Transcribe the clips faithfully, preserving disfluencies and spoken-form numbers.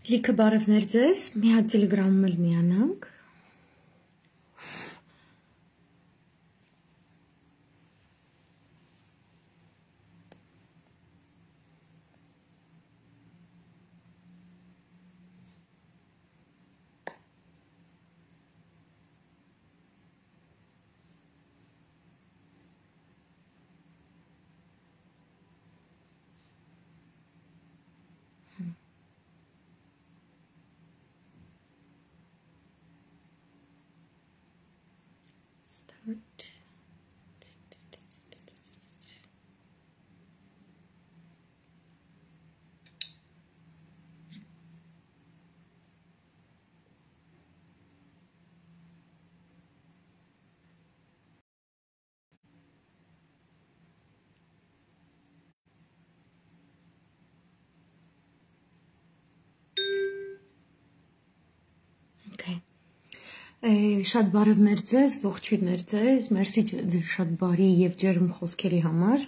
Լիքը բարևներ ձեզ, մի հատ տելեգրամում էլ միանանք։ Start. Okay. Շատ բարևներ ձեզ, ողջույններ ձեզ, մերսի շատ բարի եւ ջերմ խոսքերի համար։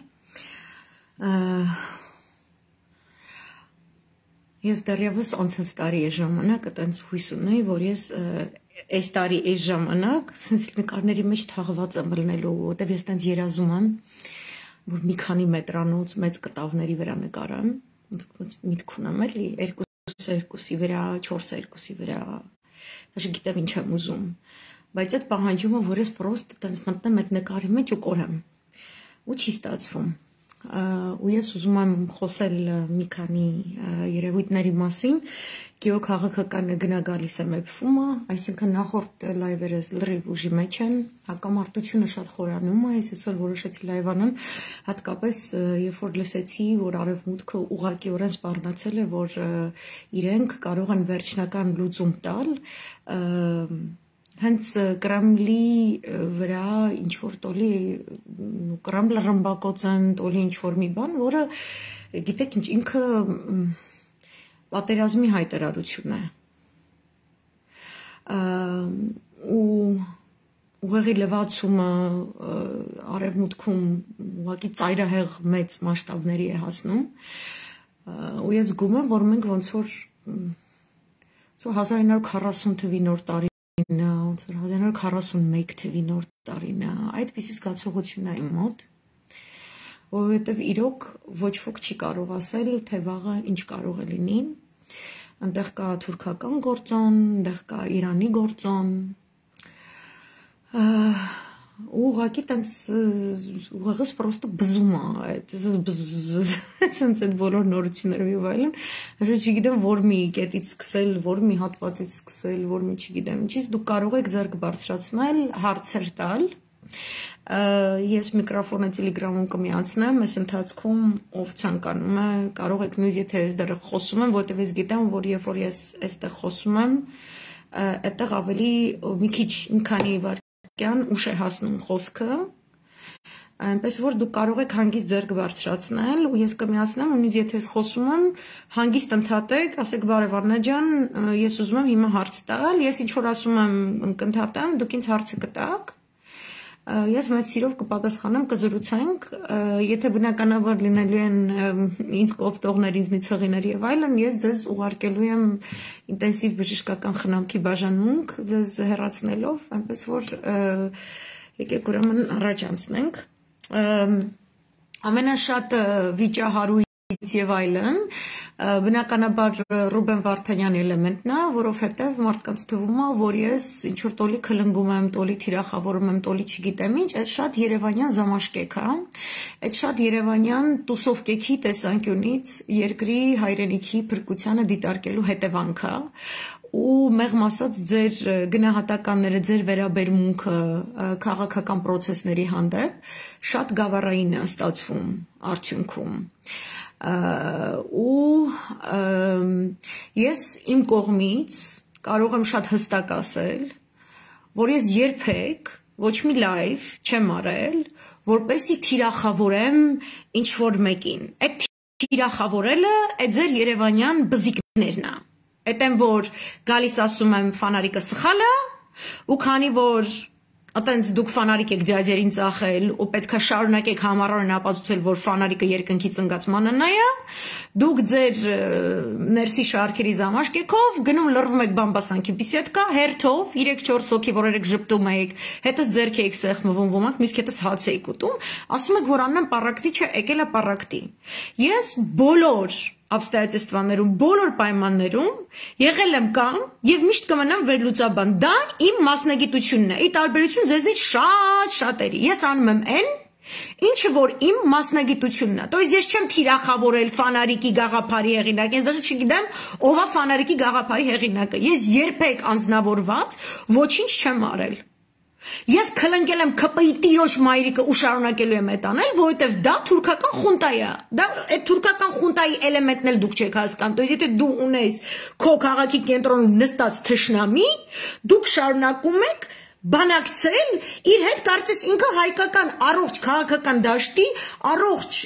Ես դեռևս անցած տարի այս ժամանակ այտենց հույս ունեի, որ ես այս տարի այս ժամանակ sense նկարների մեջ թաղված եմ ելնելու, որտեվ ես այտենց երազում եմ, որ մի քանի մետրանոց մեծ կտավների վրա նկարեմ, ոնց միտք ունեմ էլի, երկուսը երկուսի վրա, չորսը երկուսի վրա Aš գիտեմ ինչ եմ ուզում, բայց այդ պահանջում է, որ ես պրոստ տենց մտնեմ այդ նկարի մեջ ու կորեմ, ու չի ստացվում, ու ես ուզում եմ խոսել մի քանի երևույթների մասին, գեո քաղաքական գնագալիս է մեփումը, այսինքն նախորդ լայվերս լրիվ ուժի մեջ են, հակամարտությունը շատ խորանում է, ես այսօր որոշեցի լայվ անեմ, հատկապես երբ որ լսեցի, որ արևմուտքը ուղղակիորեն սպառնացել է, որ իրենք կարող են վերջնական լուծում տալ, հենց Կրեմլի վրա ինչ-որ տոլի, Կրեմլը ռմբակոց են, տոլի ինչ-որ մի բան, որը, գիտեք ինչ, ինքը պատերազմի հայտարարություն է, ու ուղեղի լվացումը արևմուտքում ուղղակի ծայրահեղ մեծ մասշտաբների է հասնում, ու ես զգում եմ, որ մենք ոնց որ հազար իննսուն քառասուն թվի նոր տարին է, հազար իննսուն քառասունմեկ թվի նոր տարին է, այդպիսի զգացողություն է իմ մոտ, որովհետև իրոք ոչ ոք չի կարող ասել, թե վաղը ինչ կարող է լինի, այնտեղ կա թուրքական գործոն, այնտեղ կա Իրանի գործոն, ու ուղղակի տենց ուղեղս պրոստը բզում է, սենց այդ բոլոր նորություններով եւ այլն, ոչ չգիտեմ որ մի կետից սկսել, որ մի հատվածից սկսել, որ մի չգիտեմ, ինչից դուք կարող եք ձեռք բարձրացնել, հարցեր տալ, ես միկրոֆոնը տելեգրամում կմիացնեմ, այս ընթացքում ով ցանկանում է, կարող եք նույնիսկ եթե ես դեռ խոսում եմ, որտեղ ես գիտեմ, որ երբ որ ես այստեղ խոսում եմ, այդտեղ ավելի մի քիչ մի քանի վայրկյան ուշ է հասնում խոսքը, այնպես որ դուք կարող եք հանգիստ ձեռք բարձրացնել, ու ես կմիացնեմ, ու նույնիսկ եթե ես խոսում եմ, հանգիստ ընդհատեք, ասեք բարև Արնա ջան, ես ուզում եմ հիմա հարց տալ, ես ինչ որ ասում եմ, կընդհատեմ, դուք ինձ հարցը կտաք, ես մեծ սիրով կպատասխանեմ, կզրուցենք, եթե բնականաբար լինելու են ինձ կոպտողներ, ինձնից հղիներ եւ այլն, ես ձեզ ուղարկելու եմ ինտենսիվ բժշկական խնամքի բաժանմունք, ձեզ հեռացնելով, այնպես որ եկեք ուրեմն առաջ անցնենք, ամենաշատ վիճահարույց եւ այլն, բնականաբար Ռուբեն Վարդանյանի էլեմենտն է, որովհետեւ մարդկանց թվում է, որ ես ինչ որ տոլի քլնգում եմ, տոլի թիրախավորում եմ, տոլի չգիտեմ ինչ, այդ շատ երևանյան զամաշկեք է, այդ շատ երևանյան տուսովկեքի տեսանկյունից երկրի հայրենիքի փրկությանը դիտարկելու հետևանք է, ու մեղմ ասած ձեր գնահատականները, ձեր վերաբերմունքը քաղաքական process-ների հանդեպ շատ գավառային է ստացվում արդյունքում, ու ես իմ կողմից կարող եմ շատ հստակ ասել, որ ես երբեք ոչ մի լայվ չեմ արել, որպեսզի թիրախավորեմ ինչ-որ մեկին, այդ թիրախավորելը այդ ձեր երևանյան բզիկներն է, այդ եմ որ գալիս ասում եմ ֆանարիկը սխալ է, ու քանի որ Ատենց դուք ֆանարիկ եք ձյաձերին ծախել ու պետք է շարունակեք համառորեն ապացուցել, որ ֆանարիկը երկնքից ընկած մանանա է, դուք ձեր ներսի շարքերի զամաշկեքով գնում լռվում եք բամբասանքի բիսեդկա, հերթով երեք չորս հոգի, որ երեք ժպտում եք, հետս ձերք եք սեղմվում ոմանք, մյուսք հետս հաց եք ուտում, ասում եք, որ Աննան պարակտի չէ, եկել է պարակտի։ Ես բոլոր обстоятельствաներում, բոլոր պայմաններում եղել եմ կամ եւ միշտ կմնամ վերլուծաբան։ Դա իմ մասնագիտությունն է։ Ի տարբերություն ձեզնից շատ շատերի։ Ես անում եմ այն, ինչը որ իմ մասնագիտությունն է։ То есть ես չեմ թիրախավորել ֆանարիկի գաղափարի հեղինակ, ես դեռ չգիտեմ ով է ֆանարիկի գաղափարի հեղինակը։ Ես երբեք անձնավորված ոչինչ չեմ արել։ Ես քլնկել եմ K P I տիրոջ մայրիկը ու շարունակելու եմ այդ անել, որովհետև դա թուրքական խունտա է։ Դա այդ թուրքական խունտայի էլեմենտն էլ դուք չեք հասկանում։ То есть եթե դու ունես քո քաղաքի կենտրոնում նստած թշնամի, դուք շարունակում եք բանակցել իր հետ, կարծես ինքը հայկական առողջ քաղաքական դաշտի առողջ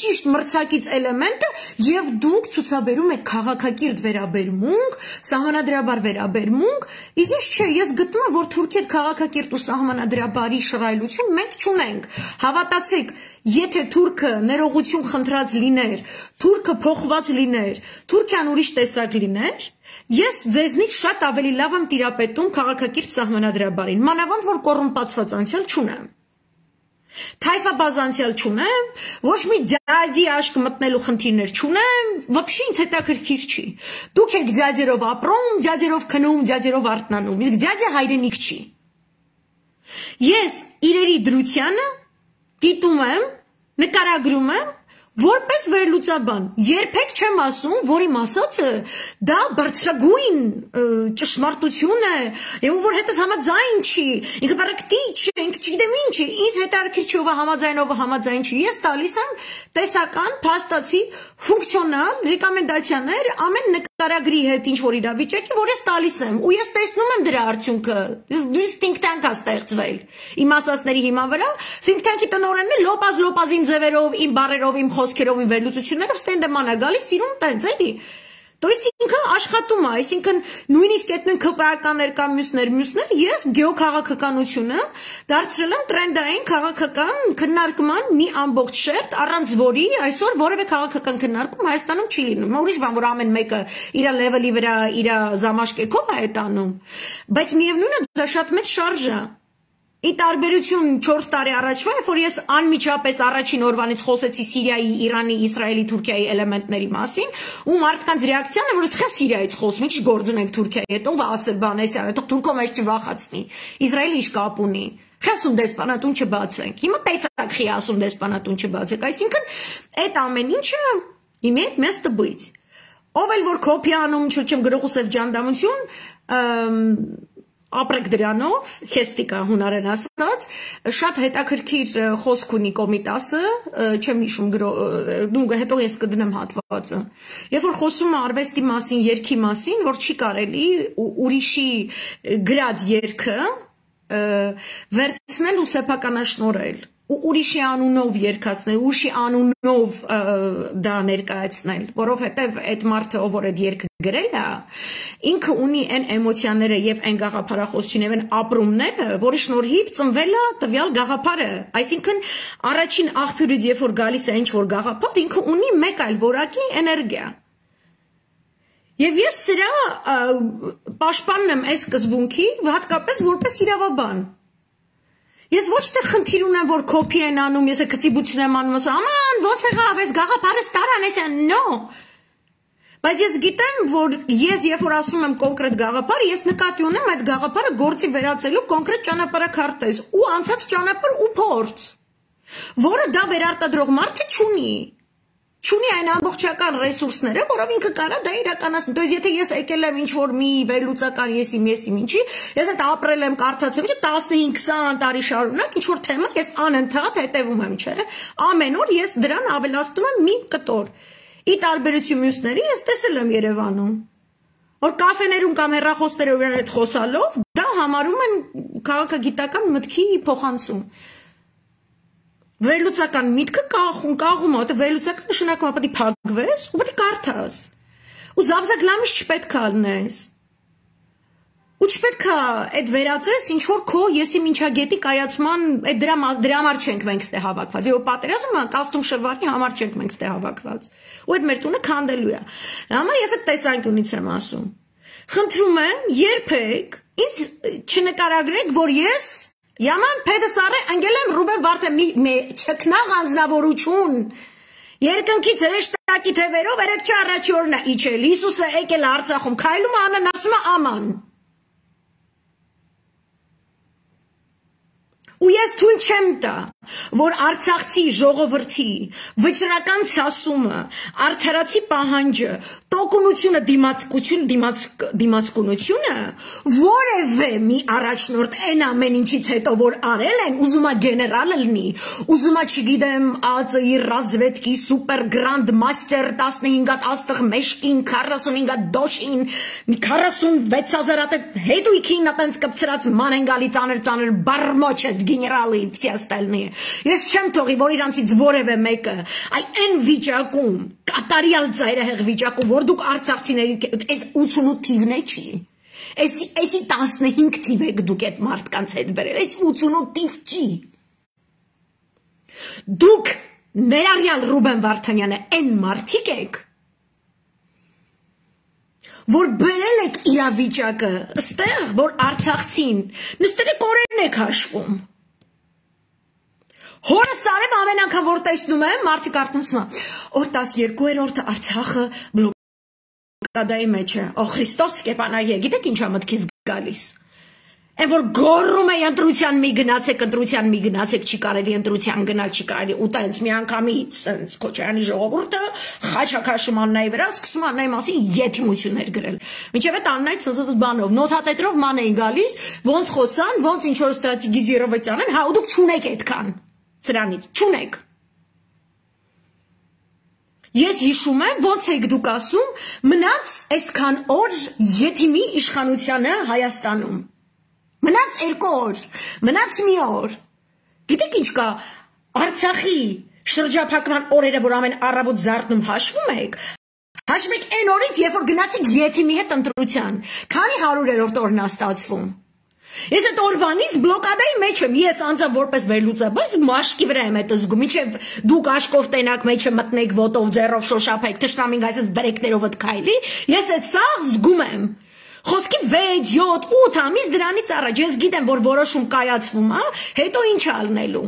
ճիշտ մրցակից էլեմենտը եւ դուք ցուցաբերում եք քաղաքակիրթ վերաբերմունք, սահմանադրաբար վերաբերմունք, իսկ ես չէ, ես գտնում եմ, որ թուրքեր քաղաքակիրթ ու սահմանադրաբարի շռայլություն մենք չունենք։ Հավատացեք, եթե թուրքը ներողություն խնդրած լիներ, թուրքը փոխված լիներ, Թուրքիան ուրիշ տեսակ լիներ, ես ձեզնից շատ ավելի լավ եմ տիրապետում քաղաքակիրթ սահմանադրաբարին, մանավանդ որ կոռումպացված անցյալ չունեմ։ Թայֆաբազ անցյալ չունեմ, ոչ մի ձյաձի աշկ մտնելու խնդիրներ չունեմ, вообще ինձ հետաքրքիր չի։ Դուք եք ձյաձերով ապրում, ձյաձերով քնում, ձյաձերով արթնանում, իսկ ձյաձը հայրենիք չի։ Ես իրերի դրությանը դիտում եմ, նկարագրում եմ, որպես վերլուծաբան, երբեք չեմ ասում, որ իմ ասածը դա բարձրագույն ճշմարտություն է, եւ որ հետս համաձայն չի, ինքը պարակտի չէ, ինքը չգիտեմ ինչ է, ինձ հետաքրքիր չի ով է համաձայն, ով համաձայն չի։ Ես տալիս եմ տեսական, փաստացի, ֆունկցիոնալ ռեկոմենդացիաներ ամեն նկարագրի հետ ինչ որ իրավիճակի, որ ես տալիս եմ, ու ես տեսնում եմ դրա արդյունքը։ Դուրս think tank-ա ստեղծվել իմ ասածների հիման վրա, think tank-ի տնօրենն է լոպազ լոպազ իմ ձևերով, իմ բառերով, իմ խոսքերով իմ վերլուծություններով ստենդեման է գալիս, սիրում տենց էլի։ То есть ինքը աշխատում է, այսինքն նույնիսկ այդ նույն քպայականներ կամ մյուսներ, մյուսներ, ես գեոքաղաքականությունը դարձրել եմ տրենդային քաղաքական քննարկման մի ամբողջ շերտ, առանց որի այսօր որևէ քաղաքական քննարկում Հայաստանում չի լինում։ Ուրիշ բան, որ ամեն մեկը իր լեվելի վրա իր զամաշկեքով է այդ անում, բայց միևնույնն է դա շատ մեծ շարժ է։ Ի տարբերություն չորս տարի առաջվա, որ ես անմիջապես առաջին օրվանից խոսեցի Սիրիայի, Իրանի, Իսրայելի, Թուրքիայի էլեմենտների մասին, ու մարդկանց ռեակցիան է, որ ցխա Սիրիայից խոսում, ինչ գործ ունենք Թուրքիայի հետ, ով ասել բան էս, այդտեղ Թուրքով այս չվախացնի։ Իսրայելը ինչ կապ ունի։ Խասում դեսպանատուն չբացենք։ Հիմա տեսակ խի ասում դեսպանատուն չբացեք, այսինքն այդ ամեն ինչը իմեյt место быть։ Ով էլ որ կոպիա անում, չեմ գրողու սև ջանդամություն, ապրեք դրանով, հեստիկա հունարեն ասած, շատ հետաքրքիր խոսք ունի Կոմիտասը, չեմ հիշում դու հետո ես կդնեմ հատվածը։ Երբ որ խոսում է արվեստի մասին, երգի մասին, որ չի կարելի ուրիշի գրած երգը վերցնել ու սեփականաշնորհել, ու ուրիշի անունով երգացնել, ուրիշի անունով դա ներկայացնել, որովհետև այդ մարդը, ով որ այդ երգը գրել է, ինքը ունի այն էմոցիաները եւ այն գաղափարախոսությունը եւ այն ապրումները, որի շնորհիվ ծնվել է տվյալ գաղափարը։ Այսինքն առաջին աղբյուրից երբ որ գալիս է ինչ որ գաղափար, ինքը ունի մեկ այլ որակի էներգիա։ Եվ ես սրա պաշտպանն եմ այս սկզբունքի, հատկապես որպես իրավաբան։ Ես ոչ թե խնդիր ունեմ, որ կոպի են անում, ես կծիբություն եմ անում, ասում, աման, ոնց եղավ, այս գաղափարը ստարան, ես no։ Բայց ես գիտեմ, որ ես երբ որ ասում եմ կոնկրետ գաղափար, ես նկատի ունեմ այդ գաղափարը գործի վերածելու կոնկրետ ճանապարհաքարտեզ ու անցած ճանապարհ ու փորձ, որը դա վերարտադրող մարդը չունի։ Չունի այն ամբողջական ռեսուրսները, որով ինքը կարա դա իրականացնի։ То есть եթե ես եկել եմ ինչ որ մի վերլուծական եսի մեսի ինչի, ես այդ ապրել եմ, կարդացել եմ, տասնհինգ քսան տարի շարունակ ինչ որ թեմա ես անընդհատ հետևում եմ, չէ՞։ Ամեն օր ես դրան ավելացնում եմ մի կտոր։ Ի տարբերություն մյուսների ես տեսել եմ Երևանում, որ կաֆեներում կամ հեռախոսներով իրար հետ խոսալով դա համարում են քաղաքագիտական մտքի փոխանցում։ Վերլուծական միտքը կախում, կաղում է, որտեղ վերլուծական նշանակում է պետք է փակվես ու պետք է կարդաս։ Ու զավզակ լամիշ չպետք է ալնես։ Ու չպետք է այդ վերածես ինչ որ քո եսի մինչագետի կայացման այդ դրա դրա համար չենք մենք ստե հավաքված։ Եվ պատերազմը կաստում շվարի համար չենք մենք ստե հավաքված։ Ու այդ մեր տունը քանդելու է։ Համար ես այդ տեսանկյունից եմ ասում։ Խնդրում եմ, երբեք ինձ չնկարագրեք, որ ես Yaman Pedesare Angelem Ruben Vartem me չքնաղ անձնավորություն Երկնքից հրեշտակի թևերով երեք չառաջորն է իջել Հիսուսը եկել Արցախում քայլում անն ասում է աման Ու ես թույլ չեմ տա, որ Արցախցի ժողովրդի վճռական ցասումը, արդարացի պահանջը, տոկունությունը, դիմացկությունը, դիմաց դիմացկունությունը, որևէ մի առաջնորդ այն ամեն ինչից հետո որ արել են, ուզում է գեներալը լինի, ուզում է չգիտեմ, ԱԾԻ ռազվետկի սուպեր գրանդ մաստեր տասնհինգ հատ աստղ մեշկին, քառասունհինգ հատ դոշին, մի քառասունվեց հազար հատ հետույքին ապենց կպցրած ման են գալի ծանր ծանր բարմոչ գեներալի все остальные ես չեմ թողի որ իրանցից որևէ մեկը այ այն վիճակում կատարյալ ծայրահեղ վիճակում որ դուք արցախցիների այս ութսունութ թիվն է չի այս այսի տասնհինգ թիվ եք դուք այդ մարդկանց հետ բերել այս ութսունութ թիվ չի դուք ներառյալ Ռուբեն Վարդանյանը այն մարդիկ եք որ բերել եք իրավիճակը ստեղ որ արցախցին նստել եք օրերն եք հաշվում Հորս արեմ ամեն անգամ որ տեսնում եմ մարդիկ արտոնցում օր տասներկուերորդ Արցախը բլոկադայի մեջ է օ Քրիստոս կեպանայե գիտեք ինչա մտքից գալիս Այն որ գոռում է ընտրության մի գնացեք ընտրության մի գնացեք չի կարելի ընտրության գնալ չի կարելի ու տենց մի անգամից սենց Քոչարյանի ժողովուրդը խաչակաշում Աննայի վրա սկսում Աննայի մասին եթիմություններ գրել մինչև այդ Աննայի ցծծծ բանով նոթատետրով ման էին գալիս ոնց խոսան ոնց ինչ որ ստրատեգիզիրովեցան են հա ու դուք չունեք այդքան Սրանից չունեք Ես հիշում եմ ոնց եք դուք ասում մնաց այսքան օր եթիմի իշխանությանը Հայաստանում Մնաց երկու օր մնաց մի օր Գիտեք ինչ կա Արցախի շրջափակման օրերը որ ամեն առավոտ զարթնում հաշվում եք Հաշվում եք այն օրից երբ որ գնացիք եթիմի հետ ընտրության Քանի հարյուրերորդ օրն է ստացվում Ես այդ օրվանից բլոկադայի մեջ եմ, ես անձամբ որպես վերլուծաբան մաշկի վրա եմ այդ զգում, ինչև դուք աշկով տենակ մեջը մտնեք ոտով, ձեռով շոշափեք, թշնամին այսպես բրեկներովդ քայլի, ես այդ սա զգում եմ։ Խոսքի վեց, յոթ, ութ ամիս դրանից առաջ ես գիտեմ, որ որոշում կայացվում է, հետո ինչ ալնելու։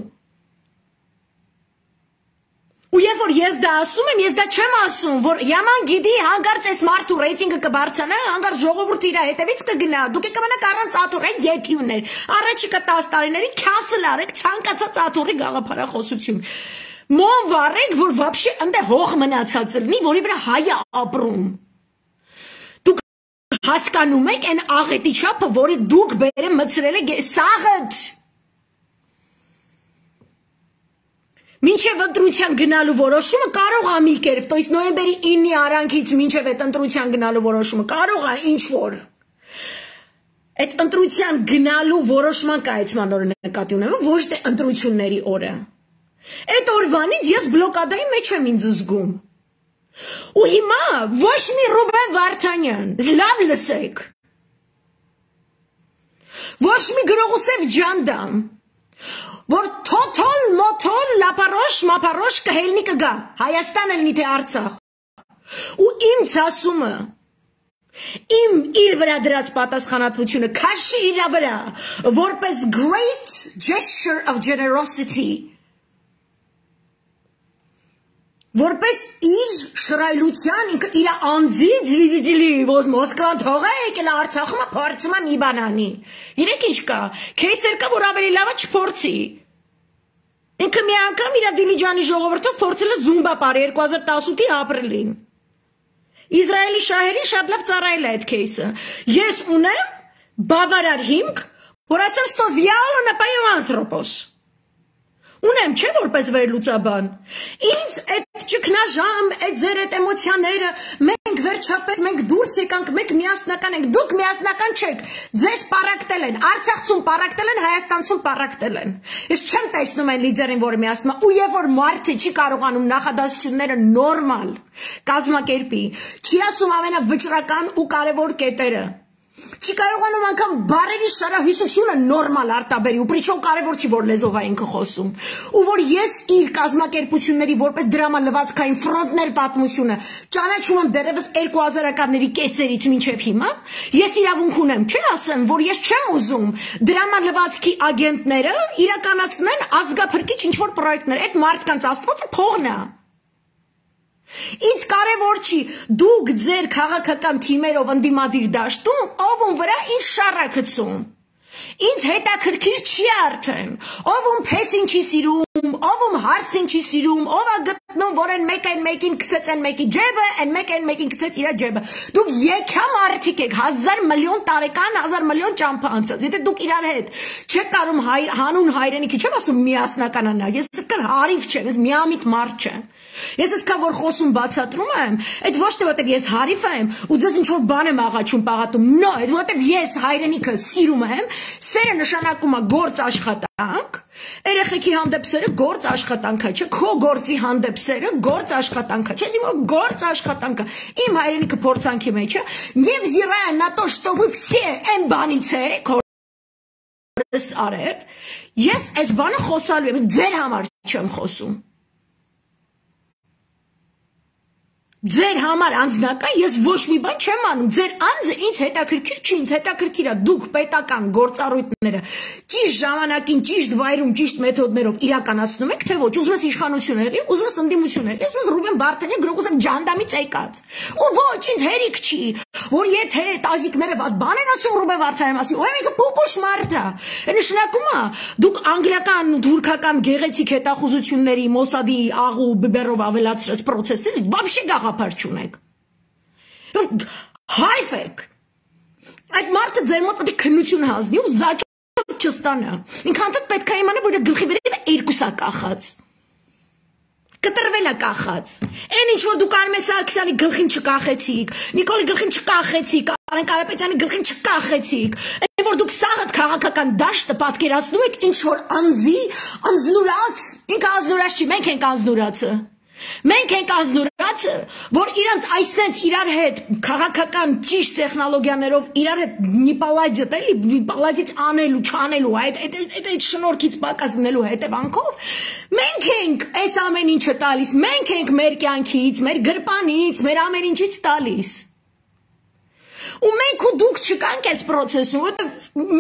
Ու երբ որ ես դա ասում եմ, ես դա չեմ ասում, որ Yaman գիտի հանգարց այս մարդու ռեյտինգը կբարձրանա, հանգարց ժողովուրդը իր հետևից կգնա, դուք եք կմնաք առանց աթոռի եթիմներ, առաջիկա տասը տարիների քասլ արեք ցանկացած աթոռի գաղափարախոսություն։ Մոն վառեք, որ вообще ընդ հող մնացած լինի, որի վրա հայը ապրում։ Դուք հասկանում եք այն աղետի չափը, որը դուք բերե մցրել եք սաղդ Մինչև ընտրության գնալու որոշումը կարող է մի կերպ, то есть նոյեմբերի ինը արանքից մինչև այդ ընտրության գնալու որոշումը կարող է ինչ որ այդ ընտրության գնալու որոշման կայացման օրը նկատի ունեմ, ոչ թե ընտրությունների օրը։ Այդ օրվանից ես բլոկադայի մեջ եմ ինձ զգում։ Ու հիմա ոչ մի Ռուբեն Վարդանյան, լավ լսեք։ Ոչ մի Գրողոսեֆ Ջանդամ որ թոթոլ մոթոլ լապարոշ մապարոշ կհելնի կգա Հայաստանը լինի թե Արցախ ու իմ ցասումը իմ իր վրա դրած պատասխանատվությունը քաշի իր վրա որպես great gesture of generosity որպես իր շռայլության ինքը իր անձից վիդիլի որ Մոսկվան թողա եկել Արցախում փորձում է մի բանանի իրեք ինչ կա քեյսեր կա որ ավելի լավը չփորձի ինքը մի անգամ իր Դիլիջանի ժողովրդով փորձել է զումբա πάρի երկու հազար տասութի ապրիլին Իսրայելի շահերին շատ լավ ծառայել է այդ քեյսը ես ունեմ բավարար հիմք որ ասեմ ստո վիալո նապայո անթրոպոս Ունեմ չէ որպես վերլուծաբան ինձ այդ ճգնաժամ այդ ձեր այդ էմոցիաները մենք վերջապես մենք դուրս եկանք մենք միասնական ենք դուք միասնական չեք ձեզ պարակտել են Արցախցուն պարակտել են Հայաստանցուն պարակտել են ես չեմ տեսնում այն լիդերին որը միասնում է ու երբ որ մարդը չի կարողանում նախադասությունները նորմալ կազմակերպի չի ասում ամենավճռական ու կարևոր կետերը Չի կարողանում անգամ բարերի շարահյուսությունը նորմալ արտաբերի, ու պրիչոմ կարևոր չի, որ լեզով է ինքը խոսում։ Ու որ ես իր կազմակերպությունների որպես դրամալվացքային ֆրոնտներ պատմությունը ճանաչում եմ դեռևս երկու հազարականների կեսերից մինչև հիմա, ես իրավունք ունեմ, չէ՞ ասեմ, որ ես չեմ ուզում դրամալվացքի ագենտները իրականացնեն ազգափրկիչ ինչ-որ պրոյեկտներ, այդ մարդկանց Աստվածը փողն է։ Ինձ կարևոր չի դուք ձեր քաղաքական թիմերով ընդդիմադիր դաշտում ով ում վրա ինչ շառ է գցում։ Ինձ հետաքրքիր չի արդեն, ով ում փեսին չի սիրում, ով ում հարսին չի սիրում, ով է գտնում, որ են մեկ են մեկին գցեց են մեկի ջեբը, են մեկ են մեկին գցեց իր ջեբը։ Դուք եկա մարդիկ եք, հազար միլիոն տարեկան, հազար միլիոն ճամփա անցած։ Եթե դուք իրար հետ չեք կարում հանուն հայրենիքի, չեմ ասում միասնականանա, ես կր հարիվ չեմ, ես միամիտ մարդ չեմ։ Ես այսքան որ խոսում բացատրում եմ, այդ ոչ թե որտեղ ես հարիվ եմ ու ձեզ ինչ որ բան եմ աղաչում պաղատում, նո, այդ որտեղ ես հայրենիքը սիրում եմ, սերը նշանակում է գործ աշխատանք, երեխեքի հանդեպ սերը գործ աշխատանք է, չէ՞, քո գործի հանդեպ սերը գործ աշխատանք է, չէ՞, իմ գործ աշխատանքը, իմ հայրենիքը փորձանքի մեջ է, невзирая на то, что вы все այն բանից եք, հորս արև, ես այս բանը խոսալու եմ, ձեր համար չեմ խոսում։ Ձեր համար անձնական ես ոչ մի բան չեմ անում, ձեր անձը ինձ հետաքրքիր չի, ինձ հետաքրքիր է դուք պետական գործառույթները ճիշտ ժամանակին, ճիշտ վայրում, ճիշտ մեթոդներով իրականացնում եք, թե ոչ, ուզում ես իշխանություն եղի, ուզում ես ընդդիմություն եղի, ուզում ես Ռուբեն Վարդանյանը գրողոսը ջանդամից եկած։ Ու ոչ, ինձ հերիք չի, որ եթե տազիկները վատ բան են ասում Ռուբեն Վարդանյանի մասին, ու ինքը փոփոշ մարդ է։ Նշանակում է դուք անգլիական ու թուրքական գեղեցիկ հետախուզությունների Մոսադի աղու բբերով ավելացրած process-ից вообще գաղափար չունեք։ Հայվ եք։ Այդ մարդը ձեր մոտ պետք է քննություն հանձնի ու զաճոտ չստանա։ Ինքան պետք է իմանա, որ գլխի վերևը երկուսա կախած։ Կտրվել է կախած։ Այն ինչ որ դուք Արմեն Սարգսյանի գլխին չկախեցիք, Նիկոլի գլխին չկախեցիք, Արեն Կարապետյանի գլխին չկախեցիք, այն որ դուք սաղդ քաղաքական դաշտը պատկերացնում եք ինչ որ անձի անձնուրաց, ինքը անձնուրաց չի, մենք ենք անձնուրացը։ Մենք ենք անձնուրացը, որ իրանց այսենց իրար հետ քաղաքական ճիշտ տեխնոլոգիաներով իրար հետ նիպալայձիտ էլի, նիպալայձից անելու, չանելու, այդ այդ շնորհքից պակաս լինելու հետևանքով մենք ենք այս ամեն ինչը տալիս, մենք ենք մեր կյանքից, մեր գրպանից, մեր ամեն ինչից տալիս։ Ու մենք ու դուք չկանք այս process-ում, որտեղ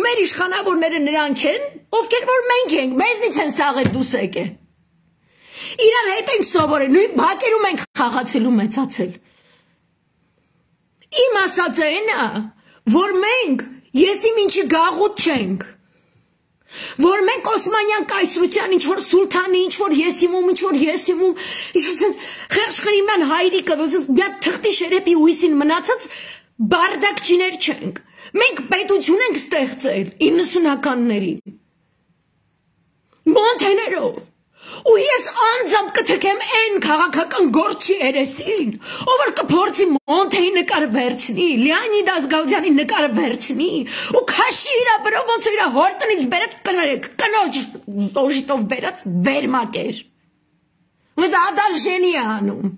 մեր իշխանավորները նրանք են, ովքեր որ մենք ենք, մեզնից են սաղ դուս եկե։ Իրար հետ ենք սովորել, նույն բակերում ենք խաղացել ու մեծացել։ Իմ ասածը այն է, որ մենք եսի մինչի գաղութ չենք, որ մենք Օսմանյան կայսրության ինչ-որ սուլթանի, ինչ-որ եսիմում, ինչ-որ եսիմում, ինչ-որ խեղճ խրիման հայրիկը, մի թղթի շերեպի ույսին մնացած բարդակչիներ չենք։ Մենք պետություն ենք ստեղծել իննսունականներին, մոնթեներով, ու ես անձամբ կթքեմ այն քաղաքական գործի երեսին, ով որ կփորձի Մոնթեի նկարը վերցնի, Լեոնիդ Ազգալյանի նկարը վերցնի, ու քաշի իր ապրով ոնց իր հորտնից բերած կնորեք, կնոջ ստոժիտով բերած վերմակեր։ Ոնց ադալժենի է անում։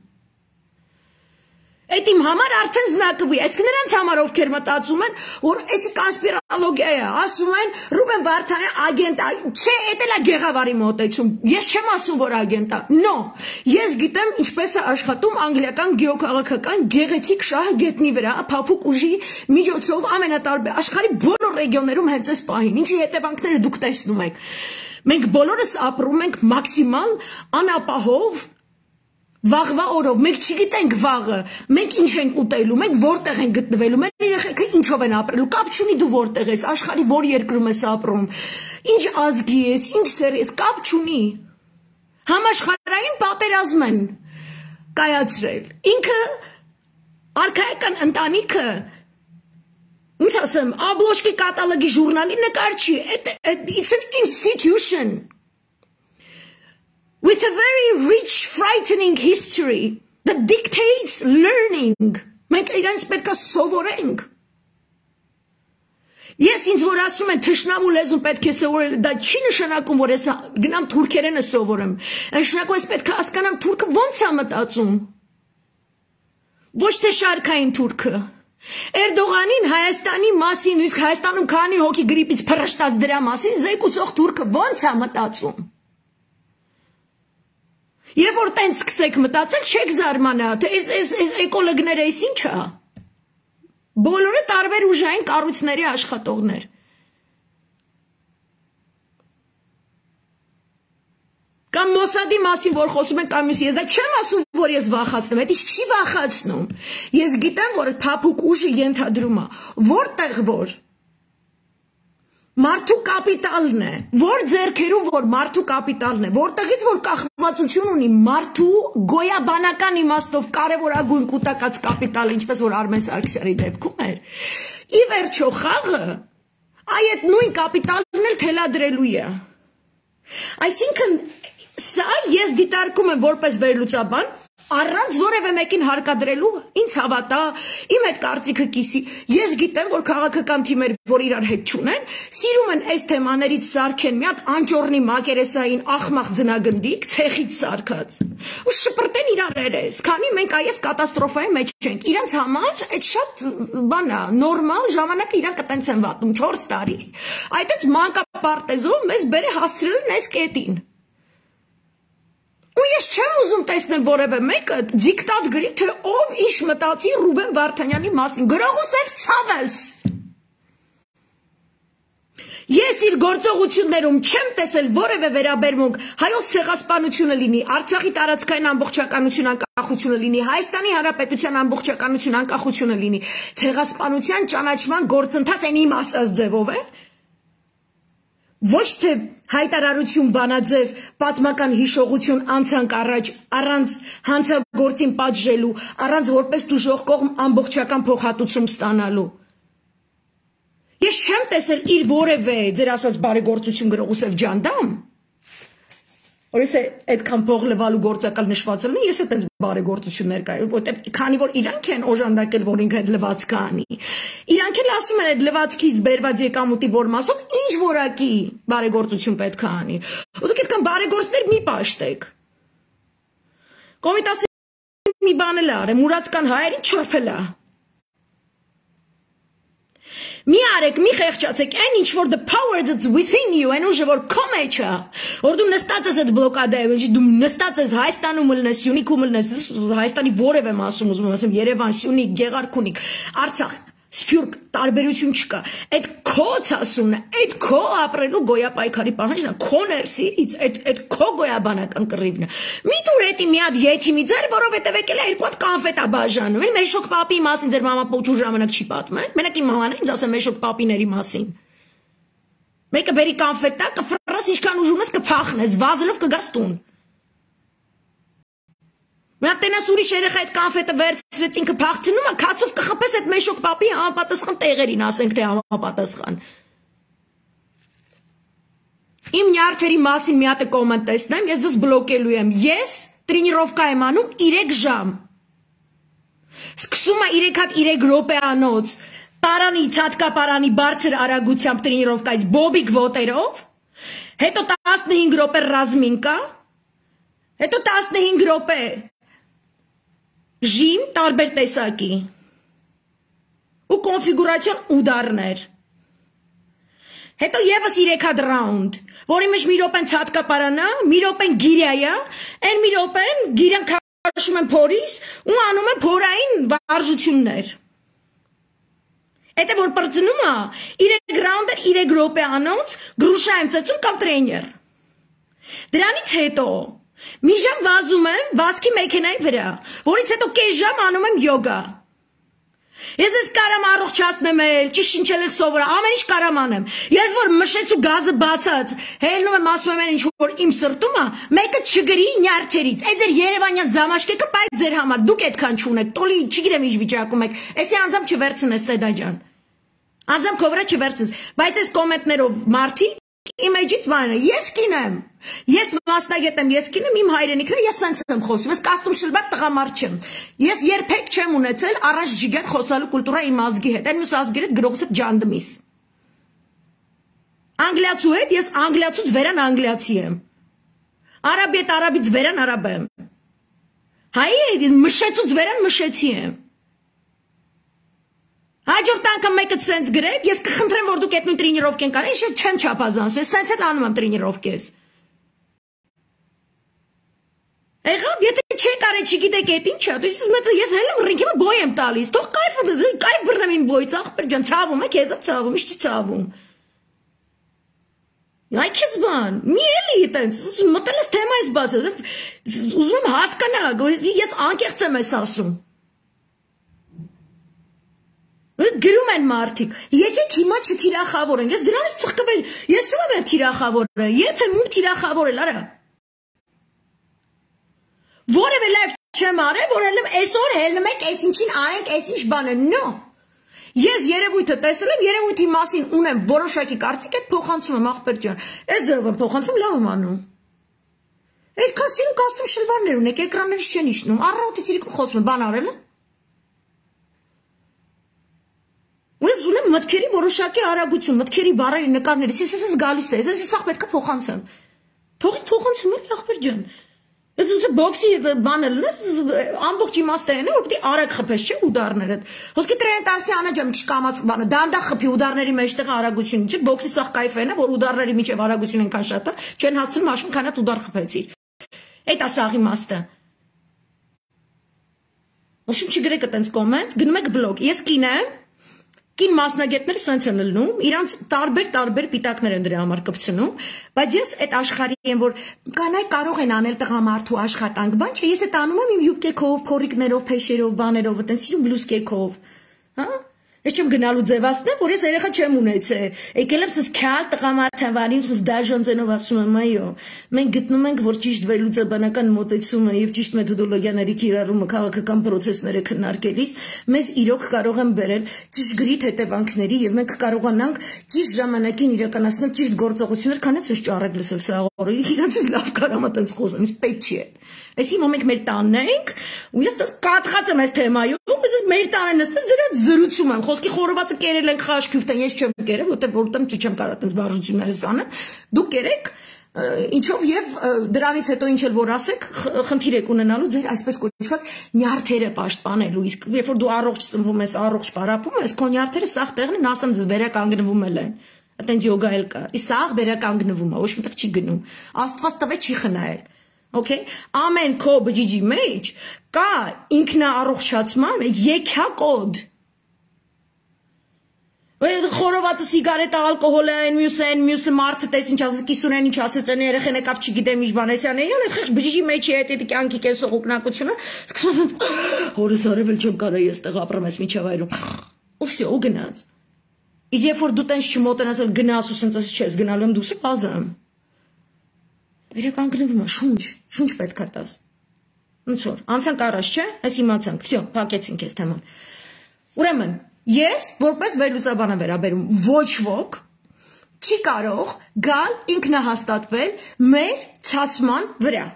Այդ իմ համար արդեն զնակվի, այսինքն նրանց համար ովքեր մտածում են, որ էսի կոնսպիրոլոգիա է, ասում են Ռուբեն Վարդանյանը ագենտ է, չէ, էդ էլ է գեղավարի մոտեցում, ես չեմ ասում, որ ագենտ է, նո, ես գիտեմ ինչպես է աշխատում անգլիական գեոքաղաքական գեղեցիկ շահը գետնի վրա, փափուկ ուժի միջոցով ամենատարբեր աշխարհի բոլոր ռեգիոններում հենց այս պահին, ինչի հետևանքները դուք տեսնում եք։ Մենք բոլորս ապրում ենք մաքսիմալ անապահով Վաղվա օրով, մենք չգիտենք վաղը, մենք ինչ ենք ուտելու, մենք որտեղ ենք գտնվելու, մեր երեխեքը ինչով են ապրելու, կապ չունի դու որտեղ ես, աշխարհի որ երկրում ես ապրում, ինչ ազգի ես, ինչ սեր ես, կապ չունի։ Համաշխարհային պատերազմ են կայացրել։ Ինքը արքայական ընտանիքը, ինչ ասեմ, Աբլոշկի կատալոգի ժուրնալի նկար չի, it's an institution. With a very rich, frightening history that dictates learning. Մենք իրանց պետք է սովորենք։ Ես ինձ որ ասում են թշնամու լեզուն պետք է սովորել, դա չի նշանակում, որ ես գնամ թուրքերենը սովորեմ։ Նշանակում ես պետք է հասկանամ թուրքը ոնց է մտածում։ Ոչ թե շարքային թուրքը, Էրդողանին Հայաստանի մասին, իսկ Հայաստանում քանի հոգի գրիպից փռշտած դրա մասին զեկուցող թուրքը ո՞նց է մտածում։ Երբ որ տենց սկսեք մտածել, չեք զարմանա, թե այս էկոլոգները այս ինչ է։ Բոլորը տարբեր ուժային կառույցների աշխատողներ։ Կամ Մոսադի մասին, որ խոսում են կամ ես դա չեմ ասում, որ ես վախացնում, դա չի վախացնում։ Ես գիտեմ, որ փափուկ ուժը ենթադրում է, որտեղ որ մարդու կապիտալն է, որ ձեռքերում որ մարդու կապիտալն է, որտեղից որ կախվածություն ունի մարդու գոյաբանական իմաստով կարևորագույն կուտակած կապիտալը, ինչպես որ Արմեն Սարգսյանի դեպքում էր։ Ի վերջո խաղը այդ նույն կապիտալն էլ թելադրելու է։ Այսինքն սա ես դիտարկում եմ որպես վերլուծաբան, առանց որևէ մեկին հարկադրելու, ինձ հավատա, իմ հետ կարծիքը կիսի, ես գիտեմ, որ քաղաքական թիմեր, որ իրար հետ չունեն, սիրում են այս թեմաներից սարքեն մի հատ անճոռնի մակերեսային ախմախ ձնագնդիկ, ցեխից սարքած, ու շպրտեն իրար երես, քանի մենք այս կատաստրոֆայի մեջ չենք, իրանց համար այդ շատ բան է, նորմալ ժամանակը իրանք տենց են վատում, չորս տարի, այդպես մանկապարտեզով մեզ բերը հասցրել են այս կետին։ Ու ես չեմ ուզում տեսնել որևէ մեկը դիկտատ գրի, թե ով ինչ մտածի Ռուբեն Վարդանյանի մասին, գրողուսև ցավես։ Ես իր գործողություններում չեմ տեսել որևէ վերաբերմունք հայոց ցեղասպանությունը լինի, Արցախի տարածքային ամբողջականություն անկախությունը լինի, Հայաստանի Հանրապետության ամբողջականություն անկախությունը լինի, ցեղասպանության ճանաչման գործընթաց այն իմ ասած ձևով է։ Ոչ թե հայտարարություն բանաձև պատմական հիշողություն անցանք առաջ առանց հանցագործին պատժելու, առանց որպես դժոխք կողմ ամբողջական փոխհատուցում ստանալու։ Ես չեմ տեսել իր որևէ ձեր ասած բարեգործություն գրողուսև ջանդամ, որ ես այդքան փող լվալու գործակալ նշված լինի, ես այդպես բարեգործություններ կա, որտեղ քանի որ իրանք են օժանդակել, որ ինքը այդ լվացքը անի։ Իրանք էլ ասում են այդ լվացքից բերված եկամուտի որ մասով ինչ որակի բարեգործություն պետք է անի։ Ու դուք այդքան բարեգործներ մի պաշտեք։ Կոմիտասի մի բան էլ արե, մուրացկան հայերին չրփել է։ Մի արեք, մի խեղճացեք, այն ինչ որ the power that's within you, այն ուժը որ քո մեջ է, որ դու նստած ես այդ բլոկադայում, դու նստած ես Հայաստանում լնես, Սյունիքում լնես, Հայաստանի որևէ մասում, ուզում եմ ասեմ, Երևան, Սյունիք, Գեղարքունիք, Արցախ, Սփյուռք, տարբերություն չկա։ Այդ քո ցասունն է, այդ քո ապրելու գոյապայքարի պահանջն է, քո ներսից, այդ այդ քո գոյաբանական կռիվն է։ Մի դուր էտի մի հատ եթիմի ձեր, որովհետև եկել է երկու հատ կոնֆետ է բաժանում։ Էլ Մեշոկ պապի մասին ձեր մամա փոչու ժամանակ չի պատմել։ Մենակ իմ մաման է ինձ ասել Մեշոկ պապիների մասին։ Մեկը բերի կոնֆետ տա, կֆռաս ինչքան ուժում ես կփախնես, վազելով կգաս տուն։ Մենք տենաս ուրիշ երեխա այդ կոնֆետը վերցրեց ինքը փախցնում է, քացով կխփես այդ Մեշոկ պապի համապատասխան տեղերին, ասենք թե համապատասխան։ Իմ նյարդերի մասին մի հատ կոմենտ տեսնեմ, ես դες բլոկելու եմ։ Ես տրենիրովկա եմ անում երեք ժամ։ Սկսում է երեք հատ երեք րոպեանոց տարանի ցածկապարանի բարձր արագությամբ տրենիրովկայից բոբիկ ոտերով, հետո տասնհինգ րոպե ռազմինկա, հետո տասնհինգ րոպե ժիմ տարբեր տեսակի ու կոնֆիգուրացիոն ուդարներ։ Հետո եւս երեք հատ ռաունդ, որի մեջ մի րոպեն ցածկապարանա, մի րոպեն գիրյայա, այն մի րոպեն գիրյան քաշում են փորից ու անում են փորային վարժություններ։ Հետո որ բրծնում է, երեք ռաունդեր երեք րոպե անոնց գրուշա եմ ծեցում կամ տրեյներ։ Դրանից հետո մի ժամ վազում եմ վազքի մեքենայի վրա, որից հետո կես ժամ անում եմ յոգա։ Ես ես կարամ առողջացնեմ էլ, ճիշտ շնչել էլ սովորել, ամեն ինչ կարամ անեմ։ Ես որ մշեց ու գազը բացած, հելնում եմ ասում եմ ինչ որ իմ սրտում է, մեկը չգրի նյարդերից։ Այդ ձեր Երևանյան զամաշկեկը բայ ձեր համար, դուք այդքան չունեք, տոլի չգիտեմ ինչ վիճակում եք։ Էսի անձամբ չվերցնես Սեդա ջան։ Անձամբ քո վրա չվերցնես, բայց այս կոմենտներով մարդիկ Իմեջից բանը, ես կին եմ, ես մասնագետ եմ, ես կին եմ, իմ հայրենիքն է, ես սենց եմ խոսում, ես կաստում շլբակ տղամարդ չեմ, ես երբեք չեմ ունեցել առաջ ջիգեր խոսալու կուլտուրա իմ ազգի հետ, այն մյուս ազգի հետ գրողս հետ ջանդմիս։ Անգլիացու հետ ես անգլիացուց վերան անգլիացի եմ, արաբի հետ արաբից վերան արաբ եմ, հայի հետ մշեցուց վերան մշեցի եմ։ Հաջորդ անգամ մեկը սենց գրեք, ես կխնդրեմ, որ դուք այդ նույն տրենիրովկեն կարեք, ես չեմ չափազանցում, ես սենց էլ անում եմ տրենիրովկես։ Եղավ, եթե չեք արել, չգիտեք այդ ինչա, դուք ես հենց եմ ռինգը բոյ եմ տալիս, թող կայֆ կայֆ բռնեմ իմ բոյից, ախպեր ջան, ցավում է, քեզ ցավում, ինչ ցավում։ Այ քեզ բան, մի էլի այտենց, մտել ես թեմայից բացել, ուզում եմ հասկանալ, ես անկեղծ եմ ես ասում։ Գրում են մարդիկ, եկեք հիմա չթիրախավորենք, ես դրանից ծխկվել, ես ում եմ թիրախավորել, երբ եմ ում թիրախավորել, արա։ Որևէ լայվ չեմ արել, որ հելնում այսօր հելնում եք, այս ինչին արենք, այս ինչ բանը, նո։ Ես երևույթը տեսել եմ, երևույթի մասին ունեմ որոշակի կարծիք, այդ փոխանցում եմ ախպեր ջան, այս ձևով եմ փոխանցում, լավ եմ անում։ Այդքան սիրուն կաստում շլվարներ ունեք, էկրաններից չեն իջնում, առավոտից իրիկու խոսում եմ, բան արել եմ։ Ու ես ունեմ մտքերի որոշակի արագություն, մտքերի բառերի նկարներից, ես ես գալիս է, ես սաղ պետք է փոխանցեմ։ Թողիկ փոխանցում եմ, ախպեր ջան։ Ես ուզում բոքսի բանը լնես, ամբողջ իմաստը են է, որ պիտի արագ խփես, չէ, ուդարներդ։ Ոսկի տրեն տարսի անա ջամ քիչ կամած բանը, դանդաղ խփի ուդարների մեջտեղ արագություն, չէ, բոքսի սաղ կայֆ են է, որ ուդարների միջև արագություն են կան շատ է, չեն հասցնում աշուն քան այդ ուդար խփեցիր։ Այդ է սաղ իմաստը։ Ոչինչ չգրեք այտենց կոմենտ, գնում եք բլոգ։ Ես կին եմ, կին մասնագետները սենց են լնում, իրանց տարբեր-տարբեր պիտակներ են դրա համար կպցնում, բայց ես այդ աշխարհի եմ, որ կանայք կարող են անել տղամարդու աշխատանք, բան չէ, ես այդ անում եմ իմ յուբկեքով, փորիկներով, փեշերով, բաներով, այտենց սիրուն բլուսկեքով, հա։ Ես չեմ գնալու ձևացնել, որ ես երեխա չեմ ունեցել։ Եկել եմ սս քյալ տղամարդ եմ վարի, սս դաժան ձենով ասում եմ, այո։ Մենք գտնում ենք, որ ճիշտ վերլուծաբանական մոտեցումը եւ ճիշտ մեթոդոլոգիաների կիրառումը քաղաքական process-ները քննարկելիս մեզ իրոք կարող են բերել ճշգրիտ հետևանքների եւ մենք կարողանանք ճիշտ ժամանակին իրականացնել ճիշտ գործողություններ, քան էս ճառեք լսել սա օրը։ Իրանցից լավ կարամ այտենց խոսեմ, իսկ պետք չի։ Այսի մոմենք մեր տանն ենք, ու ես դες կատխած եմ այս թեմայում, ես մեր տանը նստած զրած զրուցում եմ, խոսքի խորովածը կերել ենք խաշքյուֆտեն, ես չեմ կերել, որտեղ որտեղ չեմ կարող այտենց վարժություններս անել, դուք կերեք, ինչով եւ դրանից հետո ինչ էլ որ ասեք, խնդիր եք ունենալու ձեր այսպես կոչված նյարդերը պաշտպանելու, իսկ երբ որ դու առողջ ծնվում ես, առողջ պարապում ես, քո նյարդերը սաղ տեղն են, ասեմ դες վերականգնվում են, այտենց յոգա էլ կա, իսկ սաղ վերականգնվում է, ոչ մտեղ չի գնում, Աստված տվե չի խնայել։ Okay, ամեն քո բջիջի մեջ կա ինքնաառողջացման եկյակոդ։ Խորովածը սիգարետը ալկոհոլը այն մյուսը այն մյուսը մարդը տես ինչ ասես կիսուրեն ինչ ասեց այն երեխեն եկավ չգիտեմ ինչ բան էսյան էյալ այդ խիղճ բջիջի մեջ է այդ կյանքի կեսող ուկնակությունը սկսում հորս արել չեմ կարա ես տեղ ապրեմ ես միջև այրում ու վсё ու գնաց իսկ երբ որ դու տենց չմոտենաս գնաս ու սենց չես գնալու եմ դուս բազամ Վերականգնվում է, շունչ, շունչ պետք է տաս։ Ոնց որ, անցանք առաջ, չէ՞, այս իմացանք, վсё, փակեցինք այս թեման։ Ուրեմն, ես որպես վերլուծաբան եմ վերաբերում, ոչ ոք չի կարող գալ ինքնահաստատվել մեր ցասման վրա։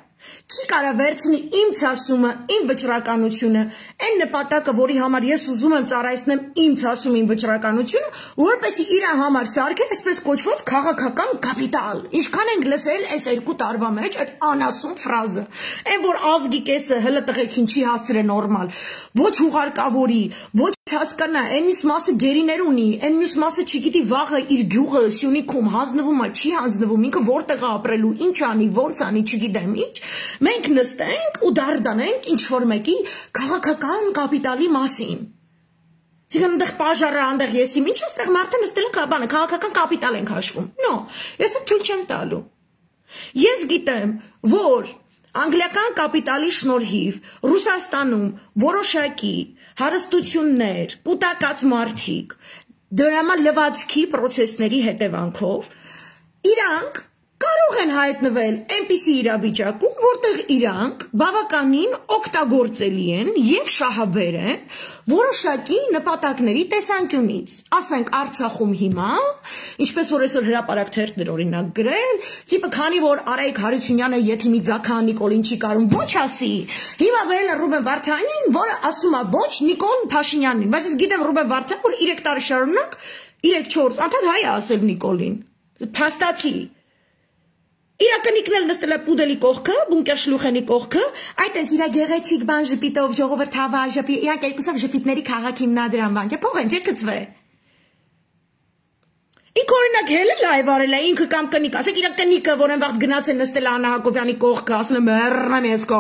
Չի կարող վերցնի իմ ցասումը, իմ վճռականությունը, այն նպատակը, որի համար ես ուզում եմ ծառայեցնեմ իմ ցասում, իմ վճռականությունը, որպեսզի իր համար սարքել այսպես կոչված քաղաքական կապիտալ։ Ինչքան ենք լսել այս երկու տարվա մեջ այդ անասուն ֆրազը։ Այն որ ազգի կեսը հլը տղեկին չի հասցրել նորմալ, ոչ հուղարկավորի, ոչ հասկանա, այն մյուս մասը գերիներ ունի, այն մյուս մասը չգիտի վաղը իր գյուղը Սյունիքում հանձնվում է, չի հանձնվում, ինքը որտեղ է ապրելու, ինչ անի, ոնց անի, չգիտեմ ինչ, մենք նստենք ու դարդանենք ինչ-որ մեկի քաղաքական կապիտալի մասին։ Դիգան այնտեղ պաժարը, այնտեղ ես իմ ինչ այստեղ մարդը նստել է բանը, քաղաքական կապիտալ ենք հաշվում։ Նո, ես թույլ չեմ տալու։ Ես գիտեմ, որ անգլիական կապիտալի շնորհիվ Ռուսաստանում որոշակի հարստություններ, կուտակած մարդիկ, դրամա լվացքի պրոցեսների հետևանքով իրանք կարող են հայտնվել այնպիսի իրավիճակում, որտեղ իրանք բավականին օգտագործելի են եւ շահաբեր են որոշակի նպատակների տեսանկյունից։ Ասենք Արցախում հիմա, ինչպես որ այսօր հրապարակ թերթներ օրինակ գրել, տիպը քանի որ Արայիկ Հարությունյանը եթե մի ձախան Նիկոլին չի կարում ոչ ասի, հիմա վերել է Ռուբեն Վարդանին, որը ասում է ոչ Նիկոլ Փաշինյանին, բայց ես գիտեմ Ռուբեն Վարդան, որ երեք տարի շարունակ երեք չորս անդադ հայ է ասել Նիկոլին։ Փաստացի Իրականիկն էլ նստել է պուդելի կողքը, բունկեր շլուխենի կողքը, այդ այնց իր գեղեցիկ բան ժպիտով ժողովուրդ հավա ժպի, իրանք երկուսով ժպիտների քաղաք հիմնադրամ բան, փող են չէ գծվե։ Ինքը օրինակ հելը լայվ արել է, ինքը կամ կնիկ, ասեք իր կնիկը, որ այն վաղ գնաց է նստել Աննա Հակոբյանի կողքը, ասել է մեռնեմ ես կո։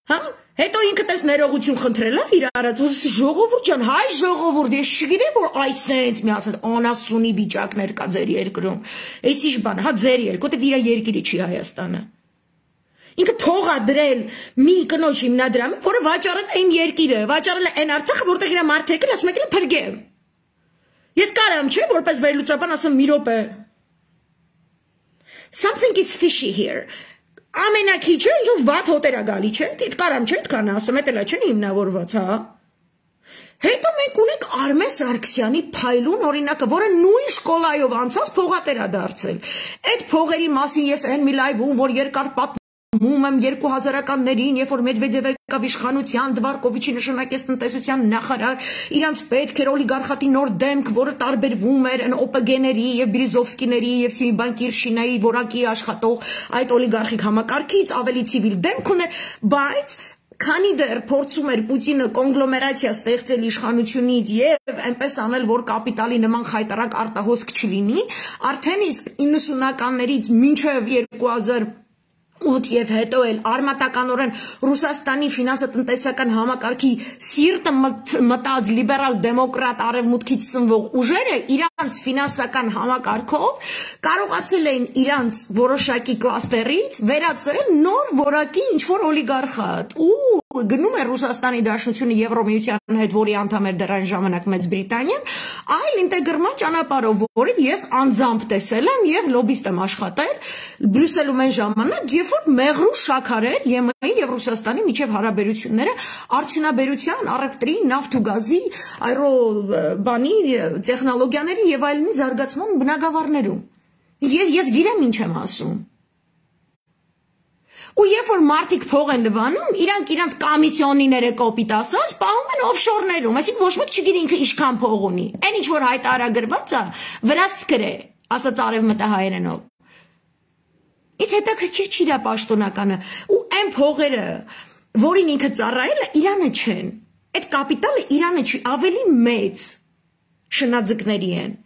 Հա? Հետո ինքը տես ներողություն խնդրել է իր արած, որ ժողովուրդ ջան, հայ ժողովուրդ, ես չգիտեմ, որ այսենց միացած անասունի վիճակներ կա ձեր երկրում։ Էս ինչ բան, հա ձեր երկրում, որտեղ իր երկիրը չի Հայաստանը։ Ինքը փող ա դրել մի կնոջ հիմնադրամը, որը վաճառել է իմ երկիրը, վաճառել է այն Արցախը, որտեղ իր մարդը եկել, ասում եկել փրկեմ։ Ես կարամ, չէ, որպես վերլուծաբան ասեմ մի րոպե։ Something is fishy here. Ամենակիչը ինչ-որ վատ հոտեր ա գալի, չէ, դիտ կարամ չէ, դքան ասեմ, էդ էլա չէ հիմնավորված, հա։ Հետո մենք ունենք Արմեն Սարգսյանի փայլուն օրինակը, որը նույն շկոլայով անցած փողատեր ա դարձել։ Այդ փողերի մասին ես այն մի լայվում, որ երկար պատմում եմ երկու հազարականներին, երբ որ Մեդվեդևը եկավ իշխանության, Դվարկովիչի նշանակեց տնտեսության նախարար, իրանց պետք էր օլիգարխատի նոր դեմք, որը տարբերվում էր այն օպգեների եւ Բիրիզովսկիների եւ Սիմբանկիրշինայի որակի աշխատող այդ օլիգարխիկ համակարգից ավելի ցիվիլ դեմք ուներ, բայց քանի դեռ փորձում էր Պուտինը կոնգլոմերացիա ստեղծել իշխանությունից եւ այնպես անել, որ կապիտալի նման խայտարակ արտահոսք չլինի, արդեն իսկ իննսունականներից մինչեւ երկու հազար ութ եւ հետո էլ արմատականորեն Ռուսաստանի ֆինանսատնտեսական համակարգի սիրտը մտած լիբերալ դեմոկրատ արևմուտքից սնվող ուժերը իրանց ֆինանսական համակարգով կարողացել էին իրանց որոշակի կլաստերից վերածել նոր որակի ինչ-որ օլիգարխատ ու գնում է Ռուսաստանի Դաշնությունը Եվրոմիության հետ, որի անդամ էր դեռ այն ժամանակ Մեծ Բրիտանիան, այլ ինտեգրման ճանապարհով, որը ես անձամբ տեսել եմ եւ լոբիստ եմ աշխատել Բրյուսելում այն ժամանակ, երբ որ մեղրու շաքար էր ԵՄ-ի եւ Ռուսաստանի միջև հարաբերությունները արդյունաբերության, առևտրի, նավթ ու գազի, այրո բանի, տեխնոլոգիաների եւ այլնի զարգացման բնագավառներում։ Ես ես գիտեմ ինչ եմ ասում։ Ու երբ որ մարդիկ փող են լվանում, իրանք իրանք կոմիսիոնիները կոպիտ ասած, պահում են օֆշորներում, այսինքն ոչ մեկ չգիտի ինքը ինչքան փող ունի։ Այն ինչ որ հայտարարագրված է, վրացքր է, ասած արևմտահայերենով։ Ինչ հետաքրքիր չի դա պաշտոնականը, ու այն փողերը, որին ինքը ծառայել է, Իրանը չեն։ Այդ կապիտալը Իրանը չի, ավելի մեծ շնաձկների են։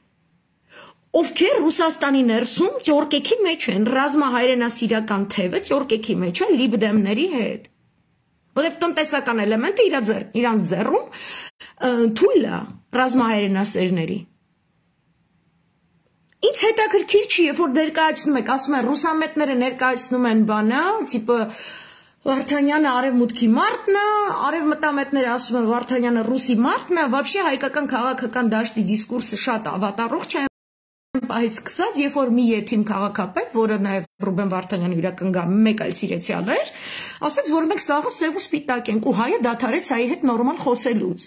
Ովքեր Ռուսաստանի ներսում ճորկեքի մեջ են, ռազմահայրենասիրական թևը ճորկեքի մեջ է լիբդեմների հետ։ Որտեղ տնտեսական էլեմենտը իրանց ձեռում թույլ է ռազմահայրենասերների։ Ինչ հետաքրքիր չի, երբ որ ներկայացնում եք, ասում են ռուսամետները ներկայացնում են բանը, տիպը Վարդանյանը արևմուտքի մարդն է, արևմտամետները ասում են Վարդանյանը ռուսի մարդն է, вообще հայկական քաղաքական դաշտի դիսկուրսը շատ ավատառող չէ։ Պահից սկսած, երբ որ մի եթիմ քաղաքապետ, որը նաև Ռուբեն Վարդանյանը իրական մեկ այլ սիրեցյալ էր, ասաց, որ մենք սաղը սև ու սպիտակ ենք, ու հայը դադարեց հայի հետ նորմալ խոսելուց։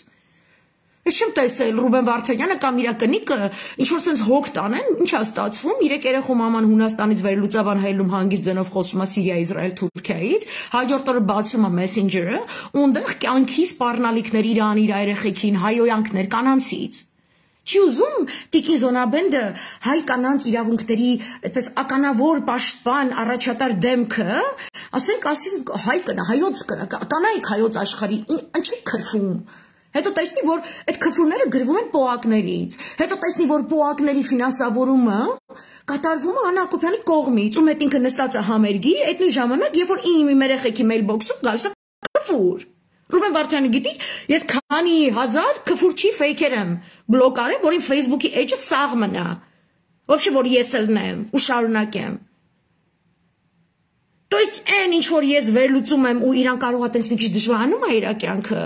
Ես չեմ տեսել Ռուբեն Վարդանյանը կամ իր կնիկը ինչ-որ sense հոգ տանեն, ինչ է ստացվում, երեք երեխու մաման Հունաստանից վերլուծաբան հայելում հանգիստ ձենով խոսում է Սիրիա, Իսրայել, Թուրքիայից, հաջորդ օրը բացում է Messenger-ը, ունդեղ կյանքի սպառնալիքներ իրան, իր երեխեքին, հայոյանքներ կանանցից։ Չի ուզում Տիկին Զոնաբենդը հայ կանանց իրավունքների այդպես ականավոր պաշտպան առաջատար դեմքը, ասենք ասենք հայ կնա, հայոց կնա, կանայք հայոց աշխարհի, ինչի քրֆում։ Հետո տեսնի, որ այդ քրֆումները գրվում են պոակներից, հետո տեսնի, որ պոակների ֆինանսավորումը կատարվում է Աննա Հակոբյանի կողմից, ու մետ ինքը նստած է համերգի, այդ նույն ժամանակ, երբ որ իմ երեխեքի մեյլբոքսում գալիս է քրֆուր։ Ռուբեն Վարդյանը գիտի, ես քանի հազար քֆուրչի ֆեյքեր եմ բլոկ արել, որ իմ Facebook-ի էջը սաղ մնա։ Вообще որ ես ելնեմ ու շարունակեմ։ То есть այն ինչ որ ես վերլուծում եմ ու իրան կարող է տես մի քիչ դժվարանում է իր կյանքը,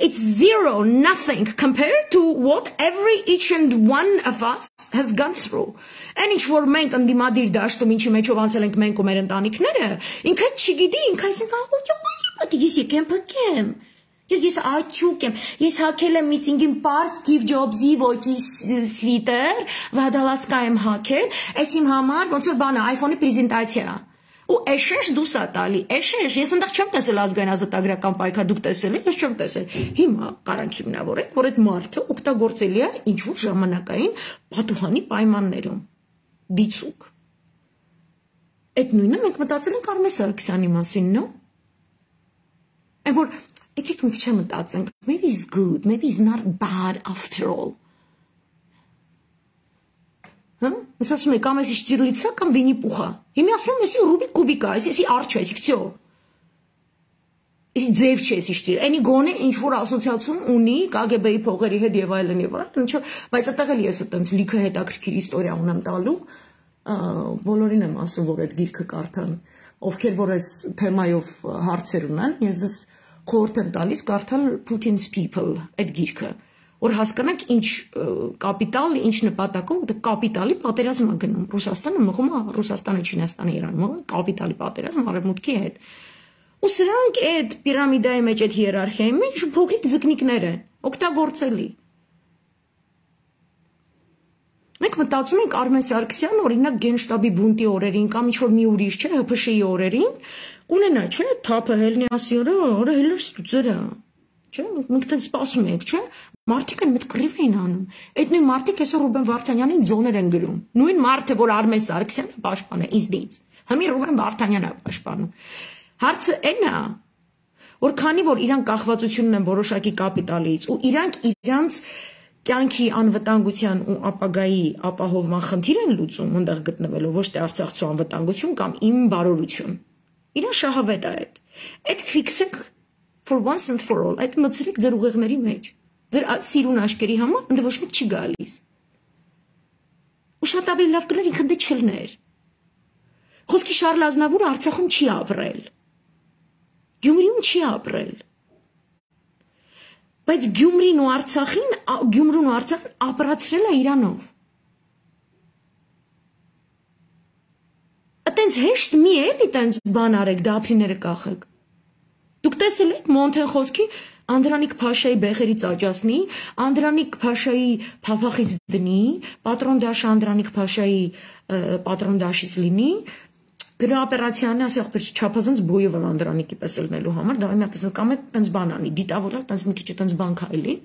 it's zero, nothing compared to what every each and one of us has gone through. Այն ինչ որ մենք ընդդիմադիր դաշտում ինչի մեջով անցել ենք մենք ու մեր ընտանիքները, ինքը չգիտի, ինքը այսինքն ես եկեմ փքեմ։ Ես աչուկ եմ, ես հակել եմ միտինգին պարս Steve Jobs-ի ոճի սվիտեր, վադալասկա եմ հակել, այս իմ համար ոնց որ բանը iPhone-ի պրեզենտացիա։ Ու էշեշ դուս է տալի, էշեշ, ես ընդեղ չեմ տեսել ազգային ազատագրական պայքար, դուք տեսել եք, ես չեմ տեսել։ Հիմա կարանք հիմնավորեք, որ այդ մարդը օգտագործելի է ինչ-որ ժամանակային պատուհանի պայմաններում։ Դիցուկ։ Այդ նույնը մենք մտածել ենք Արմեն Սարգսյանի մասին, no? Այն որ եկեք մի քիչ մտածենք, maybe it's good, maybe it's not bad after all. Հա? Ես ասում եմ, կամ էսի Շտիրլիցա, կամ Վինի-Պուխա։ Հիմա ասում եմ, էսի Ռուբիկ Կուբիկա, էսի արջ է, էսի քցյո։ Էսի ձև չէ, էսի Շտիր։ Էնի գոնե ինչ որ ասոցիացիոն ունի Կ Գ B-ի փողերի հետ եւ այլն եւ այլն, ինչո, բայց այդտեղ էլ ես այտենց լիքը հետաքրքիր իստորիա ունեմ տալու, բոլորին եմ ասում, որ այդ գիրքը կարդան, ովքեր որ այս թեմայով հարցեր ունեն, ես ձեզ խորհուրդ եմ տալիս կարդալ Putin's People այդ գիրքը, որ հասկանանք ինչ կապիտալ, ինչ նպատակով դա կապիտալի պատերազմ է գնում։ Ռուսաստանը մղում է Ռուսաստանը, Չինաստանը, Իրանը մղում կապիտալի պատերազմ արևմուտքի հետ։ Ու սրանք այդ պիրամիդայի մեջ այդ հիերարխիայի մեջ փոքրիկ ձկնիկներ են, օգտագործելի։ Մենք մտածում ենք Արմեն Սարգսյանը օրինակ Գենշտաբի բունտի օրերին կամ ինչ որ մի ուրիշ չէ, Հ Փ Շ-ի օրերին կունենա, չէ, թափը հելնիասի օրը, օրը հելր ստուծերը, չէ, մենք դեռ սպասում ենք, չէ, մարդիկ են մեծ կռիվ են անում։ Այդ նույն մարդիկ այսօր Ռուբեն Վարդանյանին ձոներ են գրում։ Նույն մարդը, որ Արմեն Սարգսյանը պաշտպան է իզդից։ Հիմա Ռուբեն Վարդանյանն է պաշտպանում։ Հարցը այն է, որ քանի որ իրանք կախվածությունն են որոշակի կապիտալից ու իրանք իրանց կյանքի անվտանգության ու ապագայի ապահովման խնդիր են լուծում այնտեղ գտնվելով, ոչ թե արցախցու անվտանգություն կամ իմ բարօրություն։ Իրան շահավետ է այդ։ Այդ ֆիքսեք for once and for all, այդ մտցրեք ձեր ուղեղների մեջ։ Ձեր սիրուն աշկերի համար ընդ ոչ մեկ չի գալիս։ Ու շատ ավելի լավ կլներ ինքն դե չլներ։ Խոսքի Շարլ Ազնավուրը Արցախում չի ապրել։ Գյումրիում չի ապրել։ Բայց Գյումրին ու Արցախին, Գյումրուն ու Արցախին ապրացրել է Իրանով։ Այտենց հեշտ մի էլի տենց բան արեք, դափրիները կախեք։ Դուք տեսել եք Մոնթեն խոսքի Անդրանիկ Փաշայի բեղերից աճացնի, Անդրանիկ Փաշայի փափախից դնի, պատրոն դաշը Անդրանիկ Փաշայի պատրոն դաշից լինի, գնա օպերացիան ասի ախպեր չափազանց բոյով եմ Անդրանիկի պես ելնելու համար, դա մի հատ ասել կամ է տենց բան անի, դիտավորալ տենց մի քիչ տենց բան քայլի,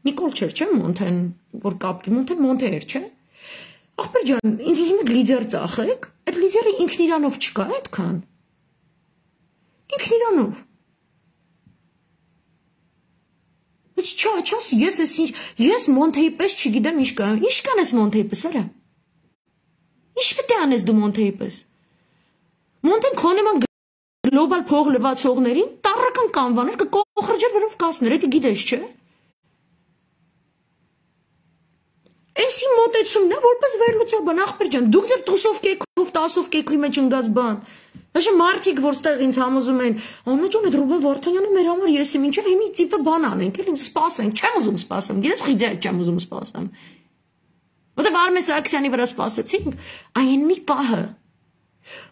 Նիկոլ չէր, չէ, Մոնթեն, որ կապկի, Մոնթեն Մոնթե էր, չէ։ Ախպեր ջան, ինձ ուզում եք լիդեր ծախեք, այդ լիդերը ինքն իրանով չկա այդքան։ Ինքն իրանով։ Բայց չա, չաս, ես ես ինչ, ես Մոնթեի պես չգիտեմ ինչ կա, ինչ կանես Մոնթեի պես, արա։ Ինչ պետք է անես դու Մոնթեի պես։ Մոնթեն քոնեման գլոբալ փող լվացողներին տառական կանվաներ կկոխրջեր վերով կասներ, դա գիտես, չէ։ Էսի մոտեցումն է, որպես վերլուծաբան, ախպեր ջան, դուք ձեր տուսով կեքով, տասով կեքի մեջ ընկած բան։ Așa մարդիկ, որ ստեղ ինձ համոզում են, Աննա ջան, այդ Ռուբեն Վարդանյանը մեր համար եսի ինչա, հիմի տիպը բան անենք, էլ ինձ սպասենք, չեմ ուզում սպասեմ, գիտես խիձեր չեմ ուզում սպասեմ։ Որտեղ Արմեն Սարգսյանի վրա սպասեցինք, այն մի պահը,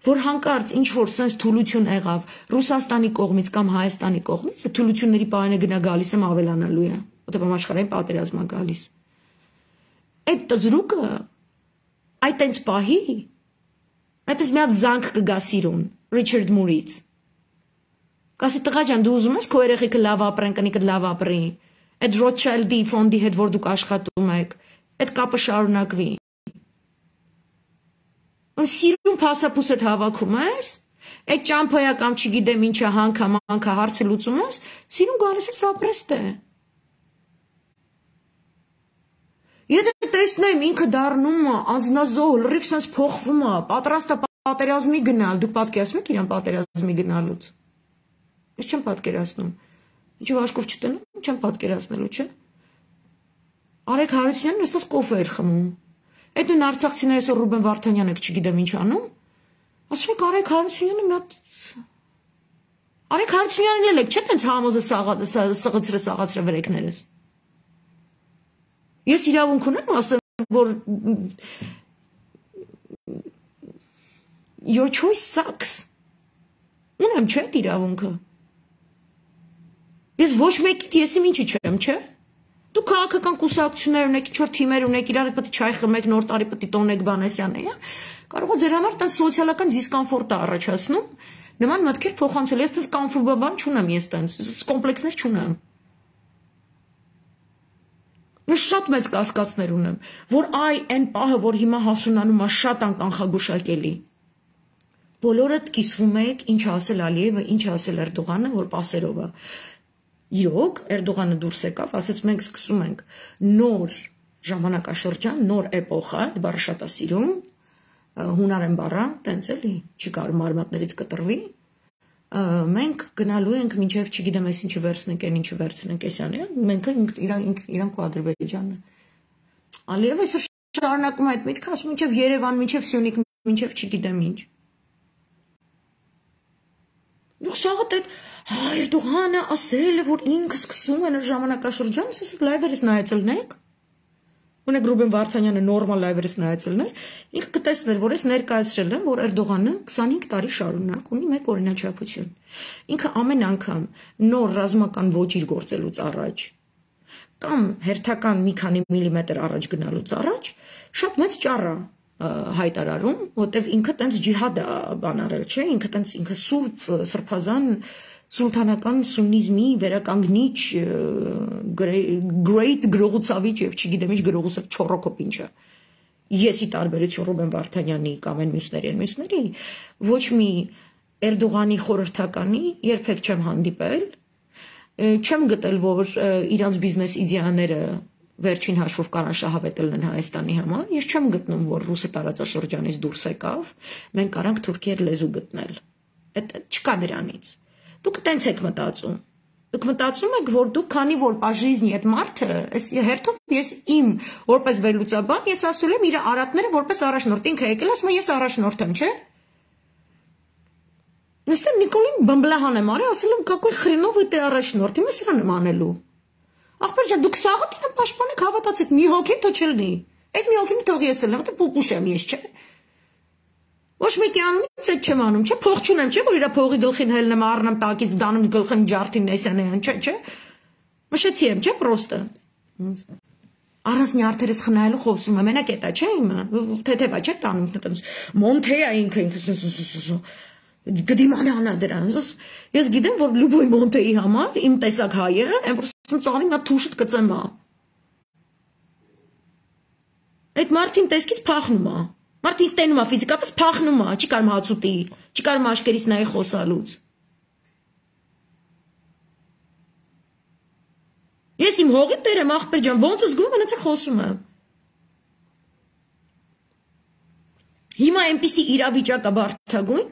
որ հանկարծ ինչ որ sense թուլություն եղավ Ռուսաստանի կողմից կամ Հայաստանի կողմից, այդ թուլությունների պահանը գնա գալիս եմ ավելանալու է, որտեղ համաշխարհային պատերազմ է գալիս։ Այդ տզրուկը, այդ այնց պահի, այդպես մի հատ զանգ կգա սիրուն, Ռիչարդ Մուրից։ Կասի տղա ջան, դու ուզում ես քո երեխեքը լավ ապրեն, կնիկդ լավ ապրի, այդ Ռոթշիլդի ֆոնդի հետ, որ դուք աշխատում եք, այդ կապը շարունակվի։ Սիրուն փասափուս հետ հավաքում ես, այդ ճամփոյա կամ չգիտեմ ինչա հանքա մանքա հարցը լուծում ես, սիրուն գալիս ես ապրեստ է։ Եթե տեսնեմ ինքը դառնում է անznազոհ, լրիվ sense փոխվում է, պատրաստ է պատերազմի գնալ, դուք պատկերացնում եք իրան պատերազմի գնալուց։ Ես չեմ պատկերացնում։ Ինչու աշկով չտնեմ, չեմ պատկերացնելու, չէ։ Արեգ Հարությունյանն այստեղ կոֆե էր խմում։ Այդ նույն արցախցիները այսօր Ռուբեն Վարդանյանը չգիտեմ ինչ անում։ Ասում եք Արեգ Հարությունյանը մի հատ Արեգ Հարությունյանն էլ եք, չէ՞ տենց համոզը սղացրը սաղացրը վրեկներս։ Ես իրավունք ունեմ ասեմ, որ your choice sucks։ Ունեմ չէ՞ այդ իրավունքը։ Ես ոչ մեկիդ ես իմ ինչի չեմ, չէ՞։ Դու քաղաքական կուսակցություններ ունեք, ինչ որ թիմեր ունեք, իրար հետ պետք է չայ խմեք, նոր տարի պետք է տոնեք բանեսյան է, կարող է ձեր համար տան սոցիալական դիսկոմֆորտ է առաջացնում, նման մտքեր փոխանցել, ես տես կոմֆորտաբան չունեմ, ես տենց, կոմպլեքսներ չունեմ։ Ես շատ մեծ կասկածներ ունեմ, որ այ այն պահը, որ հիմա հասունանում է շատ անկանխագուշակելի։ բոլորդ կիսվում եք ինչ ասել Ալիևը, ինչ ասել Էրդողանը, որ պասերով է։ Իրոք Էրդողանը դուրս եկավ, ասեց մենք սկսում ենք նոր ժամանակաշրջան, նոր էպոխա, այդ բառը շատ է սիրում, հունարեն բառը, տենց էլի, չի կարող մարմատներից կտրվի։ Մենք գնալու ենք մինչև չգիտեմ ես ինչը վերցնենք, այն ինչը վերցնենք էսյանը, մենք իրանք ու Ադրբեջանը։ Ալիևը այսօր շարունակում է այդ միտքը, ասում մինչև Երևան, մինչև Սյունիք, մինչև չգիտեմ ինչ։ Դուք սաղդ այդ Էրդողանը ասել է, որ ինքը սկսում են ժամանակաշրջան, ասես լայվերից նայեցելնեք, ունեք Ռուբեն Վարդանյանը նորմալ լայվերից նայեցելներ, ինքը կտեսներ, որ ես ներկայացրել եմ, որ Էրդողանը քսանհինգ տարի շարունակ ունի մեկ օրինաչափություն։ Ինքը ամեն անգամ նոր ռազմական ոճիր գործելուց առաջ կամ հերթական մի քանի միլիմետր առաջ գնալուց առաջ շատ մեծ ճառ է հայտարարում, որտեվ ինքը տենց ջիհադ է բան արել, չէ, ինքը տենց ինքը սուրբ սրբազան սուլթանական սուննիզմի վերականգնիչ great գրողուցավիճ եւ չգիտեմ ինչ գրողուցավ չորոքոպ ինչը։ Եսի տարբերություն Ռուբեն Վարդանյանի կամ այն մյուսների, մյուսների ոչ մի Էրդողանի խորհրդականի երբեք չեմ հանդիպել, չեմ գտել, որ իրանց բիզնես իդեաները վերջին հաշվով կարան շահավետել են Հայաստանի համար, ես չեմ գտնում, որ ռուսը տարածաշրջանից դուրս եկավ, մենք կարանք թուրքեր լեզու գտնել։ Այդ չկա դրանից։ Դուք տենց եք մտածում։ Դուք մտածում եք, որ դուք քանի որ պաժիզնի այդ մարդը, այս հերթով ես իմ որպես վերլուծաբան, ես ասել եմ իր արատները որպես առաջնորդ, ինքը եկել ասում է ես առաջնորդ եմ, չէ՞։ Նստեմ Նիկոլին բմբլահան եմ արել, ասել եմ какой хреновый ты առաջնորդ, իմը սրան եմ անելու։ Ախպեր ջան, դուք սաղդ իրեն պաշտպանեք, հավատացեք, մի հոգին թո չլնի։ Այդ մի հոգին թող ես ելնեմ, որտե պուպուշ եմ ես, չէ։ Ոչ մեկի անունից այդ չեմ անում, չէ, փող չունեմ, չէ, որ իր փողի գլխին հելնեմ, առնեմ տակից, դանում գլխին ջարդին նեսյանեան, չէ, չէ։ Մշեցի եմ, չէ, պրոստը։ Առանց նյարդերս խնայելու խոսում եմ, մենակ էտա, չէ, իմը, թեթևա, չէ, տանում, Մոնթեյա ինքը ինքը գդիմանանա դրան, ես գիտեմ, որ լուբոյ Մոնտեի համար, իմ տեսակ հայը, եմ որ ծաղրի նա թուշտ կծեմ է։ Այդ մարդին տեսքից պախնում է, մարդին ստենում է ֆիզիկապես պախնում է, չի կարմ հացուտի, չի կարմ աշկերից նայի խոսալուց։ Ես իմ հողի տեր եմ, աղբեր ջան, ոնց զգում եմ, հենց խոսում եմ։ Հիմա այնպիսի իրավիճակ է բարդագույն,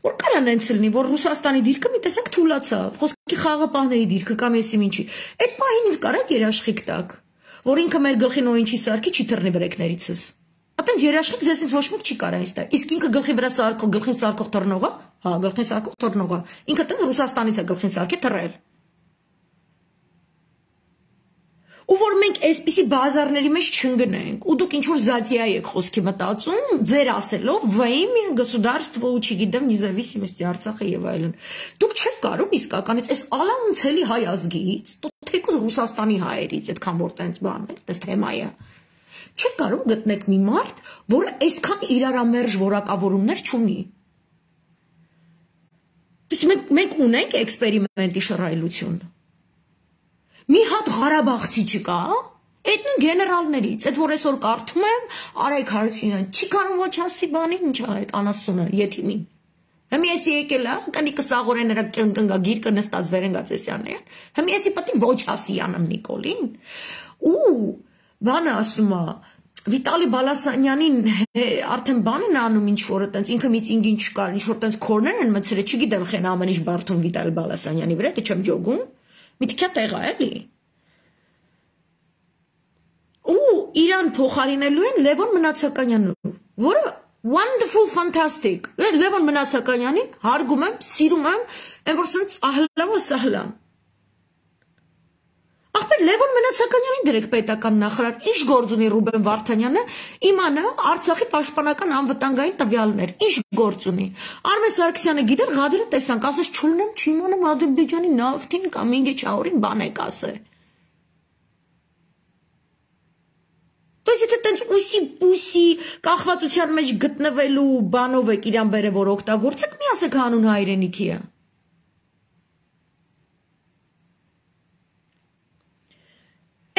որ կարան այնց լինի, որ Ռուսաստանի դիրքը մի տեսակ թուլացավ, խոսքի խաղապահների դիրքը կամ եսիմ ինչի։ Այդ պահին ինձ կարակ երաշխիք տակ, որ ինքը մեր գլխին օինչի սարքի չի թռնի բրեկներիցս։ Ատենց երաշխիք ձեզնից ոչ մեկ չի կարա ինձ տա։ Իսկ ինքը գլխի վրա սարքող, գլխին սարքող թռնողը, հա, գլխին սարքող թռնողը, ինքը տենց Ռուսաստանից է գլխին սարքի թռել։ Ու որ մենք այսպիսի բազարների մեջ չընկնենք, ու դուք ինչ-որ զատիա եք խոսքի մտածում, ձեր ասելով, во имя государства, ու չգիտեմ, независимости Արցախը եւ այլն։ Դուք չեք կարող իսկականից այս ալանցելի հայ ազգից, թեկուզ Ռուսաստանի հայերից, այդքան որ տենց բան է, այդպես թեմա է։ Չեք կարող գտնեք մի մարդ, որը այսքան իրարամերժ որակավորումներ չունի։ Դուք մենք մենք ունենք էքսպերիմենտի շռայլություն։ Մի հատ Ղարաբաղցի չկա, այդ նույն գեներալներից, այդ որ այսօր կարդում եմ, Արայք Հարությունյան, չի կարող ոչ ասի բանին, ինչ է այդ անասունը, եթիմին։ Հմի եսի եկել է, կանի կսաղորեն նրա կնկնգա գիրկը նստած վերենգած էսյանն է, հմի եսի պտի ոչ ասի անեմ Նիկոլին, ու բանը ասում է, Վիտալի Բալասանյանին արդեն բան են անում ինչ-որ տենց, ինքը միցինգին չկար, ինչ-որ տենց քորներ են մցրել, չգիտեմ խեն ամեն ինչ բարդում Վիտալի Բալասանյանի վրա, դե չեմ ջոգում, միտքյա տեղ է, էլի։ Ու իրան փոխարինելու են Լևոն Մնացականյանով, որը wonderful, fantastic, Լևոն Մնացականյանին հարգում եմ, սիրում եմ, այն որ սենց ահլավը սահլան։ Ախպեր Լևոն Մնացականյանին դրեք պետական նախարար, ինչ գործ ունի Ռուբեն Վարդանյանը, իմանա Արցախի պաշտպանական անվտանգային տվյալներ, ինչ գործ ունի։ Արմեն Սարգսյանը գիտեր, Ղադիրը տեսանք, ասես չունեմ, չիմանամ Ադրբեջանի նավթին կամ ինգե չավորին բան եք ասել։ То есть это տենց ուսի պուսի կախվածության մեջ գտնվելու բանով եք իրան բերե որ օգտագործեք, մի ասեք հանուն հայրենիքի է։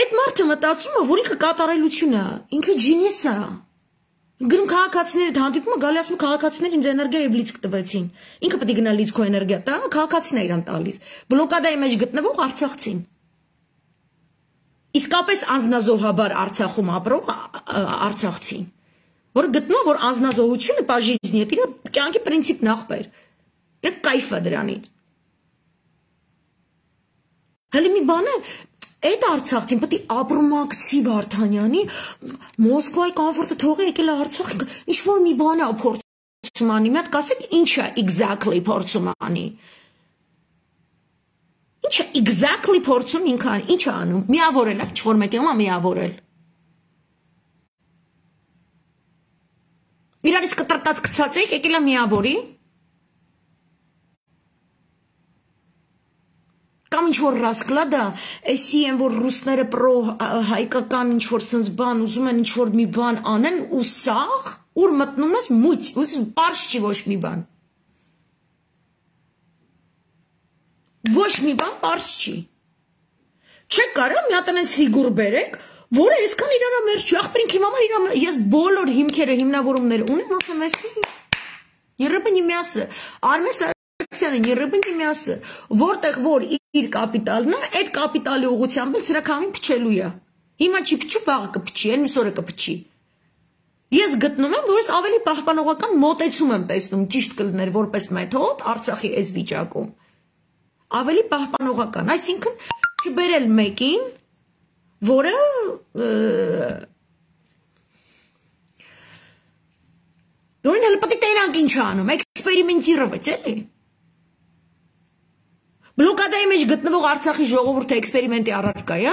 Այդ մարդը մտածում է, որ ինքը կատարելություն է, ինքը ջինիս է։ Գրում քաղաքացիների հանդիպումը գալի ասում քաղաքացիները ինձ էներգիա եւ լիցք տվեցին։ Ինքը պետք է գնա լիցք ու էներգիա տա, քաղաքացիները իրան տալիս։ Բլոկադայի մեջ գտնվող արցախցին։ Իսկապես անձնազոհաբար Արցախում ապրող արցախցին, որ գտնում որ անձնազոհությունը պաժիզնի է, իր կյանքի պրինցիպն ախպեր։ Դա կայֆ է դրանից։ Հələ մի բան է Այդ Արցախցին պետք է ապրումակցի Վարդանյանի Մոսկվայի կոմֆորտը թողի եկել է Արցախ ինչ որ մի բան է փորձում անի մի հատ կասեք ինչ է exactly փորձում անի Ինչ է exactly փորձում ինքան ինչ է անում միավորել է ինչ որ մեկը ումա միավորել Իրարից կտրտած գցած եք եկել է միավորի Կամ ինչ-որ ռասկլադա, էսի են, որ ռուսները պրո հայկական ինչ-որ սնց բան, ուզում են ինչ-որ մի բան անեն, ու սաղ, ուր մտնում ես մույց, ու պարշ չի ոչ մի բան։ Ոչ մի բան պարշ չի։ Չեք կարա մի հատ անենց ֆիգուր բերեք, որը այսքան իրարա մեր չի, ախպրինք իմ համար իրա ես բոլոր հիմքերը, հիմնավորումները ունեմ, ասեմ էսի, երբնի միասը, արմես Երբնի միասը, որտեղ որ իր կապիտալն է, այդ կապիտալի ուղղությամբ էլ սրակամին փչելու է։ Հիմա չի փչու, վաղը կփչի, այն մյուս օրը կփչի։ Ես գտնում եմ, որ ես ավելի պահպանողական մոտեցում եմ տեսնում, ճիշտ կլներ որպես մեթոդ Արցախի այս վիճակում։ Ավելի պահպանողական, այսինքն չբերել մեկին, որը Որին հələ պետք է տենանք ինչ անում, էքսպերիմենտիրovat էլի։ Բլոկադայի մեջ գտնվող Արցախի ժողովուրդը էքսպերիմենտի առարկա է։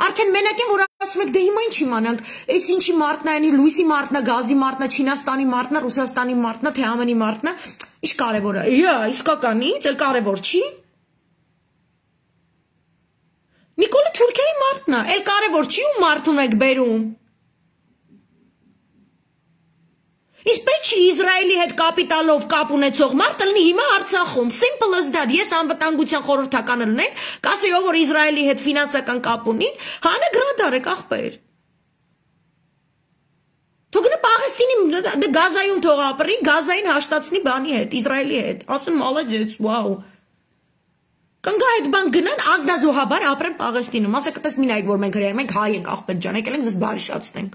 Արդեն մենակ են որ ասում եք դե հիմա ինչ իմանանք, այս ինչի մարտն է, անի լույսի մարտն է, գազի մարտն է, Չինաստանի մարտն է, Ռուսաստանի մարտն է, թե ամենի մարտն է, ինչ կարևոր է։ Իա, իսկականից, էլ կարևոր չի։ Նիկոլը Թուրքիայի մարտն է, էլ կարևոր չի ու մարդ ունեք բերում։ Իսկ պետք չի Իսրայելի հետ կապիտալով կապ ունեցող մարդը լինի հիմա Արցախում, simple as that, ես անվտանգության խորհրդականը լինեմ, կասեի ով որ Իսրայելի հետ ֆինանսական կապ ունի, հանը գրադարեք ախպեր։ Թողնի Պաղեստինի Գազայում թող ապրի, Գազային հաշտացնի բանի հետ, Իսրայելի հետ, ասեն մալաջեց, վաու։ Կնգա այդ բան գնան ազնազոհաբար ապրեն Պաղեստինում, ասեք այդպես մի նայեք որ մենք հրեա մենք հայ ենք ախպեր ջան, եկել ենք ձեզ բարիշացնենք։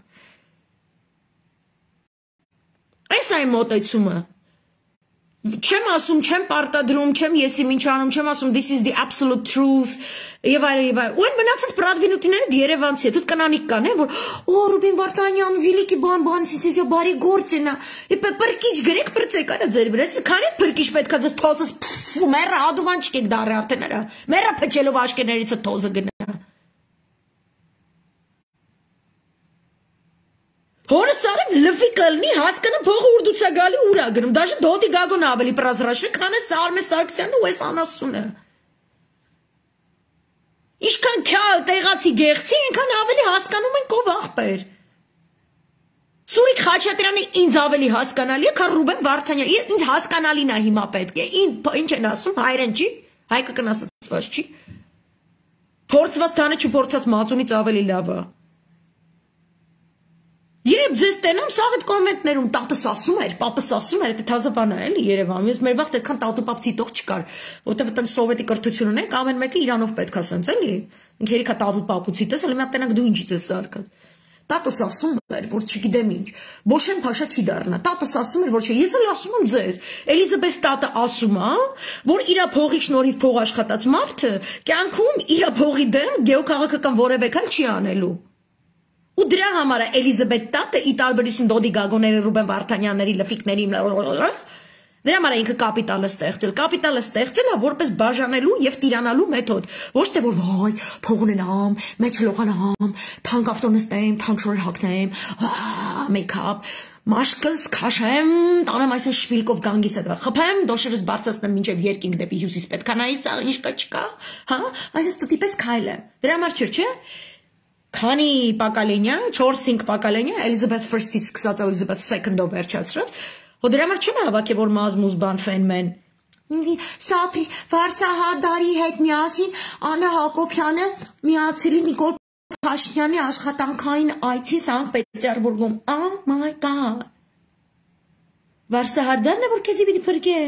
Այս այն մոտեցումը Չեմ ասում, չեմ պարտադրում, չեմ եսի ինչ անում, չեմ ասում this is the absolute truth եւ այլ եւ այլ։ Ու այն մնացած պրադվինուտիները Երևանցի է, դուք կանանիկ կան, են որ օ Ռուբին Վարդանյան, Վիլիկի բան, բան, սիցիա բարի գործ է նա։ Իպե պրկիչ գրեք, բրծեք, արա ձեր վրա։ Քանի պրկիչ պետքա ձեզ թոզս մերը ադուվան չկեք դարի արդեն արա։ Մերը փչելով աշկերներից թոզը գնա։ Հորս արև լվի կլնի հասկանա փողը ուրդուցա գալի ուրա գնում, դաժե դոտի գագոն ավելի պրազրաշը, քան է Սարմե Սարգսյանն ու այս անասունը։ Իշքան քյալ տեղացի գեղցի, այնքան ավելի հասկանում ենք ով ախպեր։ Սուրիկ Խաչատրյանը ինձ ավելի հասկանալի է, քան Ռուբեն Վարդանյանը, ինձ հասկանալին է հիմա պետք է, ինչ են ասում, հայերեն չի, հայկը կնասացված չի, փորձված տանը չփորձած մածունից ավելի լավ է։ Երբ ձեզ տենամ, սաղ այդ կոմենտներում տատս ասում էր, պապս ասում էր, այդ թազը բան է էլի Երևանում, ես մեր վաղտ այդքան տատու պապ ցիտող չկար, որտեվ այդտեղ սովետի կրթություն ունենք, ամեն մեկը իրանով պետք է սենց էլի, ինք երիքա տատու պապուցի տես, էլի մի հատ տենանք դու ինչից ես սարկած։ Տատս ասում էր, որ չգիտեմ ինչ, Բոշեն Փաշա չի դառնա, տատս ասում էր, որ չէ, ես էլ ասում եմ ձեզ, Էլիզաբեթ տատը ասում է, որ իր փողի շնորհիվ փող աշխատած մարդը կյանքում իր փողի դեմ գեոքաղաքական որևէ քայլ չի անելու։ Ու դրա համար է Էլիզաբեթ տատը ի տարբերություն Դոդի Գագոների, Ռուբեն Վարդանյանների, Լֆիկների, դրա համար է ինքը կապիտալը ստեղծել։ Կապիտալը ստեղծել է որպես բաժանելու եւ տիրանալու մեթոդ։ Ոչ թե որ վայ, փող ունենամ, մեջ լողանամ, թանկ ավտո նստեմ, թանկ շոր հագնեմ, մեյքափ, մաշկս քաշեմ, տանեմ այսպես շպիլկով գանգիս հետո, խփեմ, դոշերս բարձրացնեմ մինչեւ երկինք դեպի հյուսիս պետք է նայի, սա ինչ կա չկա, հա, այսպես տիպես քայլը։ Դրա համար չէ, չէ։ Քանի Պակալենյա, չորս-հինգ Պակալենյա, Էլիզաբեթ Ֆրստից սկսած Էլիզաբեթ Սեքնդով վերջացրած, հո դրա համար չեմ հավաքի, որ մազմուզբան ֆենմեն։ Սափի Վարսահարդարի հետ միասին Աննա Հակոբյանը միացրի Նիկոլ Փաշինյանի աշխատանքային այցի Սանկտ Պետերբուրգում։ Oh my god։ Վարսահարդանն է, որ քեզի պիտի փրկե։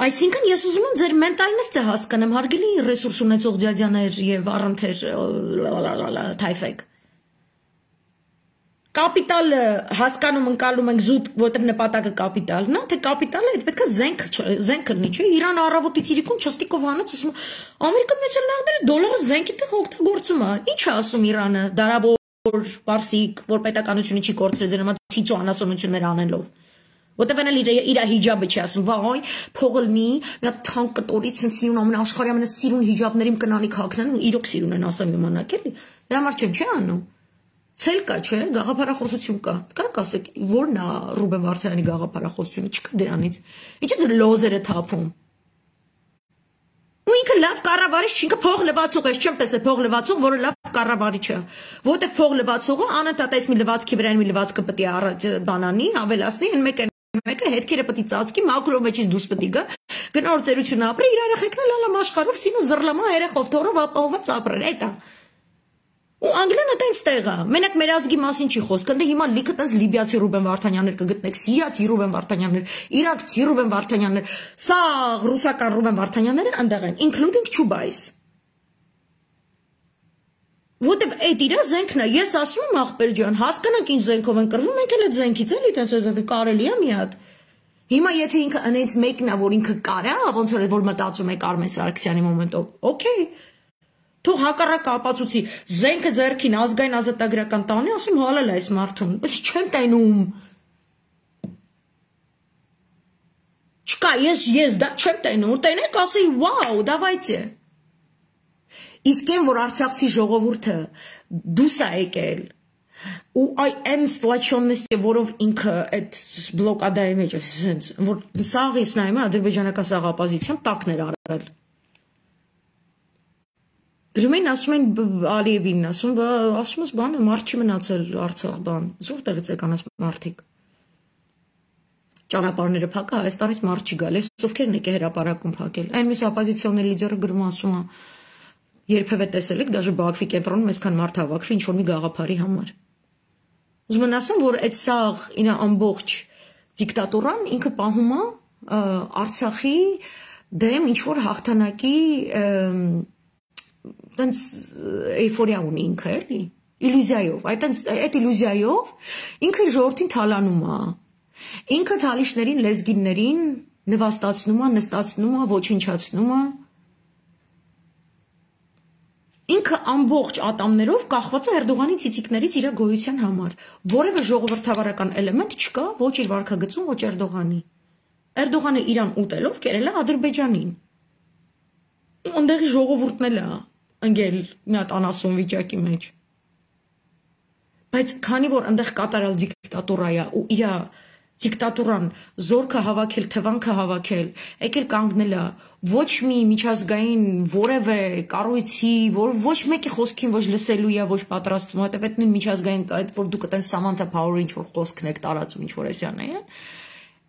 Այսինքն ես ուզում եմ ձեր մենտալնեսը հասկանամ, հարգելի ռեսուրս ունեցող ջաջաներ եւ առընթեր թայֆեք։ Կապիտալը հասկանում ընկալում ենք զուտ, որտեղ նպատակը կապիտալն է, թե կապիտալը այդ պետք է զենք զենք լինի, չէ՞։ Իրան առավոտից իրիկուն չստիկով հանած ասում Ամերիկա մեծ լավները դոլարը զենքի տեղ օգտագործում է։ Ինչ է ասում Իրանը, դարավոր բարսիկ, որ պետականությունը չի կորցրել ձեր նման ցիծո անասունություններ անելով։ Որտեղ էլ իր հիջաբը չի ասում, վայ, փողը լինի, մի հատ թանկ կտորից են սիրուն ամեն աշխարհի ամենա սիրուն հիջաբներին կնանիք հագնեն ու իրոք սիրուն են ասեմ իմանաք էլի։ Դրա համար չեմ չի անում։ Ցել կա, չէ, գաղափարախոսություն կա։ Կարո՞ղ ասեք, ո՞րն է Ռուբեն Վարդանյանի գաղափարախոսությունը, չկա դրանից։ Ինչ է լոզերը թափում։ Ու ինքը լավ կառավարիչ չի, ինքը փող լվացող է, չեմ տեսել փող լվացող, որը լավ կառավարիչ է։ Որտեղ փող լվացողը անընդհատ այս մի լվացքի վրա մի լվացքը պետք է առաջ բանանի, ավելացնի, այն մեկը մեկը հետքերը պետք է ծածկի, մակրո մեջից դուրս պետք է գա, գնորձերություն ապրի, իր երեխեքն լալա մաշխարով, սինու զռլամա երեխով թորով ապահոված ապրել, էտա։ Ու Անգլիան այդպես տեղ է։ Մենակ մեր ազգի մասին չի խոսքը, դե հիմա լիքը տես լիբիացի Ռուբեն Վարդանյաններ կգտնեք, սիրիացի Ռուբեն Վարդանյաններ, իրաքցի Ռուբեն Վարդանյաններ, սա ռուսական Ռուբեն Վարդանյանները այնտեղ են, including Chubais։ Որտեվ այդ իրա զենքն է, ես ասում եմ ախպեր ջան, հասկանանք ինչ զենքով են կռվում, մենք էլ այդ զենքից էլի տենց կարելի է մի հատ։ Հիմա եթե ինքը այնց մեկն է, որ ինքը կարա, ոնց որ որ մտածում է Կարմեն Սարգսյանի մոմենտով, օքեյ։ Թող հակառակ ապացուցի, զենքը ձեռքին ազգային ազատագրական տանի, ասում հալել է այս մարդուն, բայց չեմ տենում։ Չկա, ես ես դա չեմ տենում, տենեք ասեի, վաու, դավայցե։ Իսկ այն, որ Արցախցի ժողովուրդը դուս է եկել, ու այն սպլաչոննեստի, որով ինքը այդ բլոկադայի մեջ է, որ սաղ ես նայում է ադրբեջանական սաղ ապազիցիան տակներ արել։ Դրում են ասում են Ալիևին, ասում ասում ես բանը, մարդ չի մնացել Արցախ բան, որտեղից եկան այս մարդիկ։ Ճանապարհները փակա, Հայաստանից մարդ չի գալ, այս ովքեր են եկել հրապարակում փակել։ Այն մյուս օպոզիցիոներ լիդերը գրում ասում է, երբևէ տեսել եք, դաժե Բաքվի կենտրոնում այսքան մարդ հավաքվի ինչ-որ մի գաղափարի համար։ Ուզում եմ ասեմ, որ այդ սաղ իր ամբողջ դիկտատուրան ինքը պահում է Արցախի դեմ ինչ-որ հաղթանակի տենց էյֆորիա ունի ինքը էլի, իլյուզիայով, այդ իլյուզիայով ինքը ժողովրդին թալանում է, ինքը թալիշներին, լեզգիններին նվաստացնում է, նստացնում է, ոչնչացնում է, ինքը ամբողջ ատամներով կախված է Էրդողանի ցիցիկներից իր գոյության համար, որևէ ժողովրդավարական էլեմենտ չկա ոչ իր վարքագծում, ոչ Էրդողանի։ Էրդողանը իրան ուտելով կերել է Ադրբեջանին։ Այնտեղի ժողովուրդն էլ է ընկել մի հատ անասուն վիճակի մեջ։ Բայց քանի որ այնտեղ կատարյալ դիկտատուրա է ու իր դիկտատուրան զորքը հավաքել, թվանքը հավաքել, եկել կանգնել է ոչ մի միջազգային որևէ կառույցի, որ ոչ մեկի խոսքին ոչ լսելու է, ոչ պատրաստվում, հետև այդ նույն միջազգային այդ որ դուք այդպես Սամանթա Փաուերի ինչ որ խոսքն եք տարածում, ինչ որ էսյան է,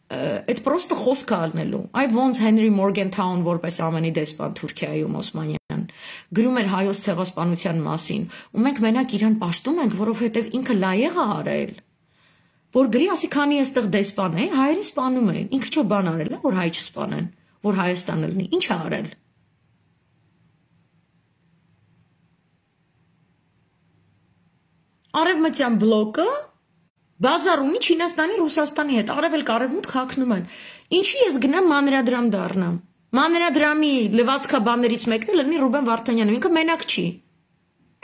այդ պրոստը խոսք է ալնելու։ Այ ոնց Հենրի Մորգենթաուն որպես ամենի դեսպան Թուրքիայում Օսմանյան գրում էր հայոց ցեղասպանության մասին, ու մենք մենակ իրան պաշտում ենք, որովհետև ինքը լայեղ է արել, որ գրի ասի քանի էստեղ դեսպան է, հայերին սպանում են, ինքը չէ բան արել է, որ հայ չսպանեն, որ Հայաստանը լինի, ինչ է արել։ Արևմտյան բլոկը բազար ունի Չինաստանի, Ռուսաստանի հետ, արևելք արևմուտք հագնում են։ Ինչի ես գնամ մանրադրամ դառնամ։ Մանրադրամի լվացքաբաններից մեկն է լինի Ռուբեն Վարդանյանը, ինքը մենակ չի։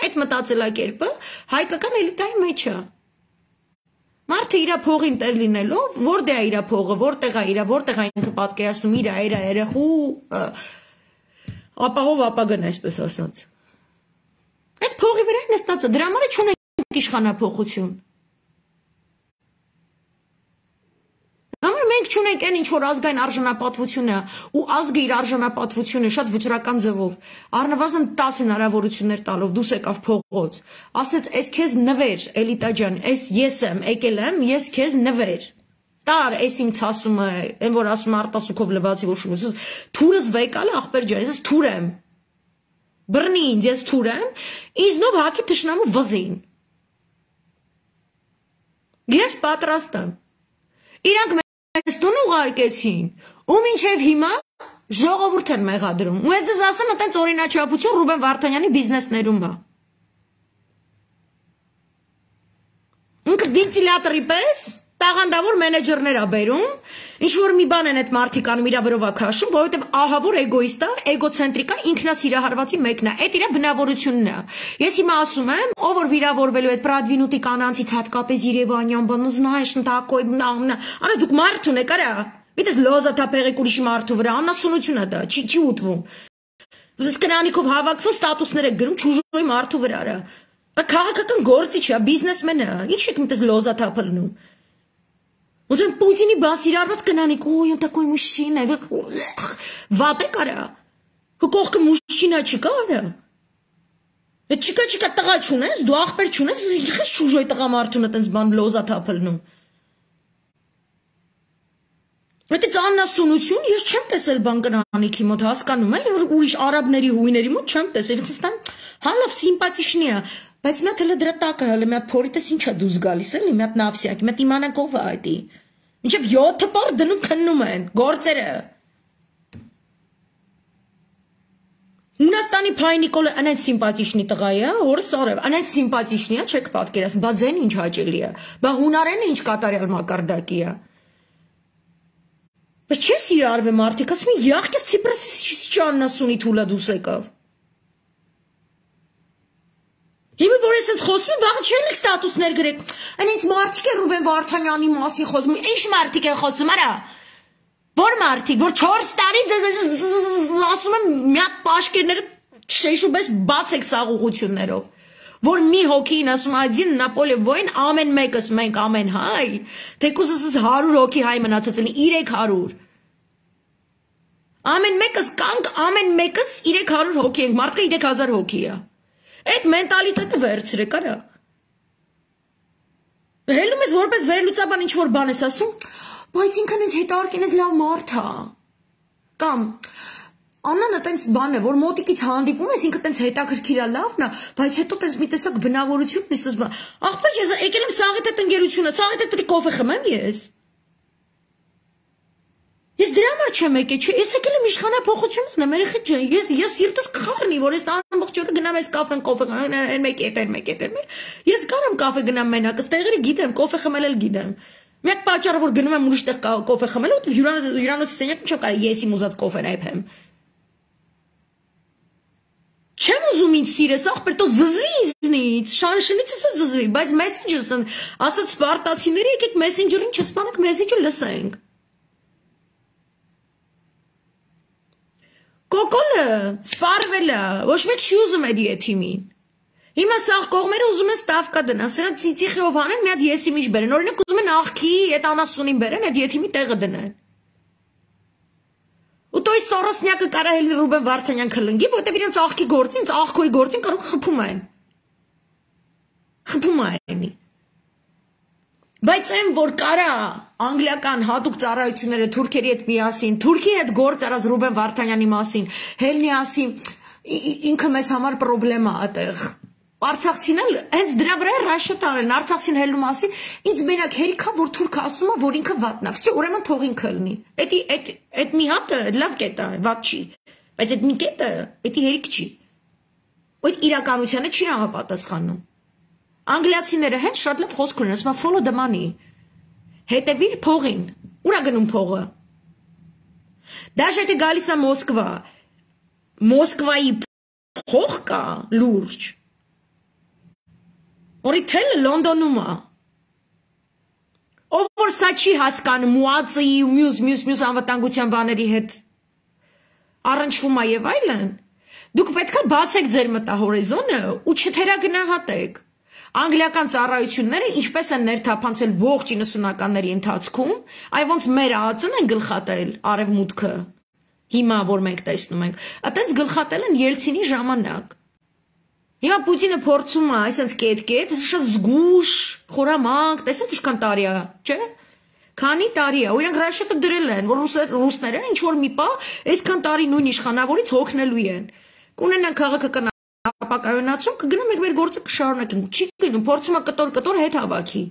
Այդ մտածելակերպը հայկական էլիտայի մեջ է։ Մարդը իր փողին տեր լինելով, որտեղ է իր փողը, որտեղ է իր, որտեղ է ինքը պատկերացնում իր, իր երեխու ապահով ապագան, այսպես ասած։ Այդ փողի վրա նստած է, դրա համար չունենք իշխանափոխություն։ Համար մենք չունենք այն ինչ որ ազգային արժանապատվությունը ու ազգը իր արժանապատվությունը շատ վճռական ձևով առնվազն տասը հնարավորություններ տալով դուս եկավ փողոց, ասեց «Էս քեզ նվեր, Էլիտա ջան, էս ես եմ, եկել եմ, ես քեզ նվեր»։ Տար, էս իմ ցասումը, այն որ ասում արտասուքով լվացի ոչ ուս, թուրս վեկալ ախպեր ջան, ես թուր եմ։ բռնի ինձ, ես թուր եմ, ինձնով հակի թշնամու վզին։ Ես պատրաստ եմ։ Իրանք մեզ տուն ուղարկեցին, ու մինչև հիմա ժողովուրդ են մեղադրում։ Ու ես ձեզ ասեմ, այտենց օրինաչափություն Ռուբեն Վարդանյանի բիզնեսներում բա։ Ինքը վենտիլյատորի պես տաղանդավոր մենեջերներ ա բերում, ինչ որ մի բան են այդ մարդիկ անում իրա վրով ա քաշում, որովհետև ահավոր էգոիստ ա, էգոցենտրիկ ա, ինքնասիրահարվածի մեկն ա, այդ իրա բնավորությունն ա։ Ես հիմա ասում եմ, ով որ վիրավորվելու այդ Պրադվինուտի կանանցից հատկապես Երևանյան բան, знаешь, такой, արա դուք մարդ ունեք, արա, միտես լոզա թափեղեք ուրիշի մարդու վրա, անասունություն ա դա, չի չի ուտվում։ Դες կնանիքով հավաքվում, ստատուսներ եք գրում, ճուժոյի մարդու վրա, արա։ Քաղաքական գործիչ է, բիզնեսմեն է, ինչ եք միտես լոզա թափելնում։ Узрим Путини басիրարված կնանիք, ой, он такой мужчина, վատ է կարա, կողքը մուշչինա չկա արա, չկա չկա տղա չունես, դու աղբեր չունես, իխես չուժոյ տղա մարդունը տենց բան լոզա թափելնում։ Այդ աննասունություն ես չեմ տեսել բան կնանիքի մոտ, հասկանում է, ուրիշ արաբների հույների մոտ չեմ տեսել, ինքստան հալավ սիմպաթիշնի է, բայց մի հատ հələ դրա տակը հələ մի հատ փորիտես ինչ է դուզ գալիս էլի, մի հատ նավսյակ, մի հատ իմանանք ով է այդի։ Մինչև յոթ պար դնում քննում են, գործերը։ Հունաստանի Փայ Նիկոլը անայդ սիմպաթիշնի տղա է, օրս արև, անայդ սիմպաթիշնի է, չեք պատկերացնում, բա ձեն ինչ հաճելի է, բա հունարենը ինչ կատարյալ մակարդակի է։ Բայց չես իրարվեմ արդիկ, ասում եմ, յախկես Ցիպրասի չաննասունի թուլա դուս եկավ։ Հիմա որ եսենց խոսում եմ, վաղը չեն եք ստատուսներ գրեք, այն ինձ մարդիկ են Ռուբեն Վարդանյանի մասին խոսում, ինչ մարդիկ են խոսում, արա, որ մարդիկ, որ չորս տարի ձեզ ասում եմ, մի հատ պաշկերները շեշուպես բաց եք սաղուղություններով, որ մի հոգին ասում один на поле воин, ամեն մեկս մենք ամեն հայ, թեկուզս հարյուր հոգի հայ մնացած են, երեք հարյուր։ Ամեն մեկս կանք, ամեն մեկս երեք հարյուր հոգի ենք, մարդկը երեք հազար հոգի է։ Այդ մենտալիտետը վերցրեք, արա։ Հելում ես որպես վերլուծաբան ինչ որ բան ես ասում, բայց ինքն ինձ հետարկին ես լավ մարդ է։ Կամ Աննանը տենց բան է, որ մոտիկից հանդիպում ես, ինքը տենց հետաքրքիր է, լավն է, բայց հետո տենց մի տեսակ բնավորություն նիսես բան։ Աղբեր ես եկել եմ Սաղեթ այդ ընկերությունը, Սաղեթ պետք է կոֆե խմեմ ես։ Ես դրա համար չեմ եկել, չէ, ես եկել եմ իշխանափոխություն անեմ, երեխեք ջան, ես ես սիրտս կխառնի, որ ես ամբողջ օրը գնամ ես կաֆեն, կոֆե, այն մեկ էդ, այն մեկ էդ, այն մեկ։ Ես կարամ կաֆե գնամ մենակ, ըստ տեղերը գիտեմ, կոֆե խմել էլ գիտեմ։ Մեկ պատճառը որ գնում եմ ուրիշ տեղ կոֆե խմել, ու հյուրանոցի սենյակում չեմ կարա ես իմ ուզած կոֆեն այփեմ։ Չեմ ուզում ինձ սիրես, ախպեր, տո զզվի ինձնից, շանշնից ես զզվի, բայց մեսենջերս են, ասած սպարտացիները եկեք մեսենջերին չսպանեք, մեսենջը լսենք։ Կոկոլը, սպարվել է, ոչ մեկ չի ուզում էդ եթիմին։ Հիմա սաղ կողմերը ուզում են ստավկա դնան, սրանց ծիծիխիով հանեն, մի հատ եսիմիջ բերեն, օրինակ ուզում են աղքի այդ անասունին բերեն, այդ եթիմի տեղը դնեն։ Ու տոյ Սորոսնյակը կարա հելի Ռուբեն Վարդանյան քլնգի, որտեվ իրենց աղքի գործին, աղքոյի գործին կարող խփում են։ Խփում են։ Բայց այն որ կարա անգլիական հատուկ ծառայությունները թուրքերի հետ միասին, Թուրքի հետ գործ արած Ռուբեն Վարդանյանի մասին, հելնի ասի, ինքը մեզ համար պրոբլեմա այդտեղ։ Արցախցին էլ հենց դրա վրա ռաշոտ արեն, Արցախցին հելնու մասին, ինձ մենակ հերիքա, որ թուրքը ասում է, որ ինքը վատնա, վсё, ուրեմն թող ինքը լինի։ Էդի այդ այդ մի հատը լավ կետ է, վատ չի, բայց այդ մի կետը, էդի հերիք չի։ Այդ իրականությանը չի համապատասխանում։ Անգլիացիները հենց շատ լավ խոսք ունեն, ասում են follow the money։ Հետևիր փողին։ Ուրա գնում փողը։ Դաշ եթե գալիս է Մոսկվա, Մոսկվայի փող կա լուրջ։ Օրիթելը Լոնդոնում է։ Ով որ սա չի հասկանում մուածի ու մյուս մյուս մյուս անվտանգության բաների հետ առնչվում է եւ այլն, դուք պետք է բացեք ձեր մտահորիզոնը ու չթերագնահատեք։ Անգլիական ծառայությունները ինչպես են ներթափանցել ողջ իննսունականների ընթացքում, այ ոնց մեր ԱԱՑ-ն են գլխատել արևմուտքը։ Հիմա որ մենք տեսնում ենք, այտենց գլխատել են Ելցինի ժամանակ։ Հիմա Պուտինը փորձում է, այսպես կետ-կետ, շատ զգուշ, խորամանկ, տեսեք ինչքան տարի է, չէ՞։ Քանի տարի է, ու իրենք ռաշետը դրել են, որ ռուսները ինչ որ մի պահ, այսքան տարի նույն իշխանավորից հոգնելու են։ կունենան քաղաքական ապակայունացում, կգնա մենք մեր գործը կշարունակենք, չի գնում, փորձում է կտոր-կտոր հետ հավաքի։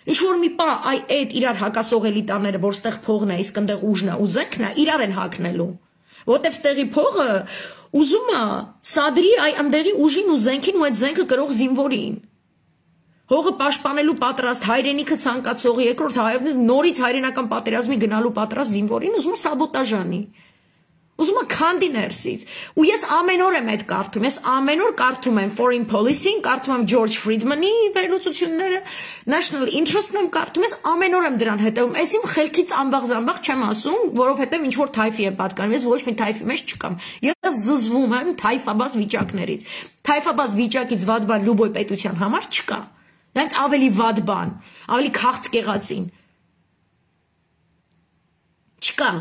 Ինչ որ մի պա այ այդ իրար հակասողելի տաները, որ ստեղ փողն է, իսկ ընդեղ ուժն է, ու զենքն է, իրար են հակնելու։ Որտեւ ստեղի փողը ուզում է սադրի այ ընդեղի ուժին ու զենքին ու այդ զենքը կրող զինվորին։ Հողը պաշտպանելու պատրաստ հայրենիքը ցանկացող երկրորդ հայերն նորից հայրենական պատերազմի գնալու պատրաստ զինվորին ուզում է սաբոտաժ անի։ Ուզում է քանդի ներսից։ Ու ես ամեն օր եմ այդ կարդում, ես ամեն օր կարդում եմ Foreign Policy-ին, կարդում եմ George Friedman-ի վերլուծությունները, National Interest-ն եմ կարդում, ես ամեն օր եմ դրան հետևում։ Ես իմ խելքից ամբաղ-զամբաղ չեմ ասում, որովհետև ինչ որ թայֆի եմ պատկանում, ես ոչ մի թայֆի մեջ չկամ։ Ես զզվում եմ թայֆաբազ վիճակներից։ Թայֆաբազ վիճակից վատ բան Լյուբոյ պետության համար չկա։ Դրանց ավելի վատ բան, ավելի քաղցկեղածին։ Չկա։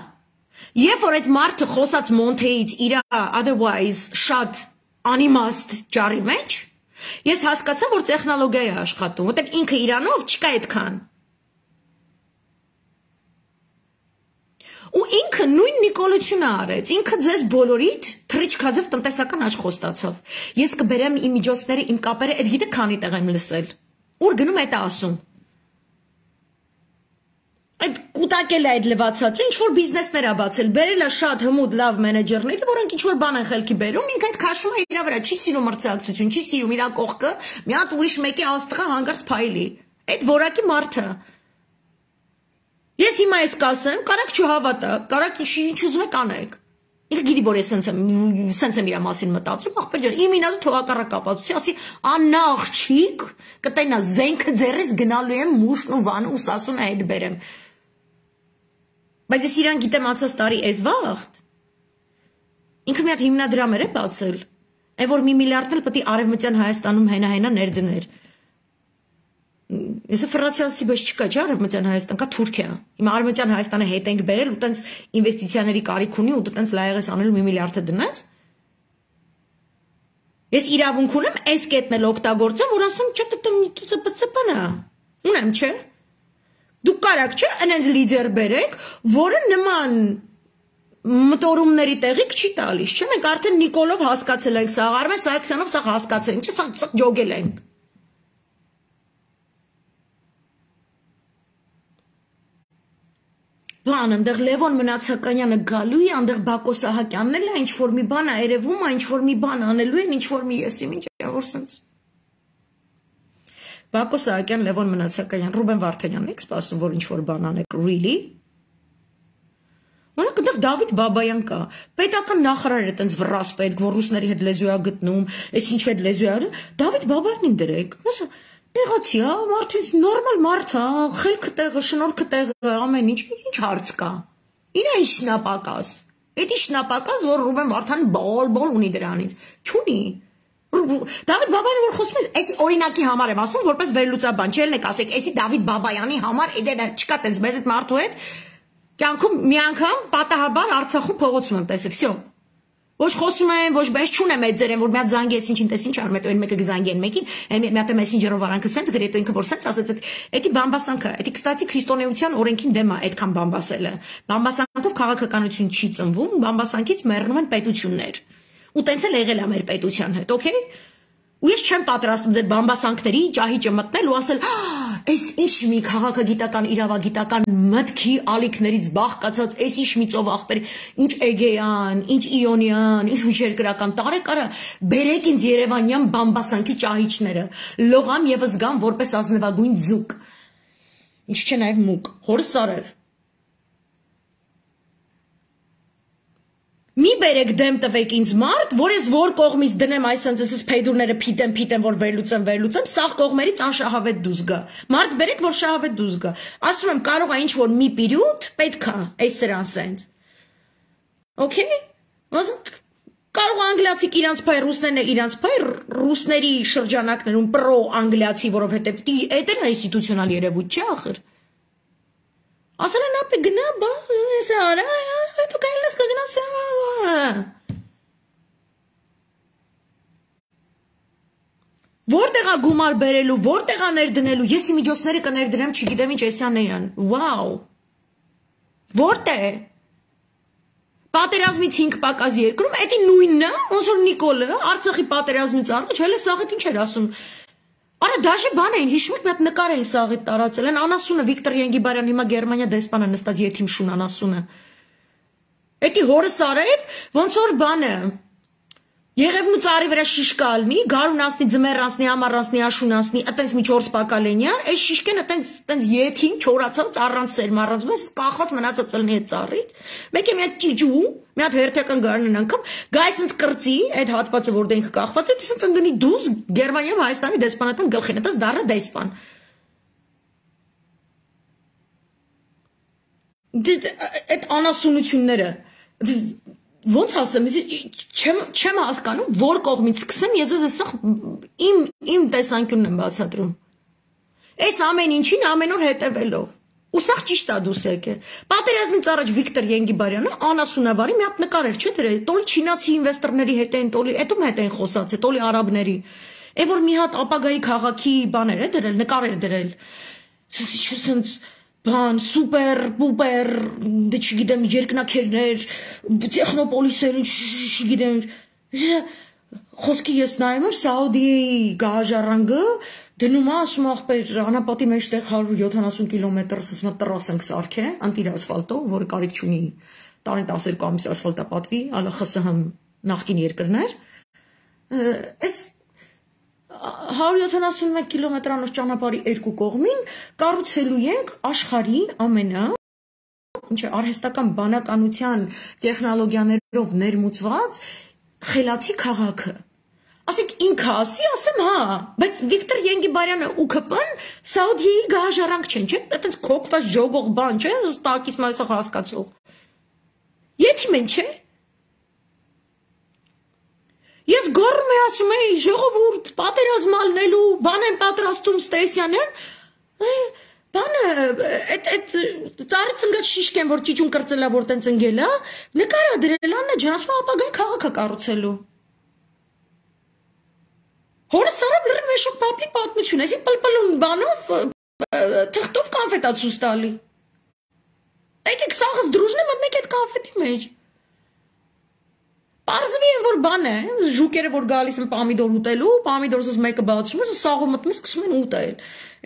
Եվ որ այդ մարդը խոսած Մոնթեից իր otherwise շատ անիմաստ ջարի մեջ, ես հասկացա, որ տեխնոլոգիա է աշխատում, որտեղ ինքը իրանով չկա այդքան։ Ու ինքը նույն նիկոլությունը արեց, ինքը ձեզ բոլորիդ թրիչքաձև տնտեսական աճ խոստացավ։ Ես կբերեմ իմ միջոցները, իմ կապերը, այդ գիտեք քանի տեղ եմ լսել։ Ուր գնում այդ ասում։ Այդ կուտակել է այդ լվացածը, ինչ որ բիզնեսներ է բացել, բերել է շատ հմուտ լավ մենեջերները, որոնք ինչ որ բան են խելքի բերում, ինքը այդ քաշում է իր վրա, չի սիրում մրցակցություն, չի սիրում իր կողքը, մի հատ ուրիշ մեկի աստղա հանգարց փայլի։ Այդ որակի մարդը։ Ես հիմա ես կասեմ, կարակ չհավատա, կարակ ինչ ուզում եք անեք։ Ինքը գիտի, որ ես սենց եմ, սենց եմ իր մասին մտածում, ախպեր ջան, իմ ինազը թողակառակ կապացուցի, ասի աննա աղջիկ, կտենա զենքը ձեռից գնալու եմ մուշն ու վանը ու սասուն է հետ բերեմ։ Բայց ես իրան գիտեմ անցած տարի էս վաղտ։ Ինքը մի հատ հիմնադրամեր է բացել, այն որ մի միլիարդն էլ պետք է Արևմտյան Հայաստանում հենա-հենա ներդներ։ Ես ֆրանսիացի բես չկա, չէ՞ Արևմտյան Հայաստան, կա Թուրքիա։ Հիմա Արևմտյան Հայաստանը հետ ենք բերել ու տենց ինվեստիցիաների կարիք ունի ու դու տենց լայեղես անելու մի միլիարդը դնես։ Ես իրավունք ունեմ այս կետն էլ օգտագործեմ, որ ասեմ, չէ՞ տտմնա։ Ունեմ, չէ՞։ Դուք կարաք չէ, այնպես լիդեր բերեք, որը նման մտորումների տեղիք չի տալիս, չէ՞։ Մենք արդեն Նիկոլով հասկացել ենք, սա Արմեն Սարգսյանով սա հասկացել ենք, չէ՞, սա ջոգել ենք։ Բան, այնտեղ Լևոն Մնացականյանը գալու է, այնտեղ Բակո Սահակյանն էլ է, ինչ որ մի բան է երևում, ինչ որ մի բան անելու են, ինչ որ մի եսիմ, ինչ է, որ սենց։ Բակո Սահակյան, Լևոն Մնացականյան, Ռուբեն Վարդանյանն եք սպասում, որ ինչ որ բան անեք, really? Օրինակ այնտեղ Դավիթ Բաբայան կա, պետական նախարար է տենց վռասպետ, որ ռուսների հետ լեզու է գտնում, այս ինչ հետ լեզու է, Դավիթ Բաբայանին դրեք։ Տեղացի, հա, մարդը նորմալ մարդ, հա, խելքը տեղը, շնորհքը տեղը, ամեն ինչ, ինչ հարց կա։ Իրա իշնապակաս։ Այդ իշնապակաս, որ Ռուբեն Վարդանին բոլ-բոլ ունի դրանից, չունի։ Դավիթ Բաբայանը որ խոսում է, այս օրինակի համար եմ ասում, որպես վերլուծաբան, չէ՞ ելնեք ասեք, էսի Դավիթ Բաբայանի համար էդ չկա տենց մեզ այդ մարդու հետ, կյանքում մի անգամ պատահաբար Արցախում փողոցում եմ տեսել, վсё։ Ոչ խոսում եմ, ոչ բես չունեմ այդ ձերեն, որ մի հատ զանգես, ինչ ինտես ինչ արում, այդ մեկը կզանգեն մեկին, այն մի հատ մեսենջերով արանքը սենց գրետ, ինքը որ սենց ասեց, էդի բամբասանքը, էդի կստացի քրիստոնեության օրենքին դեմ է այդքան բամբասելը։ Բամբասանքով քաղաքականություն չի ծնվում, բամբասանքից մեռնում են պետություններ։ Ու տենց էլ եղել է մեր պետության հետ, օքեյ։ Ու ես չեմ պատրաստում ձեր բամբասանքների ճահիճը մտնել ու ասել, այս ինչ մի քաղաքագիտական իրավագիտական մտքի ալիքներից բաղկացած, այս ինչ մի ծով ախպեր, ինչ Էգեյան, ինչ Իոնյան, ինչ միջերկրական տարեք արա, բերեք ինձ Երևանյան բամբասանքի ճահիճները, լողամ եւ զգամ որպես ազնվագույն ձուկ։ Ինչ չէ նաեւ մուկ, հորս արև։ Մի բերեք դեմ տվեք ինձ մարդ, որ ես որ կողմից դնեմ այսպես էս փեդուրները փիտեմ փիտեմ որ վերլուծեմ վերլուծեմ, սաղ կողմերից անշահավետ դուզ գա։ Մարդ բերեք որ շահավետ դուզ գա։ Ասում եմ կարող է ինչ որ մի պիրուտ պետքա այս սրան սենց։ Okay? Կարող անգլիացիք իրանց փայ, ռուսներն է իրանց փայ, ռուսների շրջանակներում պրո անգլիացի, որովհետև այդ էլ ինստիտուցիոնալ երևույթ չէ ախր։ Ասել են ապե գնա բա, սա արա, դու կայլես կգնաս Որտեղ է գումար բերելու, որտեղ է ներդնելու, ես իմ միջոցները կներդրեմ, չգիտեմ ինչ Էսյանեյան, վաու, որտեղ է, Պատերազմից հինգ պակաս երկրում, էդի նույնն է, ոնց որ Նիկոլը Արցախի պատերազմից առաջ հələ սաղիթ ինչ էր ասում։ Արա դաշե բան էին, հիշում եք մի հատ նկար էին սաղիթ տարածել, են անասունը Վիկտոր Ենգիբարյան հիմա Գերմանիա դեսպանը նստած եթիմ շուն անասունը։ Էդի հորը սարեր, ոնց որ բանը Եղևնու ծառի վրա շիշկա ալնի, գարուն ասնի, ձմեռ ասնի, ամառ ասնի, աշուն ասնի, այտենց մի չորս պակալենյա, այս շիշկեն այտենց այտենց եթին չորացած առանց սեր մառած, բայց կախած մնացած ըլնի այդ ծառից։ Մեկ է մի հատ ճիճու, մի հատ հերթական գարնն անգամ, գա այսենց կրծի, այդ հատվածը որ դենք կախված է, դեսենց ընկնի դուզ Գերմանիայում Հայաստանի դեսպանատան գլխին, այտենց դառը դեսպան։ Այդ անասունությունները Ոնց ասեմ, չեմ հասկանում, որ կողմից սկսեմ, ես ես սա իմ իմ տեսանկյունն եմ բացատրում։ Այս ամեն ինչին ամեն օր հետևելով։ Ու սա ճիշտ է դուս եկե։ Պատերազմից առաջ Վիկտոր Ենգիբարյանը անասունավարի մի հատ նկար էր, չէ՞ դրել, տոլի չինացի ինվեստորների հետ են, տոլի, էդում հետ են խոսացել, տոլի արաբների։ Է որ մի հատ ապագայի քաղաքի բաներ է դրել, նկար էր դրել։ Սենց Բան, սուպեր, պուպեր, դե չգիտեմ, երկնակերներ, տեխնոպոլիսեր, չգիտեմ, խոսքի ես նայում եմ Սաուդիայի գահաժառանգը, դնում է, ասում աղբեր, անապատի մեջտեղ հարյուր յոթանասուն կիլոմետր, ասում է տրաս ենք սարքե, անտիր ասֆալտով, որը կարիք չունի, տարին տասներկու ամիս ասֆալտա պատվի, ալը ԽՍՀՄ նախկին երկրներ, այս հարյուր յոթանասունմեկ կիլոմետրանոց ճանապարհի երկու կողմին կառուցելու ենք աշխարհի ամենա ինչ է արհեստական բանականության տեխնոլոգիաներով ներմուծված խելացի քաղաքը։ Ասեք ինքը ասի, ասեմ հա, բայց Վիկտոր Ենգիբարյանը ու ՔՊ-ն Սաուդիայի գահաժառանգ չեն, չէ՞, այտենց քոքված ժողող բան, չէ՞, ստակից մասը հասկացող։ Եթիմ են, չէ՞։ Ես գոռում եմ ասում եմ ժողովուրդ պատերազմ ալնելու բան են պատրաստում Ստեսյանեն բանը այդ այդ ծառից ընկած շիշկեն որ ճիճուն կրծելա որ տենց ընկելա նկարա դրել աննա ջան ասում ապագայի քաղաքը կառուցելու հորը սարավ լրի մեշոք պապի պատմություն այսի պլպլուն բանով թղթով կոնֆետա ցույց տալի եկեք սաղս դրուժն է մտնեք այդ կոնֆետի մեջ Պարզվի են, որ բան է, ժուկերը, որ գալիս են պամիդոր ուտելու, պամիդորսս մեկը բացում ես, սաղով մտնում ես, սկսում են ուտել։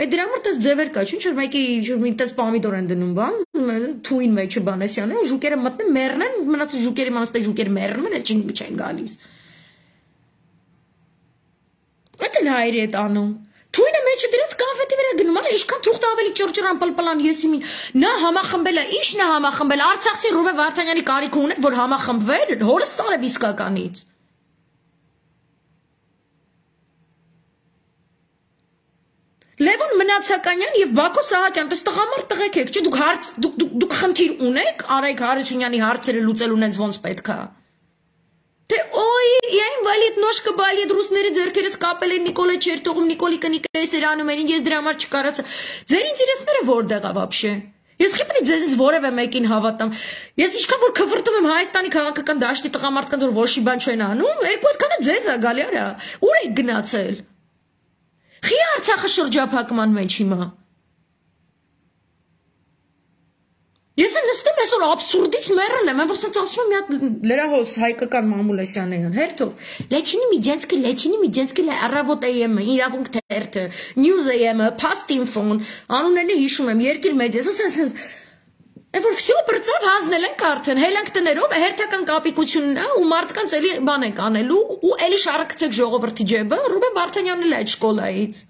Այդ դրա համար տես ձևեր կա, ինչ որ մեկի տես պամիդոր են դնում բան, թույն մեջը բանեսյան է, ժուկերը մտնում, մեռնեն, մնացած ժուկերի մանստե ժուկերը մեռնում են, էլ չեն գալիս։ Այդ էլ հայրի հետ անում։ Թույնը մեջը դրանց կոնֆետի վրա գնում, ալա ինչքան թուղթը ավելի ճորճրան պլպլան եսի մի նա համախմբել է, ի՞նչն է համախմբել, Արցախցի Ռուբեն Վարդանյանի կարիք ուներ, որ համախմբվեր, հորը սարև իսկականից։ Լևոն Մնացականյան եւ Բակո Սահակյան, դες տղամարդ տղեկ եք, չէ՞ դուք հարց դուք դուք խնդիր ունեք Արայք Հարությունյանի հարցերը լուծելու նենց ոնց պետք է։ Թե օй, я инвалид, ножка болит, ռուսների ձեռքերս կապել են Նիկոլը չէր թողում, Նիկոլի կնիկը էսեր անում են, ես դրա համար չկարացա։ Ձեր ինտերեսները որտեղ է вообще։ Ես խիպրի ձեզից որևէ մեկին հավատամ։ Ես ինչքան որ քվրտում եմ Հայաստանի քաղաքական դաշտի տղամարդկանց որ ոչի բան չեն անում, երկու հատկանը ձեզ է գալի արա։ Ուր եք գնացել։ Խի Արցախը շրջափակման մեջ հիմա։ Ես նստում այսօր абսուրդից մեռել եմ, որ ասած ասում եմ մի հատ լրահոս Հայկական Մամուլեսյանյան, հերթով։ Լեչինի Միջենսկի, Լեչինի Միջենսկի Առավոտ էյ-ը, Իրավունք թերթը, News էյ-ը, Past Info-ն, անուններն հիշում եմ, Երկիր մեդիա, ասես Որ всё բրծավ հանձնել ենք արդեն, հելանք տներով հերթական կապիկությունն է ու մարդկանց էլի բան եք անելու ու էլի շարակցեք ժողովրդի ջեբը, Ռուբեն Վարդանյանն էլ այդ շկոլայից։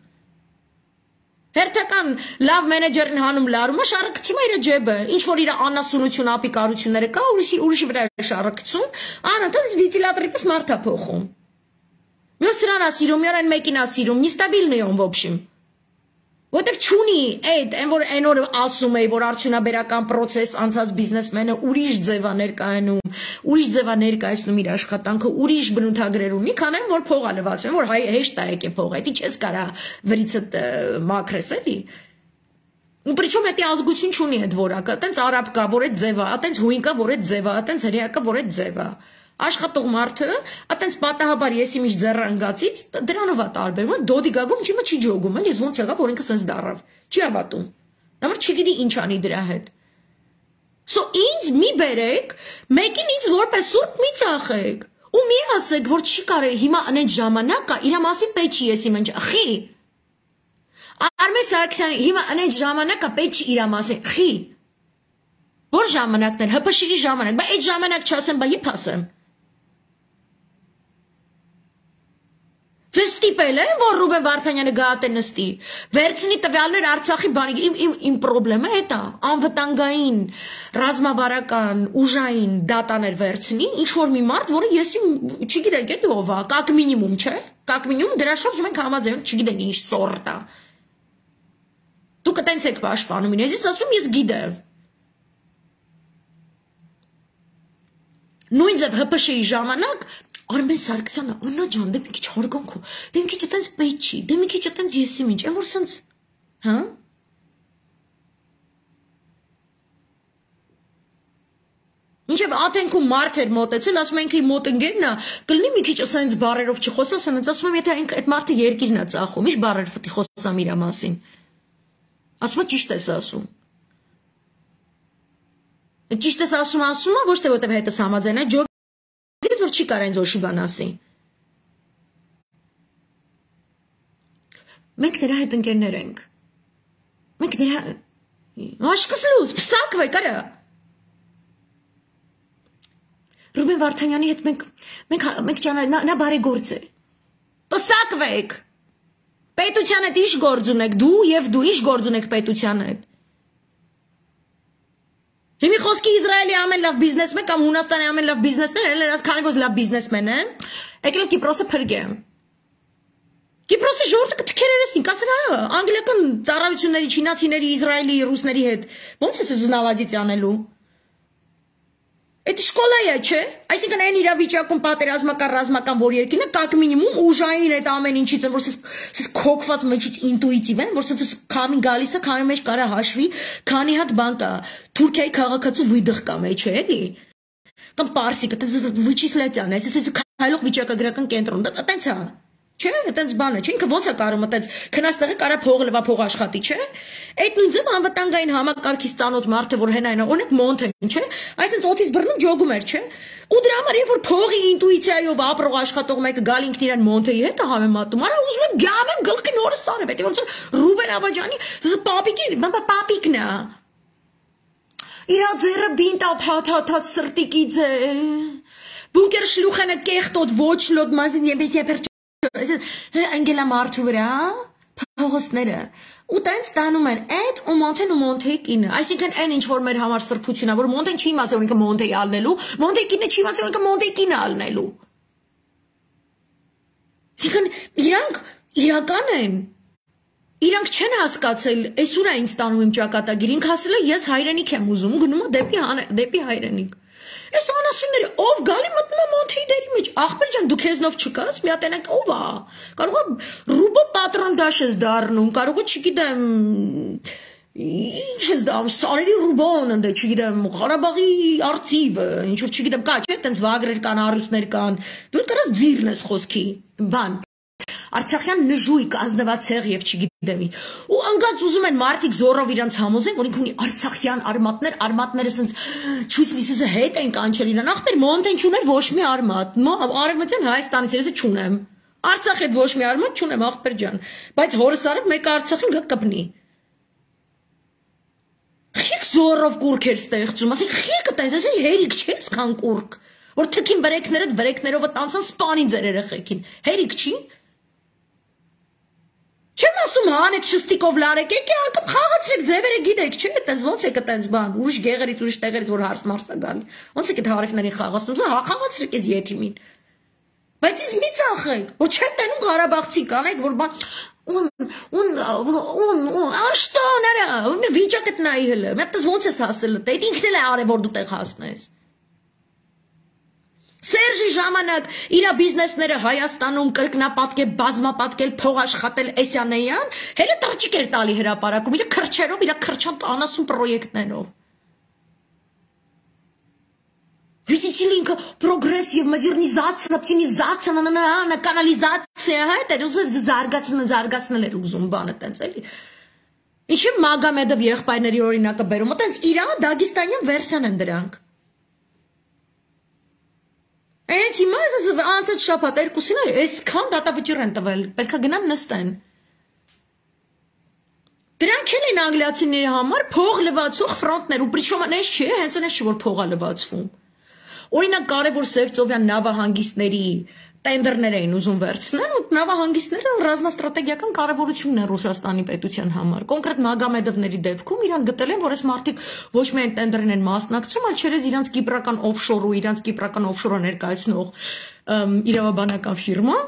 Հերթական լավ մենեջերին հանում լարումը շարակցում է իր ջեբը, ինչ որ իր անասունություն ապիկարությունները կա, ուրիշի ուրիշի վրա է շարակցում, անընդհատ վենտիլատորի պես մարդ է փոխում։ Մյուս սրան է սիրում, մի օր այն մեկին է սիրում, նստաբիլն է он в общем։ Որտեվ չունի այդ, այն որ այն օրը ասում էի, որ արդյունաբերական process անցած բիզնեսմենը ուրիշ ձև է ներկայանում, ուրիշ ձև է ներկայացնում իր աշխատանքը, ուրիշ բնութագրեր ունի, քան այն որ փող է լվացվում, որ հայ հեշտ է եկե փող, դա չես կարա վրիցդ մաքրես էլի։ Ու причем էդի ազգություն չունի այդ որակը, այտենց արաբ կա, որ այդ ձև է, այտենց հույն կա, որ այդ ձև է, այտենց հրեա կա, որ այդ ձև է։ Աշխատող մարդը, այտենց պատահաբար ես իմիջ ձեռանգացից դրանով է տարբերում, դոդի գագում ջիմը չի ջոգում, էլ ես ոնց եղավ, որ ինքը սենց դառավ, չի հավատում, նամար չգիտի ինչ անի դրա հետ։ So ինձ մի բերեք, մեկին ինձ որպես սուրբ մի ծախեք։ Ու մի ասեք, որ չի կարելի հիմա անեն ժամանակա, իր մասին պետք չի եսի մնջ, խի։ Արմեն Սարգսյանի հիմա անեն ժամանակա պետք չի իր մասին, խի։ Որ ժամանակն էր, հպշիրի ժամանակ, բա այդ ժամանակ չասեմ, բա իբ ասեմ։ Ձեզ ստիպել են, որ Ռուբեն Վարդանյանը գահատե նստի, վերցնի տվյալներ Արցախի բանի, իմ, իմ, իմ պրոբլեմը հետ է, անվտանգային, ռազմավարական, ուժային դատաներ վերցնի, ինչ-որ մի մարդ, որը եսի, չգիտենք էլի ով է, կակ մինիմում, չէ, կակ մինիմում, դրա շուրջ մենք համաձայնենք, չգիտենք ինչ սորտ է։ Դուք տենց եք պաշտպանում, ես ասում ես գիտեմ։ Նույն ձև ՀՊՇ-ի ժամանակ Արմեն Սարգսյանը, Աննա ջան, դե մի քիչ հարգանքո, դե մի քիչ այտենց պետք չի, դե մի քիչ այտենց եսի ինչ, այն որ սենց, հա? Մինչև աթենքում մարդ էր մոտեցել, ասում ենք իմ մոտ ընկերն է, կլինի մի քիչ ասենց բառերով չխոսա, ասենց ասում եմ, եթե այդ մարդը երկիրն է ծախում, ինչ բառեր պետք է խոսամ իր մասին։ Ասում է ճիշտ ես ասում։ Ճիշտ ես ասում, ասում է, ոչ թե որտեղ հետս համաձայն է, Գիտես, որ չի կարա ինձ ոչի բան ասի։ Մենք նրա հետ ընկերներ ենք։ Մենք նրա... Աշկս լուզ, պսակվեք, արա։ Ռուբեն Վարդանյանի հետ մենք... Մենք ճանա... Նա բարեգործ է։ Պսակվեք։ Պետության հետ ինչ գործ ունեք, դու և դու ինչ գործ ունեք պետության հետ։ Հիմի խոսքի Իսրայելի ամեն լավ բիզնեսմեն կամ Հունաստանի ամեն լավ բիզնեսներ են, երաս քանի որ լավ բիզնեսմեն են, եկել եմ Կիպրոսը փրկեմ։ Կիպրոսի ժողովուրդը կթքերերեսնի, կասեն անգլիական ծառայությունների, չինացիների, Իսրայելի, ռուսների հետ։ Ոնց ես զնալադից անելու։ Այդ շկոլա է, չէ։ Այսինքն այն իրավիճակում պատերազմական ռազմական որ երկինը կակ մինիմում ուժային այդ ամեն ինչից են, որ սես քոքված մեջից ինտուիտիվ են, որ սես քամին գալիս է, քամի մեջ կարա հաշվի, քանի հատ բան կա։ Թուրքիայի քաղաքացու վիդղ կա մեջ է, էլի։ Կամ պարսիկը, տենց վիճիսլետյան է, սես քայլող վիճակագրական կենտրոն, դա տենց է։ Չէ, այտենց բան է, չէ, ինքը ոնց է կարում այտենց քնաստեղի կարա փող լվա փող աշխատի, չէ։ Այդ նույն ձև անվտանգային համակարգից ծանոթ մարդը, որ հենային է, օրինակ Մոնթեն, չէ, այսինքն օդից բռնում ջոգում էր, չէ։ Ու դրա համար երբ որ փողի ինտուիցիայով ապրող աշխատող մեկը գալ ինքն իրան Մոնթեի հետ է համեմատում, արա ուզում եմ գամ եմ գլխի նորը սարը, պետք է ոնց Ռուբեն Աբաջյանի պապիկի, պապիկն է։ Իրա ձեռը բինտա փաթաթած սրտիկից է։ Բունկեր շլուխենը կեղտոտ ոչ լոտ մազին եբեր Անգելա մարդու վրա, փողոցները, ու տենց տանում են այդ ու Մոնթեն ու Մոնթեի կինը, այսինքն այն ինչ որ մեր համար սրբություն է, որ Մոնթեն չի իմացել, որ ինքը Մոնթեի ալնելու, Մոնթեի կինը չի իմացել, որ ինքը Մոնթեի կինը ալնելու։ Այսինքն իրանք իրական են, իրանք չեն հասկացել, այսուր է ինձ տանում իմ ճակատագիր, ինք ասել է ես հայրենիք եմ ուզում, գնում է դեպի հայրենիք։ Այս անասունները ով գալի մտնում է Մոնթեի դերի մեջ, ախպեր ջան դու քեզնով չկաս, մի հատ այնակ ով է, կարող է Ռուբո պատրոնդաշ ես դառնում, կարող է չգիտեմ, ինչ ես դառնում, Սարերի Ռուբոն ընդ է, չգիտեմ, Ղարաբաղի արծիվը, ինչ որ չգիտեմ, կա չէ, տենց վագրեր կան, առյուծներ կան, դու կարաս ձիրն ես խոսքի, բան Արցախյան նժույգ, ազնվացեղ և չգիտեմ ինչ։ Ու անգած ուզում են մարդիկ զորով իրանց համոզեն, որ ինք ունի արցախյան արմատներ, արմատները սենց չույց լիսիզը հետ են կանչել իրան, ախպեր Մոնթեն չուներ ոչ մի արմատ, արևմտյան Հայաստանից ես չունեմ, Արցախ հետ ոչ մի արմատ չունեմ, ախպեր ջան, բայց հորս արև մեկը Արցախին գա կպնի։ Խիք զորով կուրք էր ստեղծում, ասի խիքը տենց, ասի հերիք չես կան կուրք, որ թքին վրեքներդ վրեքներովը տանցան սպանին ձեր երեխեքին, հերիք չի։ Չեմ ասում հանեք շստիկով լարեք, եկե անգամ խաղացրեք ձևերը գիտեք, չէ, այտենց ոնց եք այտենց բան, ուրիշ գեղերից, ուրիշ տեղերից որ հարց մարս է գալի, ոնց եք այդ հարևներին խաղացնում, հա խաղացրեք այս յետիմին։ Բայց ես մի ծախեք, որ չեմ տենում Ղարաբաղցի կանեք, որ բան ուն ուն ուն ուն աշտան արա, վիճակդ նայի հələ, մի հատ ոնց ես հասել դե, ինքն էլ է արել որ դու տեղ հասնես։ Սերժի ժամանակ իր բիզնեսները Հայաստանում կրկնապատկել, բազմապատկել, փող աշխատել Էսյանեյան, հերը տղճիկ էր տալի հրապարակում, իր քրչերով, իր քրչան անասուն պրոյեկտներով։ Видите ли, прогресс и модернизация, оптимизация, канализация, это уже заргаться, заргаться на леру зумбана, тенцели. Ինչի Մագամեդով եղբայրների օրինակը բերում, այտենց Իրանը Դագիստանյան վերսիան են դրանք։ Այս հիմա ես անցած շաբաթ երկուսին այսքան դատավճիռ են տվել, պետք է գնան նստեն։ Դրանք էլ են անգլիացիների համար փող լվացող ֆրոնտներ, ու պրիչոմ այնպես չէ, հենց այնպես չէ որ փող է լվացվում։ Օրինակ կարևոր Սևծովյան նավահանգիստների տենդերներ էին ուզում վերցնել, ու նավահանգիստները ռազմաստրատեգիական կարևորություն են Ռուսաստանի պետության համար։ Կոնկրետ Մագամեդովների դեպքում իրան գտել են, որ այս մարդիկ ոչ միայն տենդերին են մասնակցում, այլ չերես իրանց կիպրական օֆշոր ու իրանց կիպրական օֆշորը ներկայացնող իրավաբանական ֆիրմա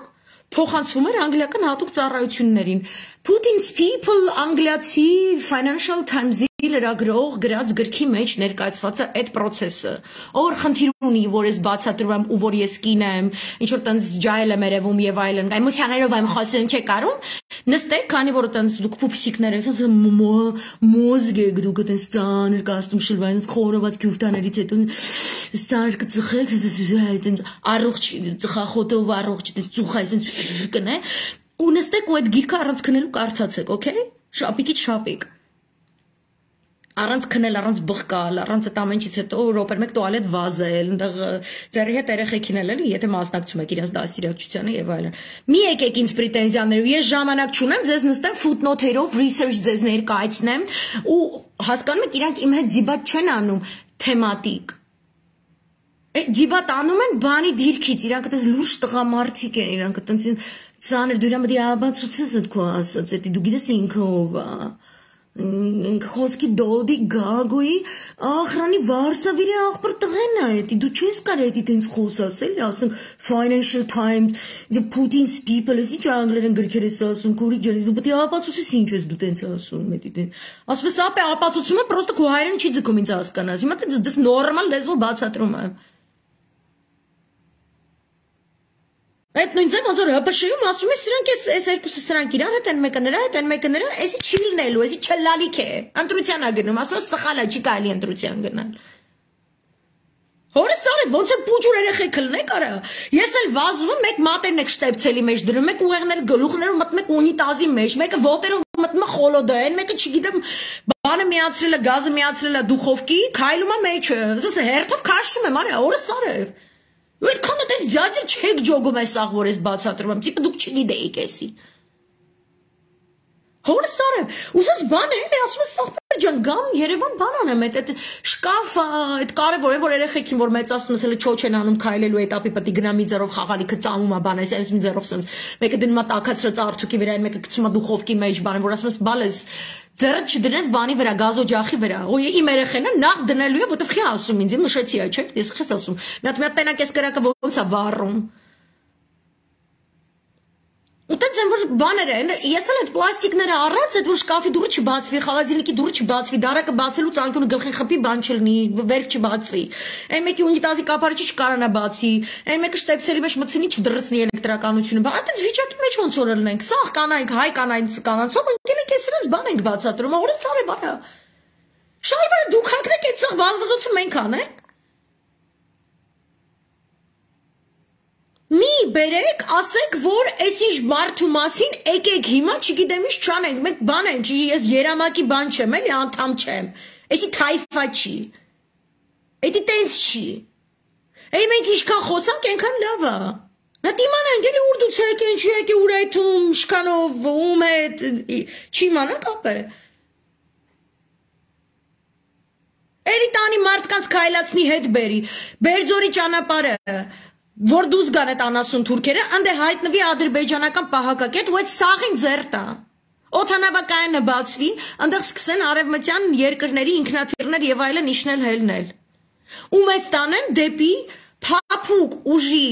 փոխանցվում էր անգլիական հատուկ ծառայություններին։ Putin's People անգլիացի Financial Times-ի լրագրող գրած գրքի մեջ ներկայացված է այդ process-ը։ Ով խնդիր ունի, որ ես բացատրում եմ ու որ ես կին եմ, ինչ որ տենց ջայլ եմ երևում եւ այլն, էմոցիաներով եմ խոսում, չէ՞ կարում։ Նստեք, քանի որ տենց դուք փուփսիկներ եք, մոզգ եք դուք տենց ծանր կաստում շլվայից խորոված քյուֆտաներից հետո ստար կծխեք, տենց առողջ ծխախոտով առողջ տենց ծուխայ, տենց կնե։ Ու նստեք ու այդ գիրքը առանց քնելու կարդացեք, օքեյ։ Շապիկից շապիկ։ Առանց քնել, առանց բղկալ, առանց այդ ամենից հետո րոպեր մեկ տուալետ վազել, այնտեղ ձերի հետ երեխեքին էլ էլի, եթե մասնակցում եք իրենց դասիրակչությանը եւ այլն։ Մի եկեք ինձ պրետենզիաներով, ես ժամանակ չունեմ, ձեզ նստեմ footnote-երով research ձեզ ներկայացնեմ ու հասկանում եք իրանք իմ հետ դիբատ չեն անում թեմատիկ։ Դիբատ անում են բանի դիրքից, իրանք այդպես լուրջ տղամարդիկ են, իրանք այդպես ծանր դու իրան պետք է աբացուցես այդ քո ասած, էդի դու գիտես ինքը ով է։ Խոսքի դոդի գագոյի ախրանի վարսավիրի աղբր տղեն է, էդի դու չես կարող էդի տենց խոսաս էլի, ասենք Financial Times, Putin's People, ես ինչ անգլերեն գրքեր ես ասում, քուրի ջան, դու պետք է ապացուցես ինչ ես դու տենց ասում, էդի տենց։ Ասում ես ապե ապացուցումը պրոստը քո հայրեն չի ձգում ինձ հասկանաս։ Հիմա դες նորմալ լեզվով բացատրում եմ։ Այդ նույն ձև ոնց որ հպշ-ում ասում ես սրանք էս երկուսը սրանք իրար հետ են մեկը նրա հետ են մեկը նրա, էսի չի լինելու, էսի չլալիք է։ Ընտրության է գնում, ասում ես սխալ է, չի կարելի ընտրության գնալ։ Հորս արդ ոնց է պուջուր երեխեք լնեք արա։ Ես էլ վազում եմ, մեկ մատերն եք շտեպցելի մեջ դրում, մեկ ուղեղներ գլուխներով մտնում եք ունիտազի մեջ, մեկը ոտերով մտնում է խոլոդային, մեկը չգիտեմ բանը միացրել է, գազը միացրել է դուխովկի, քայլում է մեջը։ Ես հերթով քաշում եմ, արա, հորս արև։ Ու այդքան այդպես ձյաձեր չեք ջոգում այս աղ, որ ես բացատրում եմ, տիպը դուք չգիտեիք էսի։ Հորս արև, ուզես բան է, էլի ասում ես աղբեր ջան, գամ Երևան բան անեմ, այդ շկաֆը, այդ կարևոր է, որ երեխեքին, որ մեծացնում ես հələ չոչ են անում քայլելու էտապի պետք է գնա մի ձեռով խաղալիքը ծամում է բան, այս մի ձեռով սենց, մեկը դնում է տաքացրած արթուկի վրա, մեկը գցում է դուխովկի մեջ բան, որ ասում ես բալես ձեռդ չդնես բանի վրա, գազօջախի վրա, ու իմ երեխենը նախ դնելու է, որտեվ խի ասում ինձ, մշեցի է, չէ՞, ես խես ասում, մի հատ մի հատ տենակ ես կրակը ոնց է վառում։ Ուտենց են որ բաներ են, ես էլ այդ պլաստիկները առած, այդ որ շկաֆի դուրը չբացվի, խաղադինիկի դուրը չբացվի, դարակը բացելուց անկյունը գլխին խփի բան չլինի, վերք չբացվի։ Այն մեկի ունիտազի կապարիչը չկարանա բացի, այն մեկը շտեպսելի մեջ մտցնի չդրծնի էլեկտրականությունը, բա այդպես վիճակի մեջ ոնց որ լինենք, սաղ կանայք, հայ կանայք կանանցով ընկել եք ես իրենց բան ենք բացատրում, օրս արև արա։ Շարվարը դուք հակրեք այդ սաղ վազվզոցում մենք անենք։ Մի բերեք, ասեք, որ այս ինչ մարդու մասին եկեք հիմա, չգիտեմ ինչ չանենք, մենք բան ենք, ես երամակի բան չեմ, էլի անդամ չեմ, էսի թայֆա չի, էդի տենց չի, էի մենք ինչքան խոսանք, ենքան լավ է, նատ իմանանք, էլի ուրդուց եք, ինչ եք է ուր այդում, շկանով, ում հետ, չի իմանանք ապ է, էլի տանի մարդկանց կայլացնի հետ բերի, բերձորի ճանապարը, որ դուզ գան այդ անասուն թուրքերը, անդե հայտնվի ադրբեջանական պահակակետ, ու այդ սաղին ձերտա, օթանավակայանը բացվի, անդեղ սկսեն արևմտյան երկրների ինքնաթիռներ եւ այլն իջնել հելնել, ու մեզ տանեն դեպի փափուկ ուժի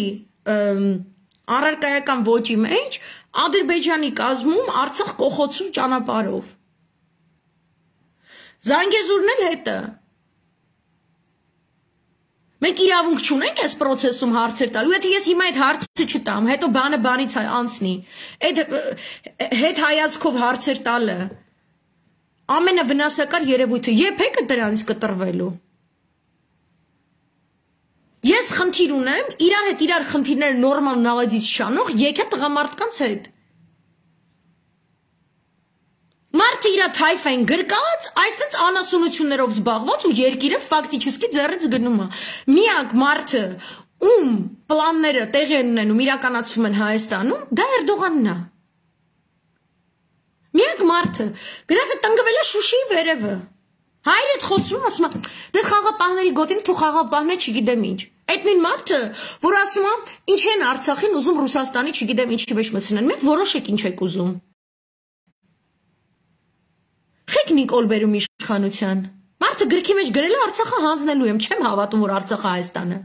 առարկայական ոճի մեջ, Ադրբեջանի կազմում Արցախ կողոցու ճանապարհով, Զանգեզուրն էլ հետը, մենք իրավունք չունենք այս պրոցեսում հարցեր տալու, եթե ես հիմա այդ հարցը չտամ, հետո բանը բանից անցնի, այդ հետ հայացքով հարցեր տալը, ամենավնասակար երևույթը, եփեք է դրանից կտրվելու։ Ես խնդիր ունեմ, իրար հետ իրար խնդիրները նորմալ նավազից շանող, եկե տղամարդկանց հետ։ Մարդ Մարդը իր թայֆային գրկած, այսպես անասունություններով զբաղված ու երկիրը ֆակտիչեսկի ձեռից գնում է։ Միակ մարդը, ում պլանները տեղի են ունենում, իրականացվում են Հայաստանում, դա Էրդողանն է։ Միակ մարդը, գնաց է տնկվել է Շուշիի վերևը։ Հայրդ խոսում ասում է, դե խաղապահների գոտին թու խաղապահներ չգիտեմ ինչ։ Այդ նույն մարդը, որ ասում է, ինչ են Արցախին ուզում Ռուսաստանի չգիտեմ ինչի մեջ մտցնեն, մենք որոշեք ինչ եք ուզում։ Խեք Նիկոլ բերում իշխանության։ Մարդը գրքի մեջ գրել է Արցախը հանձնելու եմ, չեմ հավատում, որ Արցախը Հայաստանը։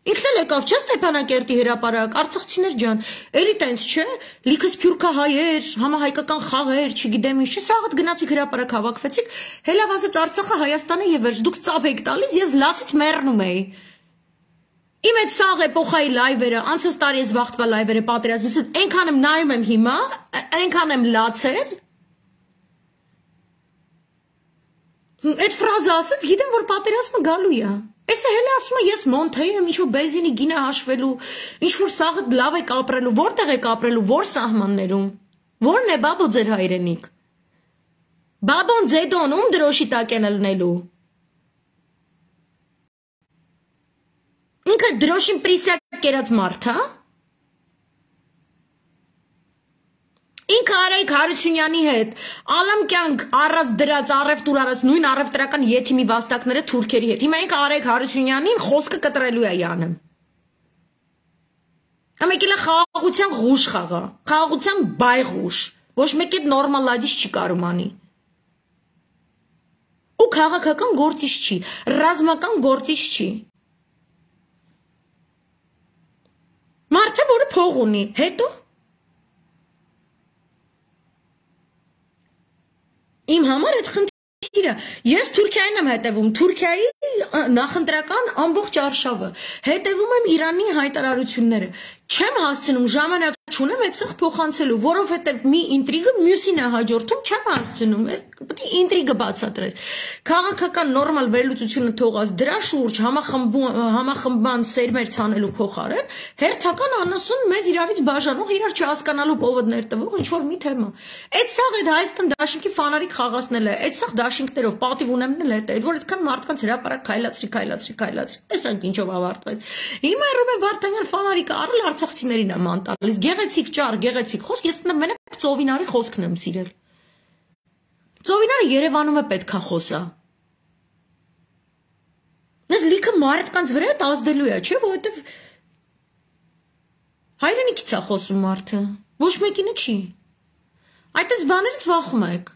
Ինքն էլ եկավ չէ Ստեփանակերտի հրապարակ, արցախցիներ ջան, էլի տենց չէ, լիքը սփյուռքահայեր, համահայկական խաղեր, չգիտեմ ինչ, սաղդ գնացիք հրապարակ հավաքվեցիք, հելավ ասեց Արցախը Հայաստանը եւ վերջ, դուք ծափ եք տալիս, ես լացից մեռնում էի։ Իմ այդ սաղ էպոխայի լայվերը, անցած տարի ես վախտվա լայվերը պատերազմից, այնքան եմ նայում եմ հիմա, այնքան եմ լացել։ Այդ ֆրազը ասած, գիտեմ, որ պատերազմը գալու է։ Էսը հելը ասում է, ես Մոնթեյ եմ, ինչ-որ բենզինի գինը հաշվելու, ինչ-որ սաղը լավ եք ապրելու, որտեղ եք ապրելու, որ սահմաններում, որն է բաբո ձեր հայրենիք, բաբոն ձեդոն, ում դրոշի տակ են լնելու, ինքը դրոշին պրիսյակ կերած մարդ, հա? Ինքը Արայիկ Հարությունյանի հետ ալամ կյանք առած դրած առևտուր արած նույն առևտրական եթիմի վաստակները թուրքերի հետ։ Հիմա ինքը Արայիկ Հարությունյանին խոսքը կտրելու է յանում։ Ամեկիլը խաղաղության ղուշ խաղա, խաղաղության բայղուշ, ոչ մեկ այդ նորմալադից չի կարում անի։ Ու քաղաքական գործիչ չի, ռազմական գործիչ չի։ Մարդը, որը փող ունի, հետո Իմ համար այդ խնդիրը, ես Թուրքիային եմ հետևում, Թուրքիայի նախընտրական ամբողջ արշավը, հետևում եմ Իրանի հայտարարությունները, չեմ հասցնում ժամանակ չունեմ այդ սխ փոխանցելու, որովհետև մի ինտրիգը մյուսին է հաջորդում, չեմ հասցնում, պետք է ինտրիգը բացատրես։ Քաղաքական նորմալ վերլուծությունը թողած դրա շուրջ համախմբման սերմեր ցանելու փոխարեն, հերթական անասուն մեզ իրարից բաժանող, իրար չհասկանալու պովոդներ տվող ինչ որ մի թեմա։ Այդ սաղ այդ Հայաստան դաշինքի ֆանարիկ խաղացնել է, այդ սաղ դաշինքներով պատիվ ունեմնել է, այդ որ այդքան մարդկանց հրապարակ քայլացրի, քայլացրի, քայլացրի։ Տեսանք ինչով ավարտվեց։ Հիմա Ռուբեն Վարդանյան ֆանարիկը առել արցախցիներին է ման տալիս, գեղեցիկ ճար, գեղեցիկ խոսք, ես մենակ Ծովինարի խոսքն եմ սիրել։ Ծովինարը Երևանում է պետքա խոսա։ Ես լիքը մարդկանց վրա ազդելու է, չէ՞, որովհետև հայրենիքից է խոսում մարդը, ոչ մեկինը չի։ Այդպես բաներից վախում եք։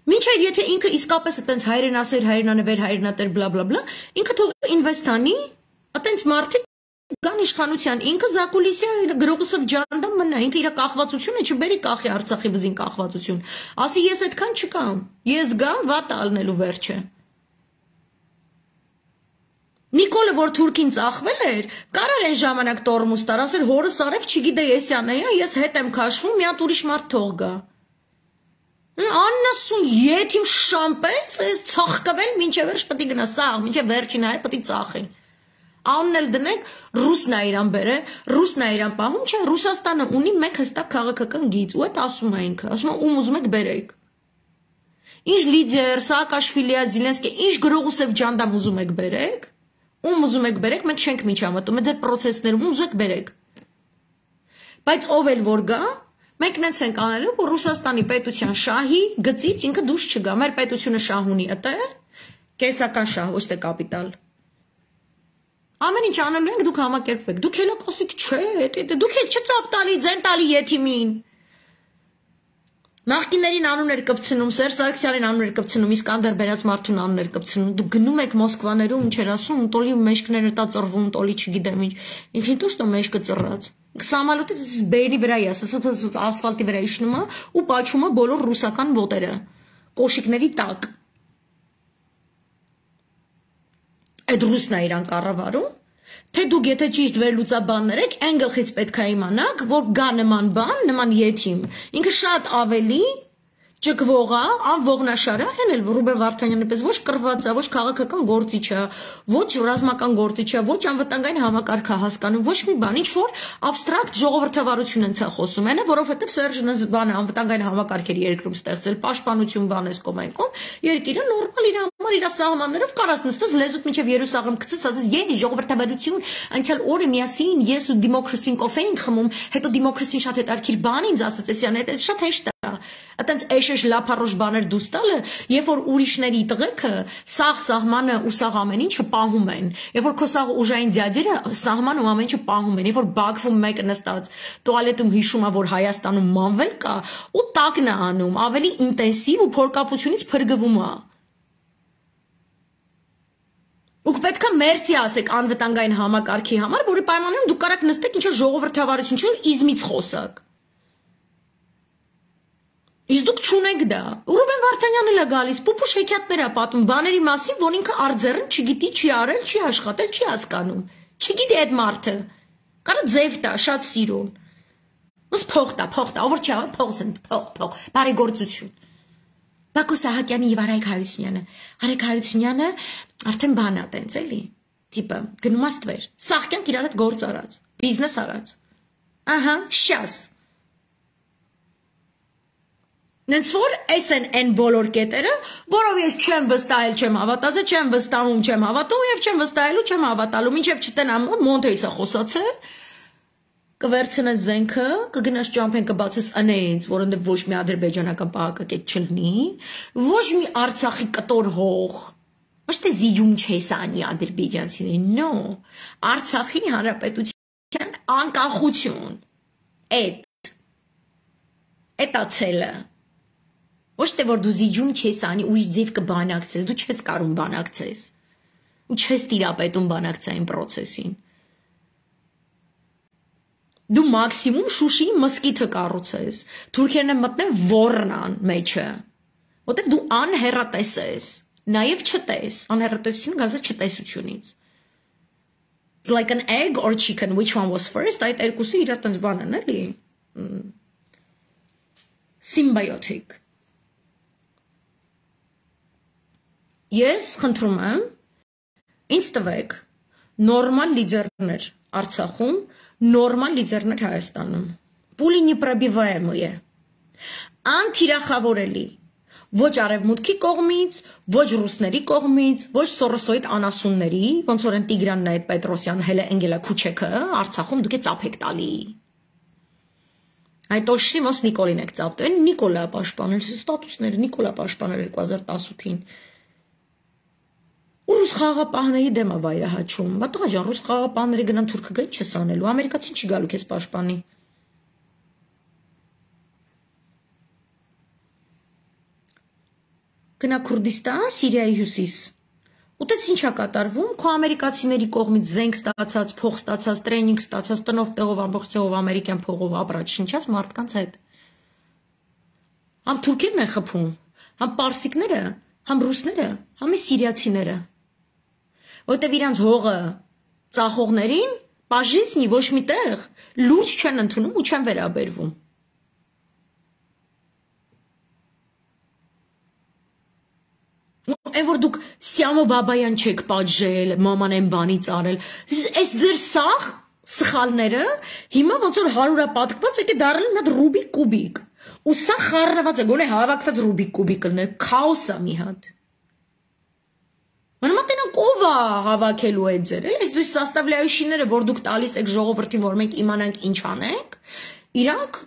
Մինչև եթե ինքը իսկապես այտենց հայրենասեր, հայրենանվեր, հայրենատեր, բլա բլա բլա, ինքը թող ինվեստ անի, այտենց մարդիկ Կան իշխանության, ինքը Զակուլիսյա գրողուսով ջանդամ մնա, ինքը իր կախվածությունը չբերի կախի Արցախի վզին կախվածություն, ասի ես այդքան չկամ, ես գամ վատ ալնելու վերջը։ Նիկոլը, որ թուրքին ծախվել էր, կարար այս ժամանակ տորմուս տար, ասեր հորս արև չգիտե եսյան է, ես հետ եմ քաշվում, մի հատ ուրիշ մարդ թող գա։ Աննասուն եթիմ շամպես, ծախկվել, մինչև վերջ պտի գնա, սաղ, մինչև վերջին հայ պտի ծախի։ Անն էլ դնենք ռուսն է իրան բերը, ռուսն է իրան պահում, չէ, Ռուսաստանը ունի մեկ հստակ քաղաքական գիծ, ու այդ ասում է ինքը, ասում է ում ուզում եք բերեք։ Ինչ լիդեր, Սաակաշվիլիա, Զիլենսկի, ինչ գրողուսև ջանդամ ուզում եք բերեք, ում ուզում եք բերեք, մենք չենք միջամտում, այդ պրոցեսներում ուզում եք բերեք։ Բայց ով էլ որ գա, մենք նենց ենք անելու, որ Ռուսաստանի պետության շահի գծից ինքը դուրս չգա, մեր պետությունը շահ ունի ըտե, կեսական շահ, ոչ թե կապիտալ։ Ամեն ինչ անելու ենք, դուք համակերպվեք, դուք հելա կասիք, չէ, դուք եք չծապ տալի, ձեն տալի եթիմին։ Նախկիներին անուններ կպցնում, Սերժ Սարգսյանին անուններ կպցնում, Իսկանդար բերած մարդուն անուններ կպցնում, դուք գնում եք Մոսկվաներում, ինչ էր ասում, տոլի մեջքները տա ծռվում, տոլի չգիտեմ ինչ, ինքնին տուշ տո մեջքը ծռած։ Սամալոտից բերի վրա է, ասֆալտի վրա իջնում է ու պաչում է բոլոր ռուսական ոտերը, կոշիկների տակ։ Այդ ռուսն է իրան կառավարում, թե դուք եթե ճիշտ վերլուծաբաններ եք, այն գլխից պետք է իմանաք, որ գա նման բան, նման եթիմ, ինքը շատ ավելի Ճկվողա, անողնաշարը, հեն էլ Ռուբեն Վարդանյանը պես ոչ կռված է, ոչ քաղաքական գործիչ է, ոչ ռազմական գործիչ է, ոչ անվտանգային համակարգ է հասկանում, ոչ մի բան, ինչ որ абստրակտ ժողովրդավարություն են ցա խոսում, այնը, որովհետև Սերժն բանը անվտանգային համակարգերի երկրում ստեղծել, պաշտպանություն բանես կոմայքով, երկիրը նորմալ իր համար իր սահմաններով կարաս նստես լեզուդ միջև երուսաղեմ գցես, ասես ելի ժողովրդավարություն, այնցալ օրը միասին ես ու դեմոկրասին կոֆե ենք խմում, հետո դեմոկրասին շատ հետաքրքիր բան ինձ ասաց, էսյան հետ շատ հեշտ է։ Այտենց էշեշ լափարոշ բաներ դուս տալը, երբ որ ուրիշների տղեկը սաղ սահմանը ու սաղ ամեն ինչը պահում են, երբ որ քո սաղ ուժային ձյաձերը սահմանը ու ամեն ինչը պահում են, երբ որ Բաքվում մեկը նստած տուալետում հիշում է, որ Հայաստանում մանվել կա, ու տակն է անում, ավելի ինտենսիվ ու փորկապությունից փրկվում է։ Ուք պետք է մերսի ասեք անվտանգային համակարգի համար, որի պայմաններում դուք կարաք նստեք ինչ-որ ժողովրդավարություն, ինչ-որ իզմից խոսակ։ Իսկ դուք չունեք դա։ Ռուբեն Վարդանյանն էլ է գալիս, պուպուշ հեքիաթներ է պատմում բաների մասին, որ ինքը արձեռն չգիտի, չի արել, չի աշխատել, չի հասկանում։ Չգիտի այդ մարդը։ Կարա ձև տա, շատ սիրուն։ Ոնց փող տա, փող տա, ով չի աղա, փող զնդ, փող, փող, բարեգործություն։ Բակո Սահակյանի եւ Արայք Հարությունյանը։ Արայք Հարությունյանը արդեն բան է տենց էլի։ Տիպը գնում աստվեր։ Սահկյանք իրար հետ գործ արած, բիզնես արած։ Ահա, շաս։ Նենց որ այս են այն բոլոր կետերը, որով ես չեմ վստահել, չեմ հավատացել, չեմ վստահում, չեմ հավատում եւ չեմ վստահելու, չեմ հավատալու, մինչեւ չտնամ Մոնտեյսը խոսացել, կվերցնես զենքը, կգնաս ճամփեն կբացես անենց, որոնց ոչ մի ադրբեջանական պահակակետ չլինի, ոչ մի Արցախի կտոր հող, ոչ թե զիջում չես անի ադրբեջանցիներին, նո, Արցախի հանրապետության անկախություն, այդ, այդ ացելը, ոչ թե որ դու զիջում չես անի, ուրիշ ձև կբանակցես, դու չես կարում բանակցես, ու չես տիրապետում բանակցային պրոցեսին, դու մաքսիմում Շուշիի մսկիթը կառուցես, թուրքերն են մտնեն Ոռնան մեջը, որտեղ դու անհեռատես ես, նաև չտես, անհեռատեսությունը գալիս է չտեսությունից։ It's like an egg or chicken, which one was first, այդ երկուսը իրար տենց բան են, էլի։ Symbiotic։ Ես խնդրում եմ, ինձ տվեք նորմալ լիդերներ Արցախում, նորմալ լիդերներ Հայաստանում, պուլի непробиваемые, անթիրախավորելի, ոչ արևմուտքի կողմից, ոչ ռուսների կողմից, ոչ Սորոսոյիդ անասունների, ոնց որ են Տիգրանն այդ Պետրոսյան, հելը Էնգելա Քուչեքը, Արցախում դուք է ծափեք տալի։ Այդ օշի ոնց Նիկոլին եք ծափել, Նիկոլա պաշտպանել, ստատուսները Նիկոլա պաշտպանել երկու հազար տասութին։ Ու ռուս խաղապահների դեմ է վայրահաչում, բա տղա ջան, ռուս խաղապահները գնան թուրքը գա չես անելու, ամերիկացին չի գալու քեզ պաշտպանի։ Գնա Քուրդիստան, Սիրիայի հյուսիս։ Ուտես ինչ է կատարվում, քո ամերիկացիների կողմից զենք ստացած, փող ստացած, տրեյնինգ ստացած, տնով տեղով ամբողջ տեղով ամերիկյան փողով ապրած շնչած մարդկանց հետ։ Համ թուրքերն են խփում, համ պարսիկները, համ ռուսները, համ սիրիացիները։ Որտեւ իրանց հողը ծախողներին բաժինի ոչ մի տեղ լուրջ չեն ընդունում ու չեն վերաբերվում։ Այն որ դուք Սյամո Բաբայան չեք պատժել, մաման են բանից արել, այս ձեր սաղ սխալները հիմա ոնց որ հարյուրապատկված եկե դառել մի հատ Ռուբիկ կուբիկ։ Ու սա խառնված է, գոնե հավաքված Ռուբիկ կուբիկ լներ, քաոս է մի հատ։ Մանավանդ տենակ ով է հավաքելու այդ ձեր, էլի, այս դու սաստավլյայությունները, որ դուք տալիս եք ժողովրդին, որ մենք իմանանք ինչ անենք, իրանք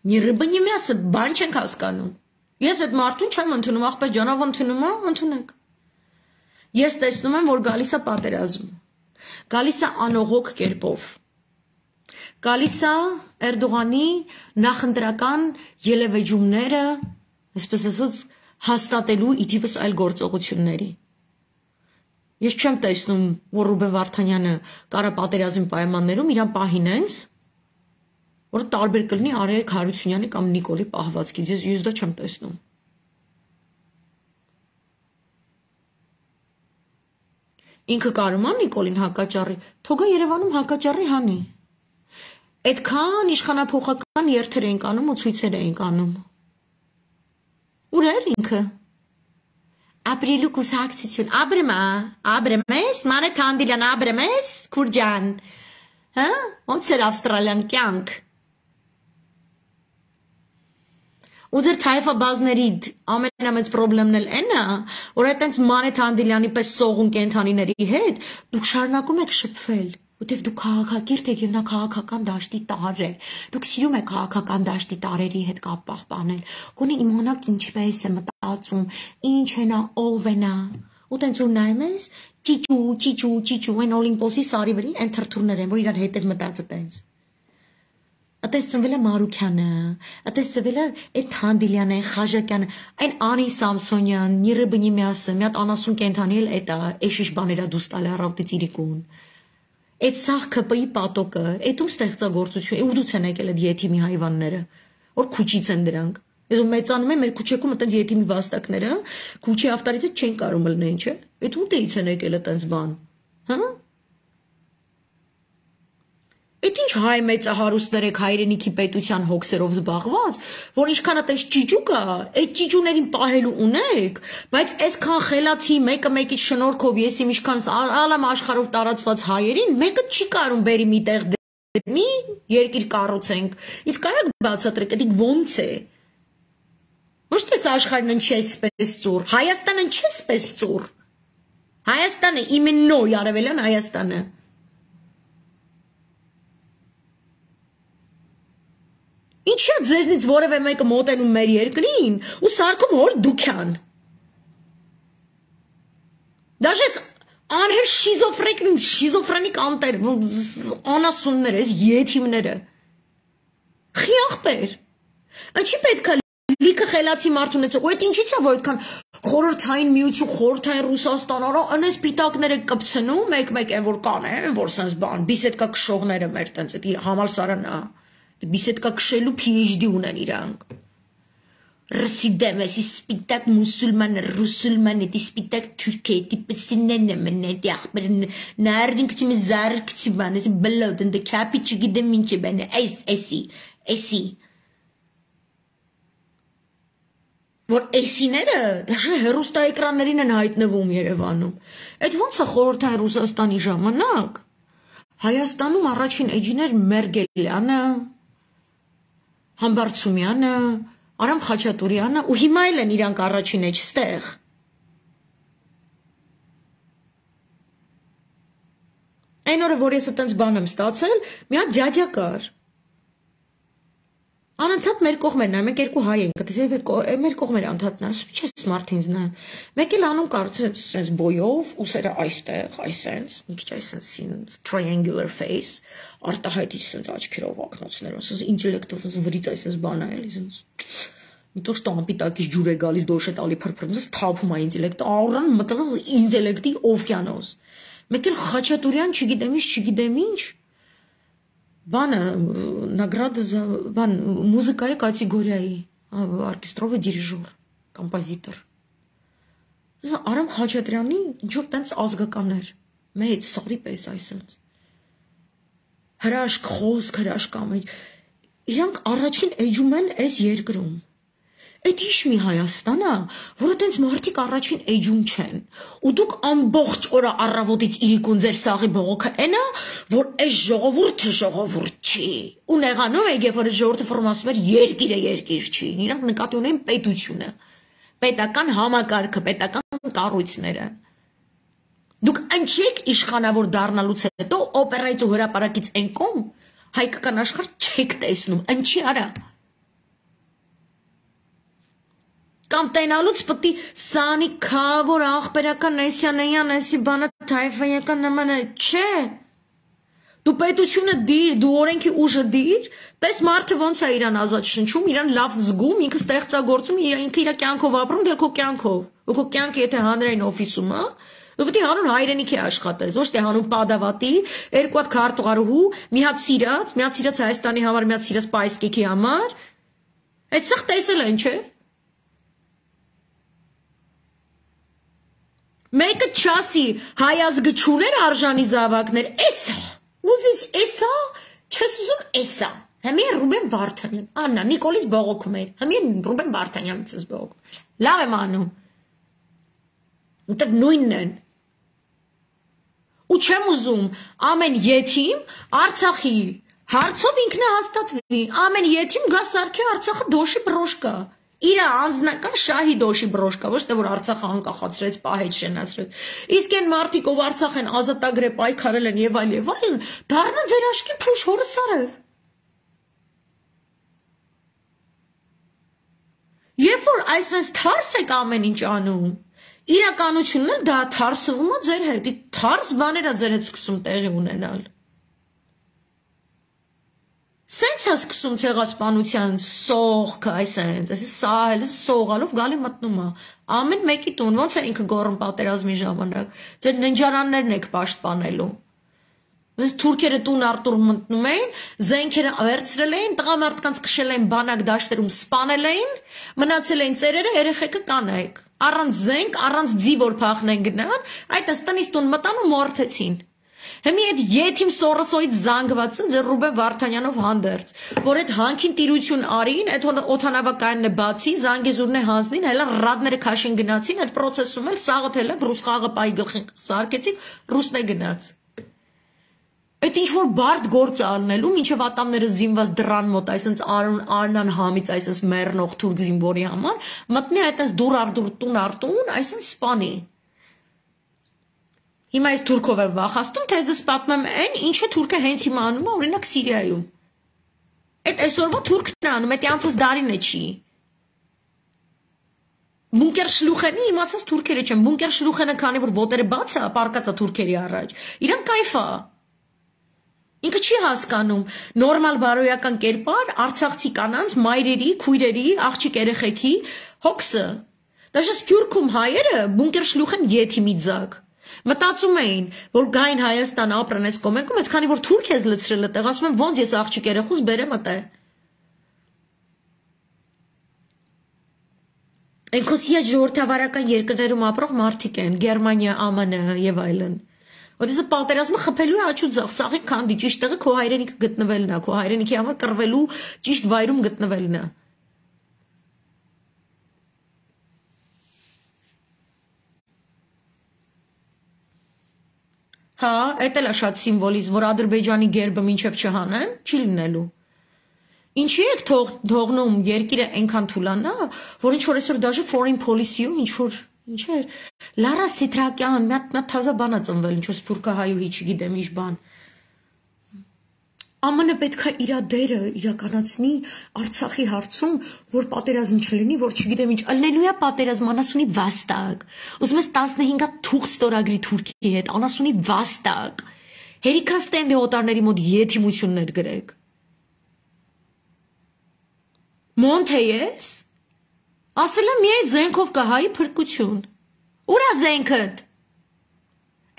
Ни рыба, ни мясо, բան չենք հասկանում։ Ես այդ մարդուն չեմ ընդունում, աղբեր ջանով ընդունում եմ, ընդունեք։ Ես տեսնում եմ, որ գալիս է պատերազմ։ Գալիս է անողոք կերպով։ Գալիս է Էրդողանի նախընտրական ելևեջումները, այսպես ասած, հաստատելու իթիվս այլ գործողությունների։ Ես չեմ տեսնում, որ Ռուբեն Վարդանյանը կարա պատերազմի պայմաններում իրան պահին հենց որ տարբեր կլինի Արայք Հարությունյանի կամ Նիկոլի պահվածքից, ես ես դա չեմ տեսնում։ Ինքը կարում է Նիկոլին հակաճառի, թողա Երևանում հակաճառի հանի։ Այդքան իշխանափոխական երթեր ենք անում ու ցույցեր ենք անում։ Ուր էր ինքը։ Ապրիլու կուսակցություն, ապրում է, ապրում ես, Մանե Թանդիլյան, ապրում ես, Քուրջան, հա, ոնց էր ավստրալյան կյանք։ Ու ձեր թայֆաբազների ամենամեծ պրոբլեմն էլ այն է, որ այտենց Մանե Թանդիլյանի պես սողուն կենթանիների հետ դուք շարունակում եք շփվել, որտեվ դուք քաղաքակիրթ եք եւ նա քաղաքական դաշտի տարր է։ Դուք սիրում եք քաղաքական դաշտի տարերի հետ կապ պահպանել։ Գոնե իմանաք ինչպես է մտածում, ինչ է նա, ով է նա։ Ու տենց որ նայում ես, ճիճու, ճիճու, ճիճու, այն Օլիմպոսի սարի վրի այն թրթուրներ են, որ իրար հետև մտածը տենց։ Ատես ծնվել է Մարուքյանը, ատես ծնվել է այդ Թանդիլյանը, Խաժակյանը, այն Անի Սամսոնյան, Նիրը Բնիմյասը, մի հատ անասուն կենթանի էլ էտա, էշիշ բաներա դուս տալի առավոտից իրիկուն։ Այդ սաղ ՔՊ-ի պատոկը, այդում ստեղծագործություն, ու դուց են եկել այդ եթիմի հայվանները, որ քուչից են դրանք։ Ես ու մեծանում եմ մեր քուչեքում այտենց եթիմի վաստակները, քուչի ավտարից չեն կարող մլնեն, չէ։ Այդ ուտեից են եկել այտենց բան։ Հա։ Այդ ինչ հայ մեծահարուստներ եք հայրենիքի պետության հոգսերով զբաղված, որ ինչքան այտենց ճիճու կա, այդ ճիճուներին պահելու ունեք, բայց այսքան խելացի մեկը մեկից շնորհքով ես իմ ինչքան ալամ աշխարհով տարածված հայերին, մեկը չի կարում բերի մի տեղ դեպի երկիր կառուցենք։ Իսկ կարեք բացատրեք, դա ոնց է։ Ոչ թե աշխարհն ինչի է սպես ծուր, Հայաստանը ինչի է սպես ծուր։ Հայաստանը իմեննո Արևելյան Հայաստանը։ Ինչի՞ է ձեզնից որևէ մեկը մոտենում մեր երկրին ու սարքում հոր դուքյան։ Դաժե անհեր շիզոֆրենիկ, շիզոֆրենիկ անտեր, անասուններ, այս եթիմները։ Խիախպեր։ Ինչի պետք է լիքը խելացի մարդ ունեցող, ու այդ ինչից է որ այդքան խորհրդային միություն, խորհրդային Ռուսաստան, արա անես պիտակները կպցնում, մեկ-մեկ են որ կան, են որ sense բան, բիսեդկա քշողները մեր տենց, դա համալսարանն է։ Բիսեդկա քշելու PhD ունեն իրանք։ Ռուսիդեմ, էսի սպիտակ մուսուլման, ռուսուլման, էդի սպիտակ թուրք է, էդի պստինեն է մնե, էդի ախպեր նարդին կցի մի զար կցի բան, էսի բլոդ, ընդը կապի չգիտեմ ինչ է բան, էս, էսի, էսի։ Որ էսիները դաշը հեռուստա էկրաններին են հայտնվում Երևանում։ Այդ ոնց է խորհրդային Ռուսաստանի ժամանակ։ Հայաստանում առաջին էջին էր Մերգելյանը, Համբարձումյանը, Արամ Խաչատուրյանը ու հիմա էլ են իրանք առաջին էջ ստեղ։ Այն օրը որ ես այտենց բան եմ ստացել, մի հատ դյադյա կար։ Անընդհատ մեր կողմերն է, մենք երկու հայ ենք, մեր կողմերը անդհատ նա, չես մարդինց նա։ Մեկ էլ անում կարծես sense բոյով, ուսերը այստեղ, այսենց, մի քիչ այսենց triangular face, արտահայտիչ sense աչքերով ակնոցներով, sense ինտելեկտով, sense վրից այսենց բան է, էլի sense մի то что անպիտակից ջուր է գալիս դոշ է տալի փրփրում, sense թափում է ինտելեկտը, աուրան մտղս ինտելեկտի օվկիանոս։ Մեկ էլ Խաչատուրյան, չգիտեմ ինչ, չգիտեմ ինչ Բանը, նագրադը, բան, մուզիկայի կատեգորիայի, օրկեստրովը դիրիժոր, կոմպոզիտոր։ Արամ Խաչատրյանի ինչ-որ տենց ազգական էր, մեծ, սարի պես այսենց։ Հրաշք, խոսք, հրաշք ամեջ։ Իրանք առաջին էջում են այս երկրում։ Այդ ինչ մի Հայաստան է, որը տենց մարդիկ առաջին էջում չեն։ Ու դուք ամբողջ օրը առավոտից իրիկուն ձեր սաղի բողոքը այն է, որ այս ժողովուրդը ժողովուրդ չի։ Ու նեղանում եք, երբ որ ժողովուրդը ֆորում ասում էր երկիրը երկիր չի։ Իրանք նկատի ունեն պետությունը, պետական համակարգը, պետական կառույցները։ Դուք ընչեք իշխանավոր դառնալուց հետո օպերայից ու հրապարակից են կողմ հայկական աշխարհ չեք տեսնում, ընչի արա։ Կամ տենալուց պտի սանի քավոր աղբերական էսյանեյան էսի բանը թայֆայական նմանը չէ։ Դու պետությունը դիր, դու օրենքի ուժը դիր, տես մարդը ոնց է իրան ազատ շնչում, իրան լավ զգում, ինքը ստեղծագործում, ինքը իր կյանքով ապրում, դե քո կյանքով։ Ու քո կյանքը եթե հանրային օֆիսում է, դու պետք է հանուն հայրենիքի աշխատես, ոչ թե հանուն падավատի, երկու հատ քարտուղարուհու, մի հատ սիրած, մի հատ սիրած Հայաստանի համար, մի հատ սիրած պայսկեքի համար։ Այդ սա տեսել են, չէ։ Մեկը չասի հայազգը չուներ արժանի զավակներ, էսա, ուզիս էսա, Չես ուզում էսա։ Հիմա Ռուբեն Վարդանյան, Աննա Նիկոլից բողոքում էր։ Հիմա Ռուբեն Վարդանյանից ես բողոքում։ Լավ եմ անում։ Ուտեղ նույնն են։ Ու չեմ ուզում ամեն յեթիմ Արցախի հարցով ինքնահաստատվի, ամեն յեթիմ գա սարքի Արցախը դոշի բրոշկա։ Իր անձնական շահի դոշի բրոշկա, ոչ թե որ Արցախը անկախացրեց, պահեց, շենացրեց։ Իսկ այն մարդիկ, ով Արցախ են ազատագրել, պայքարել են եւ այլ եւ այլն, դառնա ձեր աշկի փուշ հորս արև։ Երբ որ այսպես թարս եք ամեն ինչ անում, իրականությունն էլ դա թարսվում է ձեր հետ, թարս բաներ է ձեր հետ սկսում տեղի ունենալ։ Սենց է սկսում ցեղասպանության սողքը, այսենց, այսպես սահել, սողալով գալի մտնում է։ Ամեն մեկի տուն, ոնց է ինքը գոռում պատերազմի ժամանակ, ձեր ննջարաններն եք պաշտպանելու։ Ձեզ թուրքերը տուն արտուր մտնում էին, զենքերը վերցրել էին, տղամարդկանց քշել էին բանակ դաշտերում սպանել էին, մնացել էին ծերերը, երեխեքը կանայք։ Առանց զենք, առանց ձի որ փախնեն գնան, այդ տնից տուն մտան ու մորթեցին։ Հիմա այդ յեթիմ սորոսոյից զանգվածը ձեր Ռուբեն Վարդանյանով հանդերձ, որ այդ հանքին տիրություն արին, այդ օթանավակայանն է բացի, զանգեզուրն է հանձնին, հելա ռադները քաշին գնացին, այդ process-ում էլ սաղը թելը ռուս խաղը պայի գլխին սարքեցին, ռուսն է գնաց։ Այդ ինչ որ բարդ գործ ալնելու, մինչև ատամները զինված դռան մոտ, այսպես Արնան համից, այսպես մեռնող թուրք զինվորի համար, մտնի այդպես դուր արդուր տուն արտուն, այսպես սպանի։ Հիմա այս թուրքով եմ վախացնում, թե ես պատմեմ այն, ինչը թուրքը հենց հիմա անում է, օրինակ Սիրիայում։ Այդ այսօրվա թուրքն է անում, այդ անցած դարին է չի։ Բունկեր շլուխենի իմացած թուրքերը չեն, բունկեր շլուխենը քանի որ ոտերը բաց է, պարկած է թուրքերի առաջ։ Իրան կայֆ է։ Ինքը չի հասկանում նորմալ բարոյական կերպար Արցախցի կանանց, մայրերի, քույրերի, աղջիկ երեխեքի հոգսը։ Դաշը Սփյուռքում հայերը բունկեր շլուխեն յեթիմի ձակ։ Մտածում էին, որ գային Հայաստան ապրեն այս կոմենքում, այս քանի որ թուրք ես լցրել այդտեղ, ասում եմ ոնց ես աղջիկ երեխուս բերեմ այդտեղ։ Ընկոսիա ժողովրդավարական երկրներում ապրող մարդիկ են, Գերմանիա, Α M N եւ այլն։ Որտեսը պատերազմը խփելու է աչու ձախ, սաղի քանդի, ճիշտ տեղը քո հայրենիքը գտնվելն է, քո հայրենիքի համար կռվելու ճիշտ վայրում գտնվելն է։ Հա, էդ էլ է շատ սիմվոլիզմ, որ Ադրբեջանի գերբը մինչև չհանեն, չի լինելու։ Ինչի եք թողնում երկիրը այնքան թուլանա, որ ինչ որ այսօր դաժե foreign policy-ում ինչ որ ինչ էր, Լարա Սեթրակյան, մի հատ թազա բան է ծնվել, ինչ որ սփյուռքահայուհի, չգիտեմ ինչ բան։ Á M N պետք է իր դերը իրականացնի Արցախի հարցում, որ պատերազմ չլինի, որ չգիտեմ ինչ, ալնելու է պատերազմ, անասունի վաստակ։ Ուզում ես տասնհինգ հատ թուղթ ստորագրի Թուրքիի հետ, անասունի վաստակ։ Հերիքան ստենդի օտարների մոտ յեթիմություններ գրեք։ Մոնթե ես ասել եմ միայն զենքով կհայի փրկություն։ Ուր է զենքդ։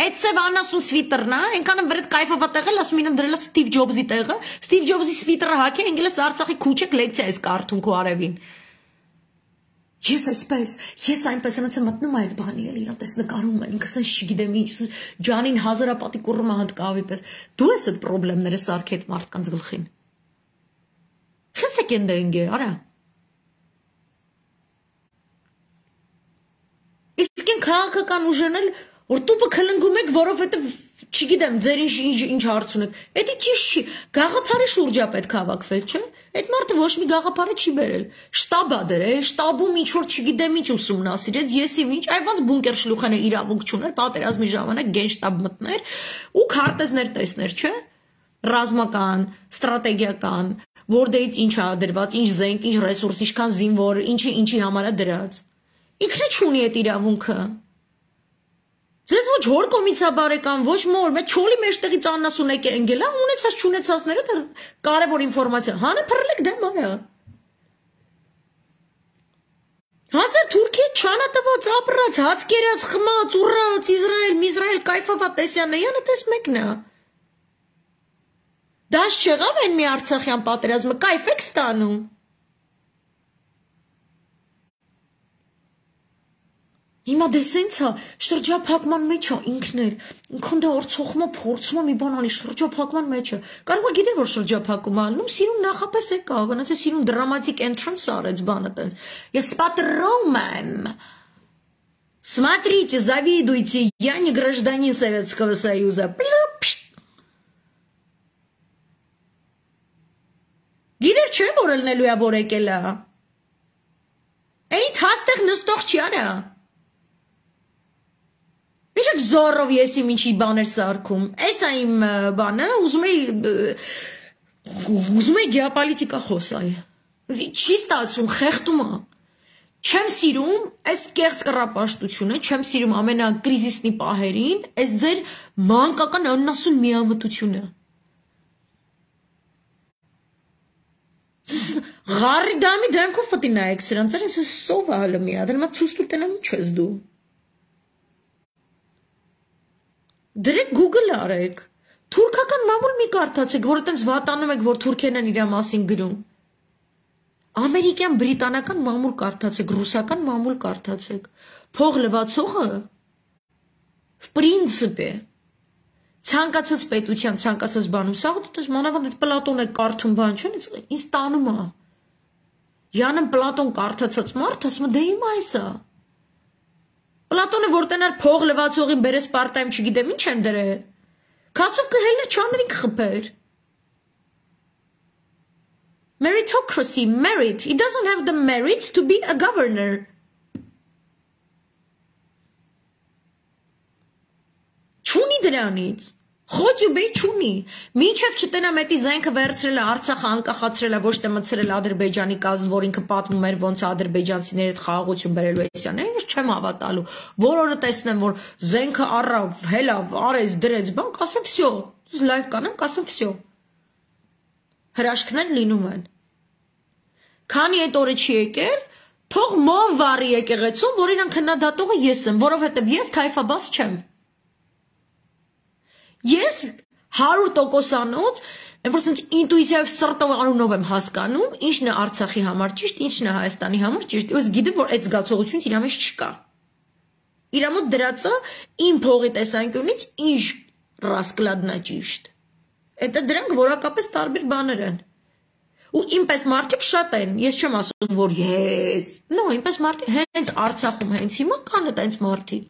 Այդ սև անասուն սվիտերն է, այնքան վրդ կայֆով տեղել, ասում ինեմ դրել Ստիվ Ջոբզի տեղը, Ստիվ Ջոբզի սվիտերը հագի, անգելես Արցախի քուչեք լեկցիա ես կարդում քո արևին։ Ես այսպես, ես այնպես եմ ասեմ մտնում այդ բանի էլ իրան տես նկարում են, ինքս ես չգիտեմ ինչ, ջանին հազարապատի կուռում հանդկավի պես։ Դու ես այդ խնդիրները սարքի այդ մարդկանց գլխին։ Խսեք են դենգե, արա։ Իսկ են քաղաքական ուժերն էլ որ տուպը քլնգում եք, որովհետև չգիտեմ, ձեր ինչ ինչ հարց ունեք։ Էդի ճիշտ չի, գաղափարի շուրջ է պետք հավաքվել, չէ՞։ Այդ մարդը ոչ մի գաղափարը չի բերել։ Շտաբ է դրել, շտաբում ինչ որ չգիտեմ ինչ ուսումնասիրեց, եսի ինչ, այ ոնց բունկեր շլուխանը իրավունք չուներ, պատերազմի ժամանակ գենշտաբ մտներ ու քարտեզներ տեսներ, չէ՞։ Ռազմական, ստրատեգիական, որտեղից ինչ է դրված, ինչ զենք, ինչ ռեսուրս, ինչքան զինվոր, ինչի ինչի համար է դրած։ Ինքնը չունի այդ իրավունքը։ Ձեզ ոչ հոր կոմից է բարեկամ, ոչ մոր, մեծ չոլի մեջտեղից աննասուն եք ընկել, ունեցած չունեցածները դա կարևոր ինֆորմացիա։ Հանը փռլեք դեմ արա։ Հազար Թուրքիա չանատված ապրած, հաց կերած, խմած, ուռած, Իսրայել, Միզրայել, կայֆավա տեսյանեյանը տես մեկն է։ Դաշ չեղավ են մի Արցախյան պատերազմը, կայֆ եք ստանում։ Հիմա դե սենց է, շրջափակման մեջ է ինքներ, ինքն դա օրցոխում է, փորձում է մի բան անի, շրջափակման մեջ է։ Կարող է գիտեր, որ шրջափակում է անում, սիրուն նախապես եկա, վնաս է սիրուն դրամատիկ entrance արեց բանը տենց։ Ես պատրում եմ։ Смотрите, завидуйте, я не гражданин Советского Союза. Գիտեր չէ, որ ելնելու է, որ եկել է։ Էնի թաստեղ նստող չի արա։ Միշտ զորով ես իմ ինչի բաներ սարքում։ Էս է իմ բանը, ուզում էի ուզում էի գեոպոլիտիկա խոսալ։ Չի ստացվում, խեղդում է։ Չեմ սիրում այս կեղծ կռապաշտությունը, չեմ սիրում ամենակրիզիսնի պահերին, այս ձեր մանկական աննասուն միամտությունը։ Ղարի դամի դրանքով պետք է նայեք սրանց, այս սով է հələ մի հատ, դրանք ցույց տուր տենամ ինչ ես դու։ Դրեք Google արեք, թուրքական մամուլ մի կարդացեք, որ այտենց վատանում եք, որ թուրքերն են իրա մասին գրում։ Ամերիկյան, բրիտանական մամուլ կարդացեք, ռուսական մամուլ կարդացեք, փող լվացողը, в принципе, ցանկացած պետության, ցանկացած բանում, սաղ դες մանավանդ այդ Պլատոն է կարդում բան չեն, ինձ տանում է։ Յանն Պլատոն կարդացած մարդ, ասում է, դե հիմա այս է։ Պլատոնը որ տենար փող լվացողին բերես part-time չգիտեմ ինչ են դրել։ Քացով կհելներ չաներին կխփեր։ Meritocracy, merit. He doesn't have the merit to be a governor. Չունի դրանից։ Խոճ ու բեյ չունի։ Մինչև չտենամ էտի զենքը վերցրել է, Արցախը անկախացրել է, ոչ թե մտցրել Ադրբեջանի կազմ, որ ինքը պատմում էր ոնց ադրբեջանցիների հետ խաղաղություն բերելու էսյան։ Ես չեմ հավատալու։ Որ օրը տեսնեմ, որ զենքը առավ, հելավ, արեց, դրեց, բան, կասեմ վсё։ Լայվ կանեմ, կասեմ վсё։ Հրաշքներ լինում են։ Քանի այդ օրը չի եկել, թող մոմ վառի եկեղեցում, որ իրան քննադատողը ես եմ, որովհետև ես թայֆաբաս չեմ։ Ես հարյուր տոկոսանոց, որ սենց ինտուիցիայով սրտով անունով եմ հասկանում, ինչն է Արցախի համար ճիշտ, ինչն է Հայաստանի համար ճիշտ, ես գիտեմ, որ այդ զգացողությունից իրա մեջ չկա։ Իրա մոտ դրածա իմ փողի տեսանկյունից ինչ ռասկլադնա ճիշտ։ Էտա դրանք որակապես տարբեր բաներ են։ Ու ինպես մարդիկ շատ են, ես չեմ ասում, որ ես, նո, ինպես մարդիկ հենց Արցախում հենց հիմա կան այդպես մարդիկ։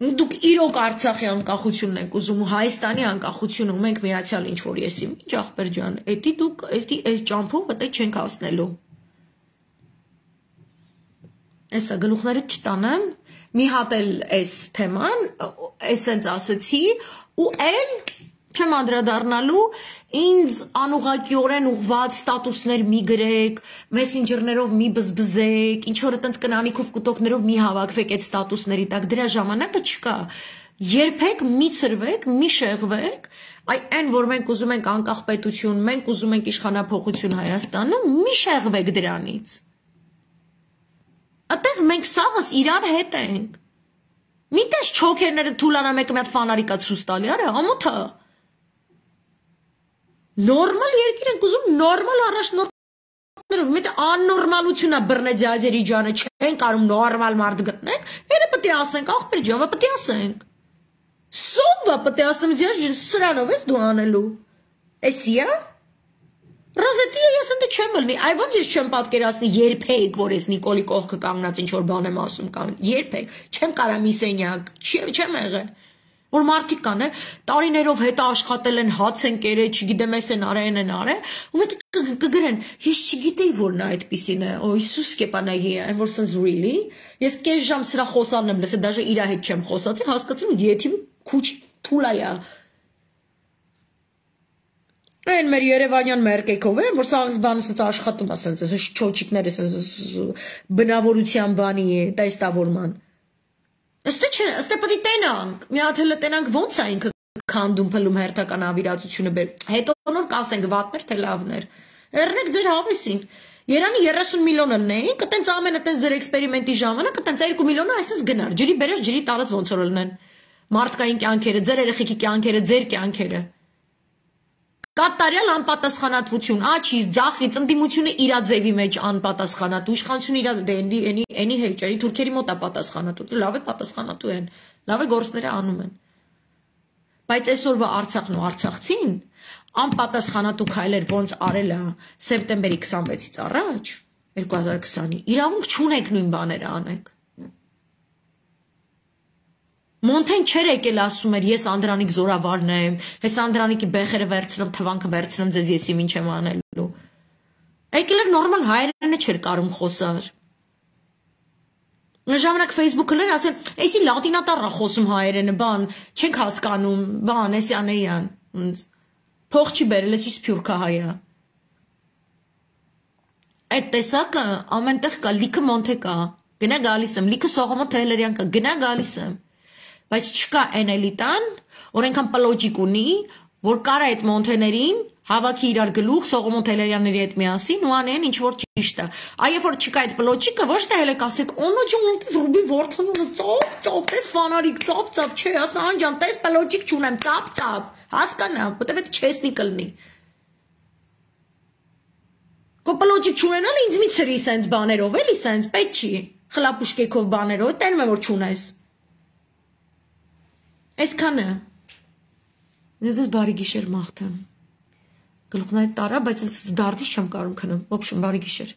Դուք իրոք Արցախի անկախությունն եք ուզում ու Հայաստանի անկախությունը ու մենք միացյալ ինչ որ եսի, ինչ ախպեր ջան, էդի դուք էդի այս ճամփով այդե չենք հասնելու։ Էսա գլուխները չտանեմ, մի հատ էլ այս թեման, էսենց ասեցի ու էլ չեմ անդրադառնալու, ինձ անուղղակիորեն ուղված ստատուսներ մի գրեք, մեսենջերներով մի բզբզեք, ինչ որ այտենց կնանիքով կուտոկներով մի հավաքվեք այդ ստատուսների տակ, դրա ժամանակը չկա։ Երբեք մի ցրվեք, մի շեղվեք, այ այն որ մենք ուզում ենք անկախ պետություն, մենք ուզում ենք իշխանափոխություն Հայաստանում, մի շեղվեք դրանից։ Այդտեղ մենք սաղս իրար հետ ենք։ Միտես չոքերները թուլանա մեկը մի հատ ֆանարիկա ցույց տալի, արա, ամոթա։ Նորմալ երկիր ենք ուզում, նորմալ առաջնորդներով, մի թե աննորմալություն է բռնե ձյաձերի ջանը, չեն կարում նորմալ մարդ գտնենք, հետը պետք է ասենք, ախպեր ջան, պետք է ասենք։ Սովա պետք է ասեմ, ձյաձ սրանով ես դու անելու։ Էսի է։ Ռոզետիը ես ընդ չեմ ելնի, այ ոնց ես չեմ պատկերացնի երբեք, որ ես Նիկոլի կողքը կանգնած ինչ որ բան եմ ասում կամ երբեք, չեմ կարա մի սենյակ, չեմ եղել։ Որ մարդիկ կան, տարիներով հետը աշխատել են, հաց են կերել, չգիտեմ ես են արել, են արել, ու մեկ կգրեն, ես չգիտեի, որ նա այդպիսին է, օ Իսուս կեպանայի է, որ սենց really, ես կես ժամ սրա խոսալն եմ լսել, դաժե իրա հետ չեմ խոսացի, հասկացել եմ, եթիմ քուչ թուլա է։ Այն մեր Երևանյան մերկեքով են, որ սաղս բանը սենց աշխատում է, սենց ես չոչիկները սենց բնավորության բանի է, տեստավորման։ Աստե չէ, աստե պետք է տենանք, մի հատ հələ տենանք ոնց է ինքը քանդում փլում հերթական ավիրացությունը բեր։ Հետո նոր կասենք վատներ թե լավներ։ Երնեք ձեր հավեսին։ Երանի երեսուն միլիոն ելնեին, կտենց ամենը տենց ձեր էքսպերիմենտի ժամանակ կտենց երկու միլիոնը այսպես գնար։ Ջրի բերես ջրի տալած ոնց որ ելնեն։ Մարդկային կյանքերը, ձեր երեխեքի կյանքերը, ձեր կյանքերը։ Կատարյալ անպատասխանատվություն, աչի, ձախլի, ծնդիմությունը իրա ձևի մեջ անպատասխանատու, իշխանությունը իրա էնի էնի հեճերի, թուրքերի մոտ է պատասխանատու, լավ է պատասխանատու են, լավ է գործները անում են։ Բայց այսօրվա Արցախն ու արցախցին անպատասխանատու քայլեր ոնց արել է սեպտեմբերի քսանվեցից առաջ, երկու հազար քսանի, իրավունք չունեք նույն բաները անեք։ Մոնթեն չեր եկել ասում էր, ես Անդրանիկ զորավարն եմ, ես Անդրանիկի բեխերը վերցնեմ, թվանքը վերցնեմ, ձեզ եսի ինչ եմ անելու։ Եկել էր նորմալ հայերենը չէր կարում խոսար։ Ժամանակ Facebook-ը լեր ասեն, էսի լատինատառ է խոսում հայերենը, բան, չենք հասկանում, բան, էսի անեյան, փող չի բերել, էսի սփյուռքա հայա։ Այդ տեսակը ամենտեղ կա, լիքը մոնթե կա, գնա գալիս եմ, լիքը Սողոմոն Թեհլերյան կա, գնա գալիս եմ։ Բայց չկա այն էլիտան, որ այնքան պլոջիկ ունի, որ կարա այդ մոնթեներին հավաքի իրար գլուխ Սողոմոն Թեհլերյանների հետ միասին ու անեն ինչ որ ճիշտ է։ Այ երբ որ չկա այդ պլոջիկը, ոչ թե հենց ասեք, «Օնո ջան, դες ռուբի ворթանունը ծոփ, ծոփ, դες ֆանարիկ, ծոփ, ծոփ», չէ, ասա անջան, դες պլոջիկ չունեմ, ծափ, ծափ, հասկանա, որտեվ այդ չեսնի կլնի։ Քո պլոջիկ չունենալ ինձ մի ծրի սենց բաներով, էլի սենց, պետք չի, խլապուշկեքով բաներով, տենում եմ որ չունես։ Այսքանը, ես ես բարի գիշեր մաղթեմ, գլուխներ տարա, բայց դարդից չեմ կարում քնեմ, ոբշում բարի գիշեր։